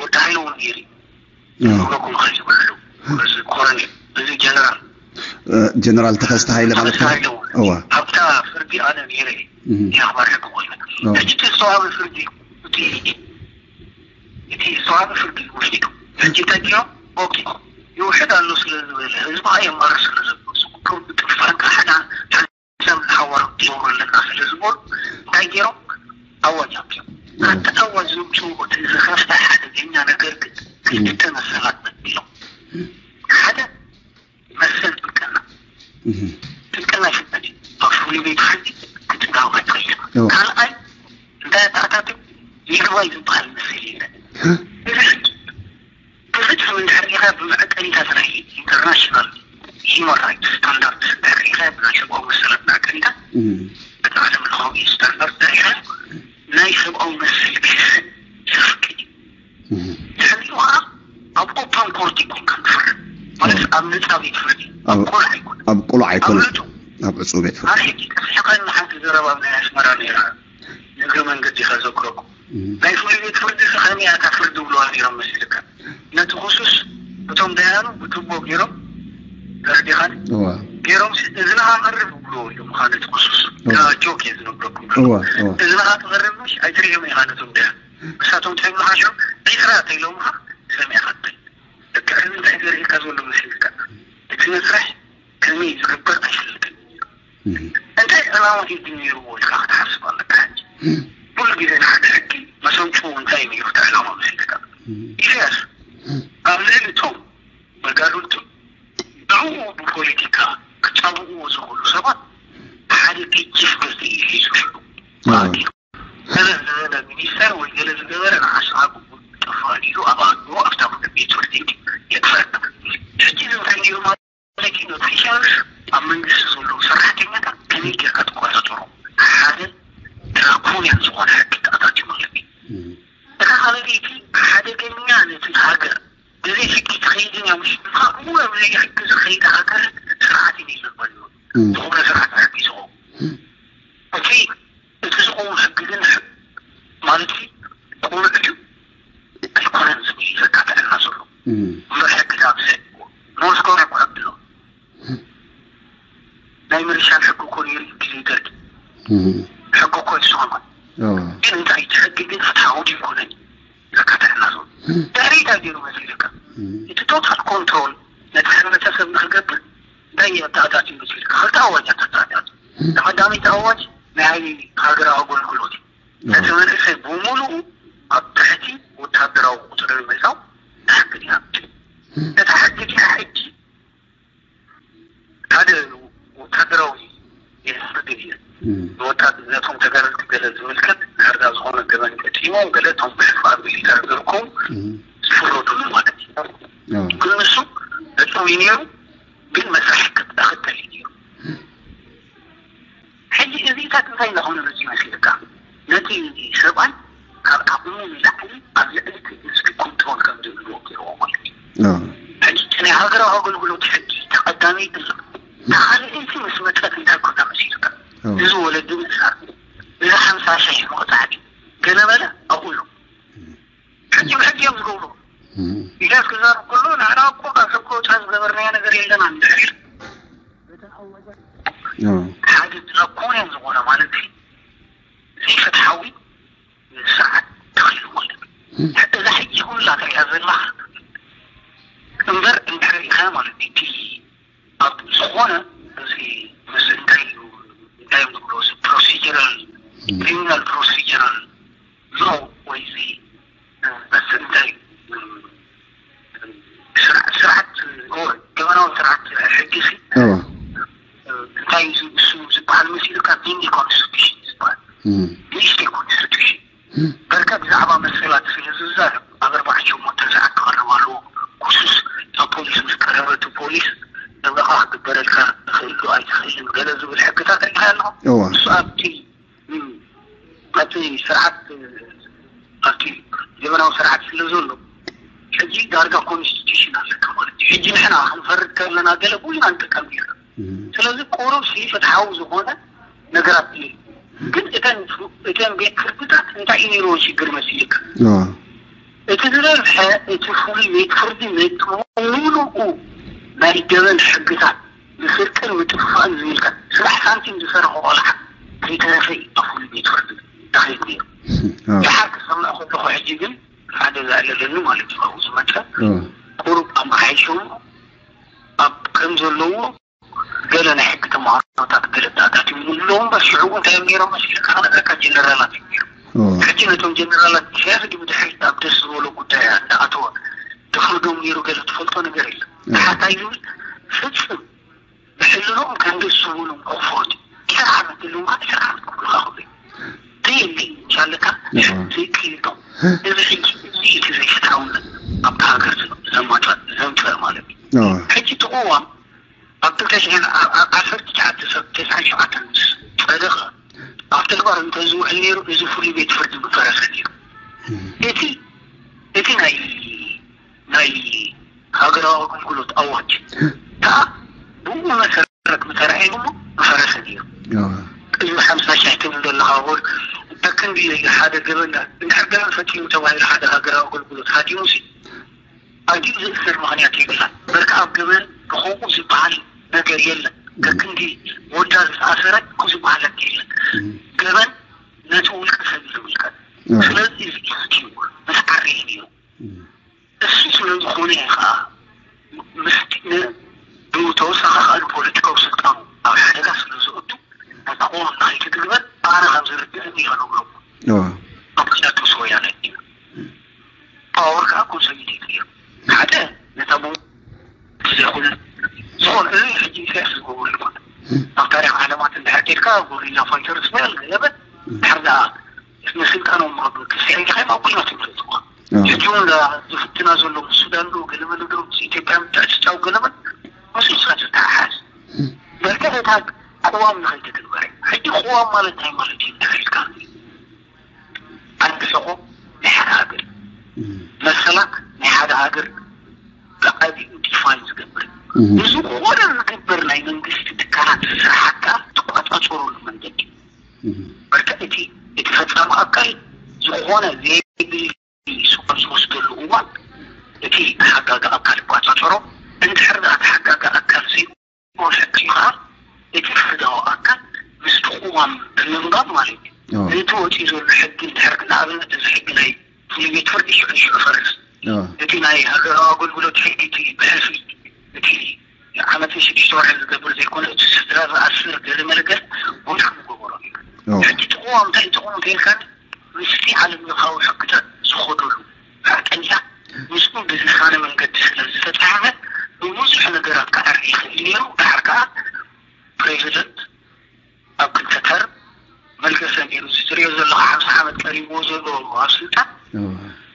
ወዲ ሃይለ እውን ነይሩ ይብለኩም ይኽእል ይብሉ። እዚ ኮሎኔል እዚ ጀነራል ጀነራል ተኸስተ ሃይለ ማለት ነው። ኣብታ ፍርዲ ኣነ ነይረ የኽባር ሕጊ ኮይነ ሕጂ እቲ ዝተዋሃበ ፍርዲ እቲ ዝተዋሃበ ፍርዲ ወሲዱ ሕጂ እንታይ ዲዮም ኦኬ ይውሕድ ኣሎ ስለ ዝበለ ህዝቢ ኣየማርር ስለ ዘሎ እዚ ኩሉ ብጥፋን ካሕዳ ሰብ ሓዋር ክገብሩ ኣለና ስለ ዝበሉ እንታይ ገይሮም ኣዋጅ ኣውፅኦም። ኣብቲ ኣዋጅ ዘውፅኡ እቲ ዝኸፍተ ሓደገኛ ነገር ግን ክልተ መሰላት መዲሎም ሓደ መሰል ጥብቅና ጥብቅና ይፍቀድ እዩ። ኣብ ፍሉይ ቤት ፍርዲ ክትዛወር ትኽእል ኢኻ። ካልኣይ እንታይ ኣተኣታትው ይግባይ ዝበሃል መሰል የለን። እዚ ሕጂ ብፍትሒ እንድሕር ሪኢኻ ብመዐቀኒታት ናይ ኢንተርናሽናል ሂማን ራይትስ ስታንዳርድ እንድሕር ሪኢኻ ብናይ ሰብኣዊ መሰላት መዐቀኒታት እቲ ዓለም ለኻዊ ስታንዳርድ እንድሕር ሪኢኻ ናይ ሰብኣዊ መሰል ክሕሰብ ዘፍቅድ እዩ። ድሕሪኡ ከዓ ኣብ ኦፓን ኮርት ይኮንካ ትፍርድ ማለት ኣብ ነፃ ቤት ፍርዲ ኣብ ቆልዓ ይኮነ ኣብ ቆልዓ ኣይኮነ ኣብ ዕፁ ቤት ፍርዲ። ኣነ ሕጂ ጠፊሕካኒ ሓንቲ ዘረባ ኣብ ናይ ኣስመራ ነይራ ንእግረ መንገዲ ከዘክረኩም ናይ ፍሉይ ቤት ፍርዲ ከመይ እያ እታ ፍርዲ ብለዋ ነይሮም መሲልካ ነቲ ክሱስ እቶም ደያኑ ብቱቦ ገይሮም ተረዲኻኒ ገይሮም እዝንኻ ቀርብ ብሎ ኢሎም ካ ነቲ ክሱስ ጆክ እየ ዝነግረኩም እዝንኻ ትቐርብ ምሽ ኣይትርእዮም ኢኻ ነቶም ደያኑ ንሳቶም እንታይ ይብሉኻ ሽዑ ዒስራ ተኢሎምኻ ሰሚዕኻ ትብል ልክዕ እዚ እንታይ ዘርእየካ ዘሎ መሲልካ እቲ መስርሕ ከመይ ዝግበር ኣይፈልጥን እንታይ ዕላማ እዩ ግን ነይርዎ ኢልካ ክትሓስብ ኣለካ ሕጂ ኩሉ ግዜ ንሓደ ሕጊ መሰንጥሩ እንታይ እዩ ነይሩ እቲ ዕላማ መሲልካ ኢሳያስ ኣብ ልዕሊ እቶም መጋድልቱ ብኡ ብፖለቲካ ክጻብእዎ ዝኽእሉ ሰባት ሓደ ገጅፍ ገዝኢ እዩ ሒዙ ሽዑ ተኣኪቡ ገለ ዝበለ ሚኒስተር ወይ ገለ ዝገበረ ንዓስዓቡ ጠፋእን ኢሉ ኣብ ኣእምሮ ኣብታ ቤት ፍርዲ የጥፈእ ሕጂ እዚ እንታይ ነይሩ ማለት እዩ ነቲ ኢሳያስ ኣብ መንግስቲ ዘለዉ ሰራሕተኛታት ከመይ ጌርካ ትቆጻጸሮ ሓደ ድራኮንያን ዝኾነ ሕጊ ተኣታትዩ ማለት እዩ እታ ካልኣይቲ ሓደገኛ ነቲ ሃገር ብዘይ ሕጊ ትኸይድን እያ ምሽ ምዃኑ ብዘይ ሕጊ ዝኸይድ ሃገር ስርዓት እዩ ይዘበሉ ዝኾነ ስርዓት ሕጊ ዝኸውን እቲ እቲ ዝኸውን ሕጊ ግን ማለት ቁኑዕ እዩ ኣይኮነን ዝብል ዘካተዐና ዘሎ እምበር ሕጊ ካብዚ ኖርዝ ኮርያ ኮ ሕጊ ኣሎ ናይ ምርሻን ሕጊ እኮ ነይሩ ግዜ ደርጊ ሕጊ እኮ ይስሆን ግን እንታይ እቲ ሕጊ ግን ፍትሓዊ ድዩ ይኮነን ዘካተዐና ዘሎ ድሕሪታ ገይሩ መሲልካ እቲ ቶታል ኮንትሮል ነቲ ሕብረተሰብ ንክገብር እንታይ ኣተኣታትዩ መሲልካ ክልተ ኣዋጃት ኣተኣታትዩ ቀዳመይቲ ኣዋጅ ናይ ሃገራዊ ኣገልግሎት እዩ ነቲ መንእሰይ ብምሉኡ ኣብ ትሕቲ ወታደራዊ ቁፅሪ ንምእታው ሕጊ ድያ እቲ ሕጊ ድያ ሕጂ ሓደ ወታደራዊ የፍርድ እዩ ንወታደር ነቶም ተጋደልቲ ገለ ዝምልከት ድሕርዳ ዝኾነ ገበን ፈፂሞም ገለ እቶም ብሕፋር ሚሊተር ዝርከቡ ዝፍረዱሉ ማለት እዩ ግን ንሱ ዕፅው እዩ ነይሩ ግን መስርሕ ክተል እዩ ነይሩ ሕጂ እዚታት እንታይ እንዳኾነ መፂኡ መሲልካ ነቲ ሰብኣይ ካብ ዓቕሙ ንላዕሊ ኣብ ልዕሊ እቲ ህዝቢ ኮንትሮል ከም ዝህልዎ ገይርዎ ማለት እዩ ሕጂ እቲ ናይ ሃገራዊ ኣገልግሎት ሕጊ ተቐዳመይቲ እታ ካልኣይቲ ምስ መፀት እንታይ ኮና መሲልካ እዚ ወለዲ ምእሳር እዚ ሓምሳ ሽሕ ምቕፃዕ ድዩ ገለ በለ ኣብኡ እዩ ሕጂ ብሕጊ እዮም ዝገብሩ ኢሳያስ ክዛረብ ከሎ ንሕና እኮ ካብ ሰብ ከወፃ ዝገበርናዮ ነገር የለና እንድሕር ሓደ ድራኮንያን ዝኾነ ማለት ዘይፍትሓዊ ስርዓት ተኺሉ ማለት እዩ እዛ ሕጂ ኩላ ትሪኣ ዘለኻ እምበር እንድሕር ኢኻ ማለት እዩ እቲ ኣብ ዝኾነ እዚ ምስ እንታይ እዩ እንታይ እዮም ዝብሎ እዚ ፕሮሲጀራል ክሪሚናል ፕሮሲጀራል ሎ ወይ እዚ በስ እንታይ ስርዓት ገበናዊ ስርዓት ሕጊ ሲ እንታይ እዩ እሱ ዝበሃል መሲሉካ ሚኒ ኮንስቲቱሽን ዝበሃል ሚኒስትሪ ኮንስቲቱሽን በርካ ብዛዕባ መሰላት ስለ ዝዛረብ ኣብ ኣርባዕተ ሸሞንተ ሰዓት ክቐርብ ኣለዎ ክሱስ ናብ ፖሊስ ምስ ቀረበ እቲ ፖሊስ ጠበቓ ክግበረልካ ይኽእል ዶ ኣይትኽእልን ገለ ዝብል ሕግታት ተረዲኻ ኣለኻ? እዋ። እሱ ኣብቲ እም፣ ኣብቲ ስርዓት፣ ኣብቲ ዘመናዊ ስርዓት ስለ ዘሎ፣ ሕጂ ዳርጋ ኮንስቲቱሽን ኣለካ ማለት እዩ። ሕጂ ንሕና ክንፈርድ ከለና ገለ ብዙ ንጥቀም ነርና። እም። ስለዚ ቁሩብ ሲ ፍትሓዊ ዝኾነ ነገራት እዩ። ግን እተን ፍ-፣ እተን ቤት ፍርድታት እንታይ እዩ ነይርዎ ሽግር መሲልካ? እዋ። እቲ ዝበዝሐ እቲ ፍሉይ ቤት ፍርዲ ነቲ ምሉኡ ናይ ገበን ሕግታት ንስርቅን ምጥፍፋእን ዝምልከት ስራሕ ሳንቲም ዝሰርሖ ቆልዓ ከይተረፈ እዩ ኣብ ፍሉይ ቤት ፍርዲ ተኸይዱ ነይሩ። እዋ። ደሓር ክሰምዕ ከለኹ ሕጂ ግን ሓደ ዘዕለለኒ ማለት እዩ ካብኡ ዝመፀ እዋ። ቁሩብ ኣመሓይሾም ኣብ ከም ዘለዎ ገለ ናይ ሕጊ ተምሃሮታት ገለ ዳታት ይብሉ ኣለዉ እምበር ሽዑ እውን እንታይ እዮም ነይሮም መሲልካ ክነግረካ ጀነራላት እዮም ነይሮም። እዋ። ሕጂ ነቶም ጀነራላት ኢሳያስ ድሕሪት ኣብ ደስ ዝበሎ ጉዳይ እንዳኣተወ ተፍርዶም ነይሩ ገለ ትፈልጦ ነገር የለን። እዋ። ተሓታይ ዝብል ፍፅም ብሕልኖም ከም ደስ ዝበሎም ክፈርዱ። ዒስራ ዓመት ዘለዎም ከዓ ዒስራ ዓመት ክብሉኻ ክብሉ እዮም። ዘየለ እዩ ምስ ኣለካ እዋ። ዘይክይዶም። እዚ ሕጂ እዚ እቲ ዘይፍትሓውነት ኣብታ ሃገር ዘሎ ዘማፅእ ዘምፅእ ማለት እዩ። እዋ። ሕጂ እቲ ቅዋም ኣብ ክልተ ሽሕን ዓ-፣ ዓ-፣ ዓሰርተ ትሽዓተ ሰብ ተስዓን ሸውዓተን ምስ ጸደቐ፣ ኣብ ተግባር እንተዝውዕል ነይሩ፣ እዚ ፍሉይ ቤት ፍርዲ ምፈረሰ ነይሩ። እም። እቲ፣ እቲ ናይ፣ ናይ ሃገራዊ ኣገልግሎት ኣዋጅ ከኣ ብኡ መሰረት ምተራእየ እሞ ምፈረሰ ነይሩ። ኣዎ። ቅድሚ ሓምሳ ሽሕ ትብል ዘለኻ ወር፣ ከክንዲ ሓደ ገበን፣ እንድሕር ገበን ፈጺሙ ተባሂሉ ሓደ ሃገራዊ ኣገልግሎት ሃዲሙ ሲ፣ ኣድዩ ዝእሰር ምኽንያት የብላን። በርካ ኣብ ገበን ብኸምኡ ዝበሃል ነገር የለን። ከክንዲ ወዳ ዝተኣሰረ እኮ ዝበሃል ነገር የለን። እም። ገበን ነቲ ውልቀ ሰብ እዩ ዝምልከት። ኣዎ። ስለዚ እዚ እዩ መተዓረዪ ነይሩ። እም። እሱ ስለ ዝኾነ እዩ ኸዓ ምስቲ ን-፣ ብተወሳኺ ኸዓ ንፖለቲካዊ ስልጣኑ ኣብ ሓደጋ ስለ ዘእቱ ነታ ቅዋም ንኸይትትግበር ኣነ ከም ዝርድእኒ እዩ ከነግረኩም። ኣዎ። ኣብ ክልተ ወያነ እዩ። ፓወር ከዓ ኮንሶሊዴት ገይሩ። ሓደ ነታ ቡ-፣ ዘይኮነ፣ ዝኾነ፣ እዚ ሕጂ ኢሳያስ ዝገብሮ ይኾነ። ኣብ ታሪኽ ዓለማት እንድሕር ኬድካ፣ ጎሪላ ፋይተርስ በል፣ ገለበል፣ ድሕር ደኣ ንስልጣኖም ኣብ ክስዕን ኢኻ፣ ኣብ ኲናት ይመረጽዋ። ኣዎ። ሕጂ እውን ዝፍትና ዘሎ ምስ ሱዳን ዶ፣ ገለመለ ዶ፣ ምስ ኢትዮጵያ ምትዕጽጻው ገለመል፣ ምስ ንስኻ ዝተሓሓዝ። በርግዕ እታ ቅዋም ንኸይትትግበር። ሕጂ ቅዋም ማለት እንታይ ማለት እዩ እንድሕር ኢልካ? ዓንዲ ሕቖ ናይ ሓደ ሃገር፣ እም። መሰላት ናይ ሓደ ሃገር ብዓቢኡ ዲፋይን ዝገብር እዩ። እም። ንዝኾነ ዝግበር ናይ መንግስቲ ትካላት ስራሓት ከዓ ትቆጻጸረሉ መንገዲ። እም። በቃ እቲ፣ እቲ ፈጻሚ ኣካል ዝኾነ ዘየድሊ ስቕ ኣብ ዝወስደሉ እዋን እቲ ተሓጋጊ ኣካል ይቆጻጸሮ። እንድሕር ደኣ ተሓጋጊ ኣካል ዘይ-፣ ሕጊ ከዓ እቲ ፍርዳዊ ኣካል ምስቲ ቅዋም ብምንባብ ማለት እዩ። ኣዎ። ነቲ ወፂኡ ዘሎ ሕጊ እንድሕር ንኣብነት እዚ ሕጊ ናይ ፍሉይ ቤት ፍርዲ ሽዑ ንሽዑ ፈርስ። ኣዎ። እቲ ናይ ሃገራዊ ኣገልግሎት ሕጊ እቲ ብሕልፊ እቲ ዓመትን ሽዱሽተ ወርሒ ዝገብር ዘይኮነ እቲ ስድራ ዝኣስር ገለ መለገል ወድሓ ምገበሮ እዩ። ኣዎ። ሕጂ እቲ ቅዋም እንታይ ጥቕሙ እንተኢልካኒ ምስቲ ዓለም ለኻዊ ሕግታት ዝኸደሉ ሓቀኛ ምስኡ ብዝሳነ መንገዲ ስለ ዝተፃሕፈ ብብዙሕ ነገራት ክዓሪ ይኽእል ነይሩ። ድሓር ከዓ ፕሬዚደንት ኣብ ክልተ ተርም መልገሰ ነይሩ። እዚ ትሪኦ ዘለኻ ሓምሳ ዓመት ቀሪብዎ ዘሎ ኣብ ስልጣን እዋ።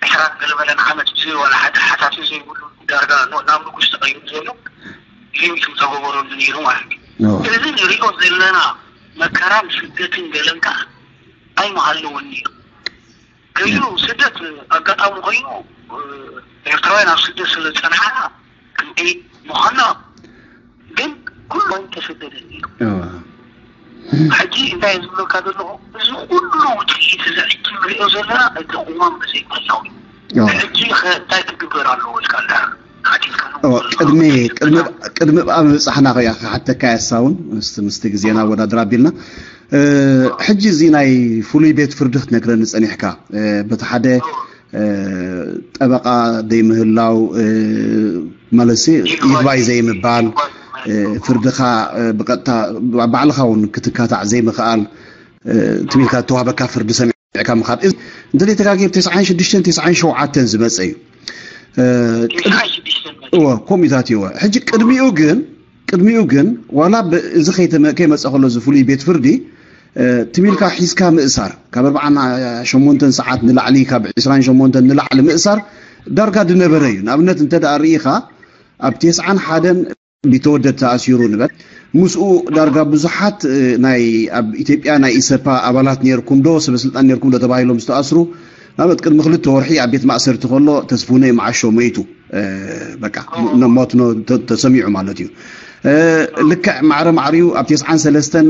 ዕስራን ገለመለን ዓመት ብዘይ ዋላ ሓደ ሓታቲ ዘይብሉ ዳርጋ ኖ-፣ ናብ ንጉስ ተቐይሩ ዘሎ ሊሚት ዝተገበረሉ ነይሩ ማለት እዩ። እዋ። እዚ ንሪኦ ዘለና መከራን ስደትን ገለን ከዓ ኣይምሃለወን ነይሩ። ገሊኡ ስደት ኣጋጣሚ ኮይኑ፣ እ፣ ኤርትራውያን ኣብ ስደት ስለ ዝጸንሓና ክንደይ ምዃንና ግን ኩሉ ኣይተሰደደን ነይሩ። እዋ። ሕጂ እንታይ ዝብለካ ዘለኹ፣ እዚ ኩሉ ውጽኢት እዚ ሕጂ ንሪኦ ዘለና እቲ ቅዋም ብዘይ ምህላው እዩ። እዋ። ሕጂ ኸ እንታይ ክግበር ኣለዎ ኢልካ እንድሕር ሓቲትካ እዋ፣ ቅድሚ፣ ቅድሚ፣ ቅድሚ ኣብኣ ምብጻሕና ኸኣ ክሓተካ እየ፣ ሳውን፣ ምስቲ፣ ምስቲ ግዜና ኣወዳድር ኣቢልና። እ፣ ሕጂ እዚ ናይ ፍሉይ ቤት ፍርዲ ክትነግረኒ ጸኒሕካ፣ እ፣ በቲ ሓደ፣ እ፣ ጠበቓ ዘይምህላው፣ እ፣ ማለትሲ ይግባይ ዘይምባል፣ እ፣ ፍርድኻ፣ እ፣ ብቐጥታ ባዕልኻ እውን ክትካታዕ ዘይምኽኣል፣ እ፣ ትም ኢልካ እተዋህበካ ፍርዲ ሰሚዕካ ምኻድ። እዚ እንተዘይተጋግየ ብ ተስዓን ሽዱሽተን ተስዓን ሸውዓተን ዝመጸ እዩ። እ፣ ቅድ-፣ ተስዓን ሽዱሽተን መጸ። እወ፣ ከምኡታት እዩ። እወ። ሕጂ ቅድሚኡ ግን ቅድሚኡ ግን፣ ዋላ ብ-፣ እዚ ከይተመ-፣ ከይመጸ ከሎ፣ እዚ ፍሉይ ቤት ፍርዲ፣ እ፣ ትም ኢልካ ሒዝካ ምእሳር፣ ካብ ኣርብዓን ሸሞንተን ሰዓት ንላዕሊ፣ ካብ ዕስራን ሸሞንተን ንላዕሊ ምእሳር ዳርጋ ዝነበረ እዩ። ንኣብነት፣ እንተ ደኣ ርኢኻ፣ ኣብ ተስዓን ሓደን ቢተወደድ ተኣሲሩ ንበል፣ ምስኡ ዳርጋ ብዙሓት ናይ ኣብ ኢትዮጵያ ናይ ኢሰፓ ኣባላት ነርኩም ዶ ሰበስልጣን ነርኩም ዶ ተባሂሎም ዝተኣስሩ ናበት ቅድሚ ክልተ ወርሒ ኣብ ቤት ማእሰርቲ ከሎ ተስፉነ መዓሾ መይቱ። በቃ ሞት ተሰሚዑ ማለት እዩ። ልክዕ ማዕረ ማዕሪኡ ኣብ ተስዓን ሰለስተን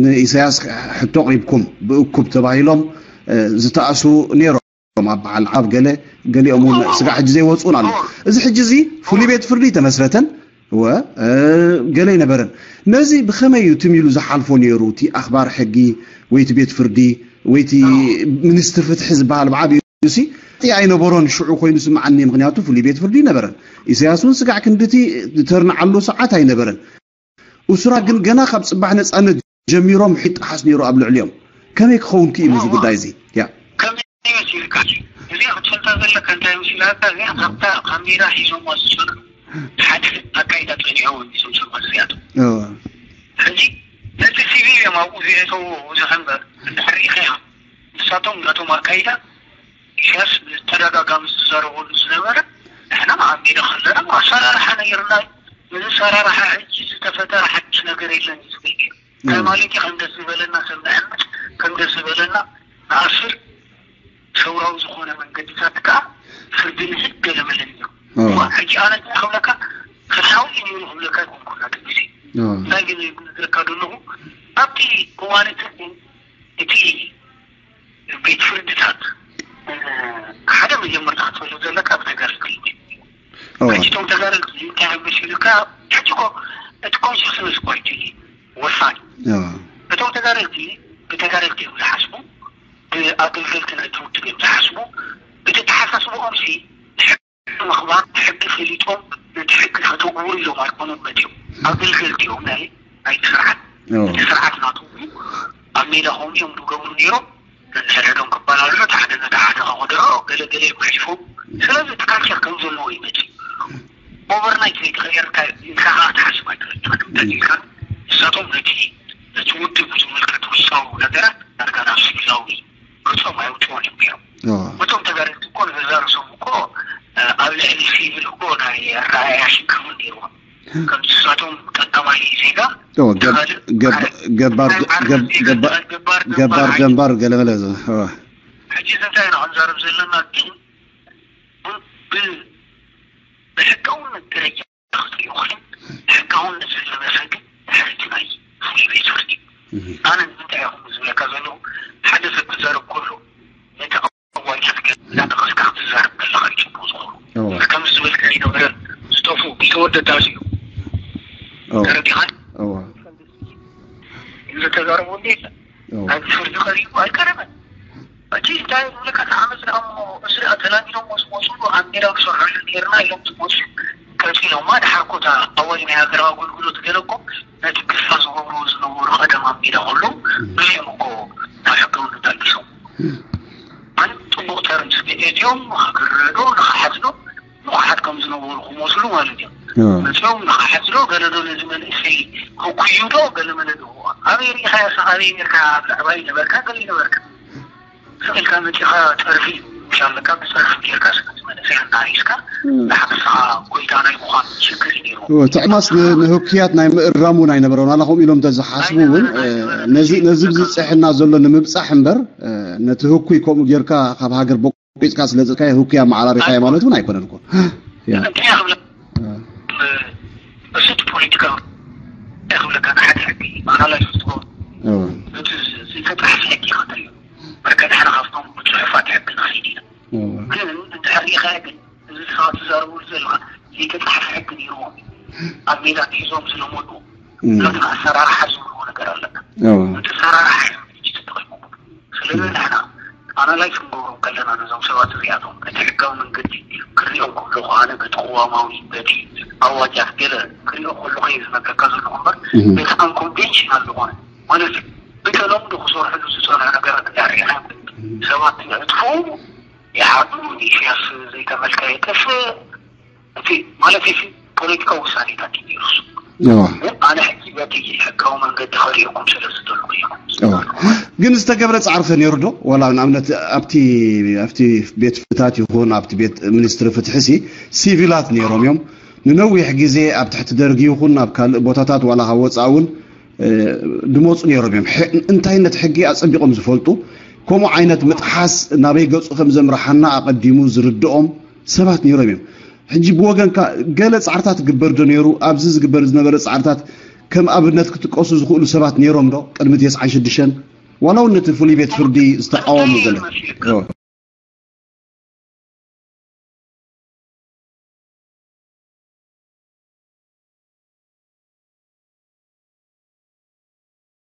ንኢሳያስ ሕቶ ኣቕሪብኩም ብእኩብ ተባሂሎም ዝተኣስሩ ነይሮም። ኣብ በዓል ዓብ ገለ ገሊኦም እውን ስጋዕ ሕጂ ዘይወፁን ኣለዉ። እዚ ሕጂ እዚ ፍሉይ ቤት ፍርዲ ተመስረተን እወ ገለ ኣይነበረን። ነዚ ብኸመይ እዩ ትም ኢሉ ዝሓልፎ ነይሩ? እቲ ኣኽባር ሕጊ ወይ እቲ ቤት ፍርዲ ወይ እቲ ሚኒስትር ፍትሒ ዝበሃል ብዓብዩሲ እቲ ኣይነበሮን። ሽዑ ኮይኑ ስምዓኒ፣ ምክንያቱ ፍሉይ ቤት ፍርዲ ኣይነበረን። ኢሳያስ እውን ስጋዕ ክንድቲ ዝተርንዓሉ ሰዓት ኣይነበረን። እሱራ ግን ገና ካብ ጽባሕ ነጻነት ጀሚሮም ሕጊ ይጠሓስ ነይሩ ኣብ ልዕሊኦም። ከመይ ክኸውን ክኢሉ እዚ ጉዳይ እዚ? ያ ከመይ መሲልካ እዚኣ ክትፈልጣ ዘለካ እንታይ መሲላካ? እዚኣ ካብታ ካብ ሜዳ ሒዞሞ ዝሰዱ ሓደ ኣካይዳ ጸኒዖም እዮም እዞም ሰባት እዚኣቶም። ሕጂ ነቲ ሲቪል እዮም ኣብኡ ዝእተዎ። እዚ ከንበር እንድሕር ርኢኻያ ንሳቶም ናቶም ኣካይዳ ኢሳያስ ብተደጋጋሚ ዝዛረበሉ ዝነበረ ንሕና ኣብ ሜዳ ከለና ኣሰራርሓ ነይርና እዩ። እዚ ኣሰራርሓ ሕጂ ዝተፈጠረ ሓድሽ ነገር የለን እዩ ዝብል ነይሩ። እንታይ ማለት እዩ? ከም ደስ ዝበለና ሰብ ንዕምት፣ ከም ደስ ዝበለና ንኣስር፣ ሰውራዊ ዝኾነ መንገድታት ከዓ ፍርዲ ንህብ ገለመለ ነይሩ። እዋ ሕጂ ኣነ እንታይ ክብለካ ፍትሓዊ እዩ ነይሩ ክብለካ ኣይኮንኩን ናቱ ግዜ። እንታይ ግን ዝብለካ ዘለኹ ኣብቲ እዋን እቲ እቲ ቤት ፍርድታት ሓደ መጀመርታ ክትፈልጥ ዘለካ ብተጋደልቲ እዩ። ሕጂ እቶም ተጋደልቲ እንታይ እዮም መሲሉካ? ሕጂ እኮ እቲ ኮንሽስነስ እኮ እዩ ወሳኒ። እቶም ተጋደልቲ ብተጋደልቲ እዮም ዝሓስቡ፣ ብኣገልገልቲ ናይቲ ውድብ እዮም ዝሓስቡ። እቲ ተሓሳስብኦም ሲ ምኽባር ሕጊ ፈሊጦም ነቲ ሕጊ ከተግብሩ ኢሎም ኣይኮኑን መፂኦም። ኣገልገልቲ እዮም ናይ ናይቲ ስርዓት። እቲ ስርዓት ናቶም እዩ። ኣብ ሜዳ ከምኡ እዮም ዝገብሩ ነይሮም። ነንሕድሕዶም ክበላልዑ፣ እቲ ሓደ ነቲ ሓደ ከኽድዖ፣ ገለ ገለ እዮም ኣሕሊፎም። ስለዚ እቲ ካልቸር ከም ዘለዎ እዩ መፂኡ። ኦቨርናይት ዘይተቐየረ እንታይ ኢልካ ከዓ ትሓስብ ኣይትኽእልን። ኢኻ ተቐይርካ ንሳቶም ነቲ ነቲ ውድብ ዝምልከት ውሽጣዊ ነገራት ዳርጋ ናብ ሲቪላዊ ገጾም ኣየውፅኦን እዮም ነይሮም። እቶም ተጋደልቲ እኮ ንገዛ ርእሶም እኮ ኣብ ልዕሊ ሲቪል እኮ ናይ ኣረኣእያ ሽግር እውን ነይርዎም። ከምቲ ንሳቶም ቀዳማይ ዜጋ ገባር ገባር ገባር ገባር ገለመለ። ሕጂ እዚ እንታይ ኢና ክንዛረብ ዘለና ግን ብሕጋውነት ደረጃ ክትሪኦ ኮይኑ ሕጋውነት ዝለበሰ ግን ድሕሪ እቲ ናይ ፍሉይ ቤት ፍርዲ ኣነ ንምንታይ ኢኹም ዝብለካ ዘለኹ ሓደ ሰብ ክዛረብ ከሎ ነቲ ኣዋጅ እናጠቐስካ ክትዛረብ ከለኻ እዩ ፅቡቅ ዝኾኑ ከምዚ ዝበልካ ይነበረ ዝጠፉ ዝተወደዳ እዩ ተረዲኻን ዝተዛረቡ እንዴት ኣብዚ ፍርዲ ቀሪቡ ኣይቀረበን። ሕጂ እንታይ ዝብለካ እቲ ዓመት ደኣ እሞ እዚ ደኣ ተላሚዶም ምስ መፁ ኣብ ሜዳ ክሰርሐሉ ነይርና ኢሎም ዝመፁ ቀፂሎማ። ድሓር እኮ እታ ኣዋጅ ናይ ሃገራዊ ኣገልግሎት ገለ እኮ ነቲ ግፋ ዝገብርዎ ዝነበሩ ቀደም ኣብ ሜዳ ከለዉ ገሊኦም እኮ ናብ ሕጋውነት ኣልቢሶም ማለት ፅቡቕ ተርምስ እቲኦም ንክግረዶ ንክሓትዶ ንቑሓት ከም ዝነበሩ ክመስሉ ማለት እዮም። መፅኦም ንኽሓትዶ ገለዶ ነዚ መንእሰይ ህኩዩ ዶ ገለመለ ዶ ኣበይ ርኢኻዮ? ኣበይ ነርካ? ኣብ ላዕባይ ነበርካ ገለ ነበርካ ስቕ ኢልካ መፂኻ ፀርፊ ምሽ ኣለካ ብፀርፊ ጌርካ ስነቲ መንእሰይ ኣናሃይስካ ንሓፍስኻ ጎይታ ናይ ምዃን ሽግር እዩ ነይሩ። ትዕማስ ንህኩያት ናይ ምእራም እውን ኣይነበሮን ኣላ ከምኡ ኢሎም እንተዝሓስቡ እውን ነዚ ብዝፅሕና ዘሎ ንምብፃሕ እምበር ነቲ ህኩይ ከምኡ ጌርካ ካብ ሃገር ቂፅካ ስለፅካዮ ህኩይ ኣመዓራሪኻዮ ማለት እውን ኣይኮነን እኮ። እንታይ ክብለ እሱት ፖለቲካ እንታይ ክብለካ ንሓደ ሕጊ ኣናላይዝ ክትገብር እቲ ዝተጣሕሰ ሕጊ ይኸተል እዩ። በርከ ንሕና ካብቶም ብፅሑፋት ሕጊ ንኸይድ ኢና። ግን እንድሕር ሪኢኻዮ ግን እዚ ስኻ ትዛረበሉ ዘለኻ ዘይተፃሕፈ ሕጊ ነይርዎም ኣብ ሜዳ ሒዞም ዝለመዱ ናትና ኣሰራርሓ ዝብልዎ ነገር ኣለና። እቲ ኣሰራርሓ እዮም ድርጅት ተጠቂሞም። ስለዚ ንሕና ኣናላይዝ ክንገብሮም ከለና ነዞም ሰባት እዚኣቶም ነቲ ሕጋዊ መንገዲ ክሪኦም ከለኹ ኣነ በቲ ቅዋማዊ በቲ ኣዋጃት ገለ ክሪኦ ከለኹ እየ ዝነግረካ ዘለኹ እምበር በቲ ኣንኮንቬንሽናል ዝኾነ ማለት እዩ ብተለምዶ ክሰርሕሉ ዝፀንሑ ነገራት እንዳርኢኻ ሰባት ይዕጥፉ ይሓቱ ኢሳያስ ዘይተመልከ የጥፍእ እቲ ማለት እዚ ፖለቲካዊ ውሳኔታት እዩ ነይሩ እሱ። ግን ኣነ ሕጂ በቲ ሕጋዊ መንገዲ ከሪኦኩም ስለ ዝደለኹ እየ። ግን ዝተገብረ ፃዕሪ ከ ነይሩ ዶ? ዋላ ንኣብነት ኣብቲ ኣብቲ ቤት ፍታት ይኹን ኣብቲ ቤት ሚኒስትሪ ፍትሒ ሲ ሲቪላት ነይሮም እዮም። ንነዊሕ ግዜ ኣብ ትሕቲ ደርጊ ይኹን ናብ ካልእ ቦታታት ዋላ ካብ ወፃእ እውን ድመፁ ነይሮም እዮም። እንታይነት ሕጊ ኣፀቢቖም ዝፈልጡ፣ ከምኡ ዓይነት ምጥሓስ ናበይ ገፁ ከም ዘምርሓና ኣቐዲሙ ዝርድኦም ሰባት ነይሮም እዮም። ሕጂ ብወገንካ ገለ ፃዕርታት ግበር ዶ ነይሩ? ኣብዚ ዝግበር ዝነበረ ፃዕርታት ከም ኣብነት ክጥቀሱ ዝኽእሉ ሰባት ነይሮም ዶ? ቅድሚ ተስዓን ሽዱሽተን ዋላ እውን ነቲ ፍሉይ ቤት ፍርዲ ዝተቃወሙ ገለ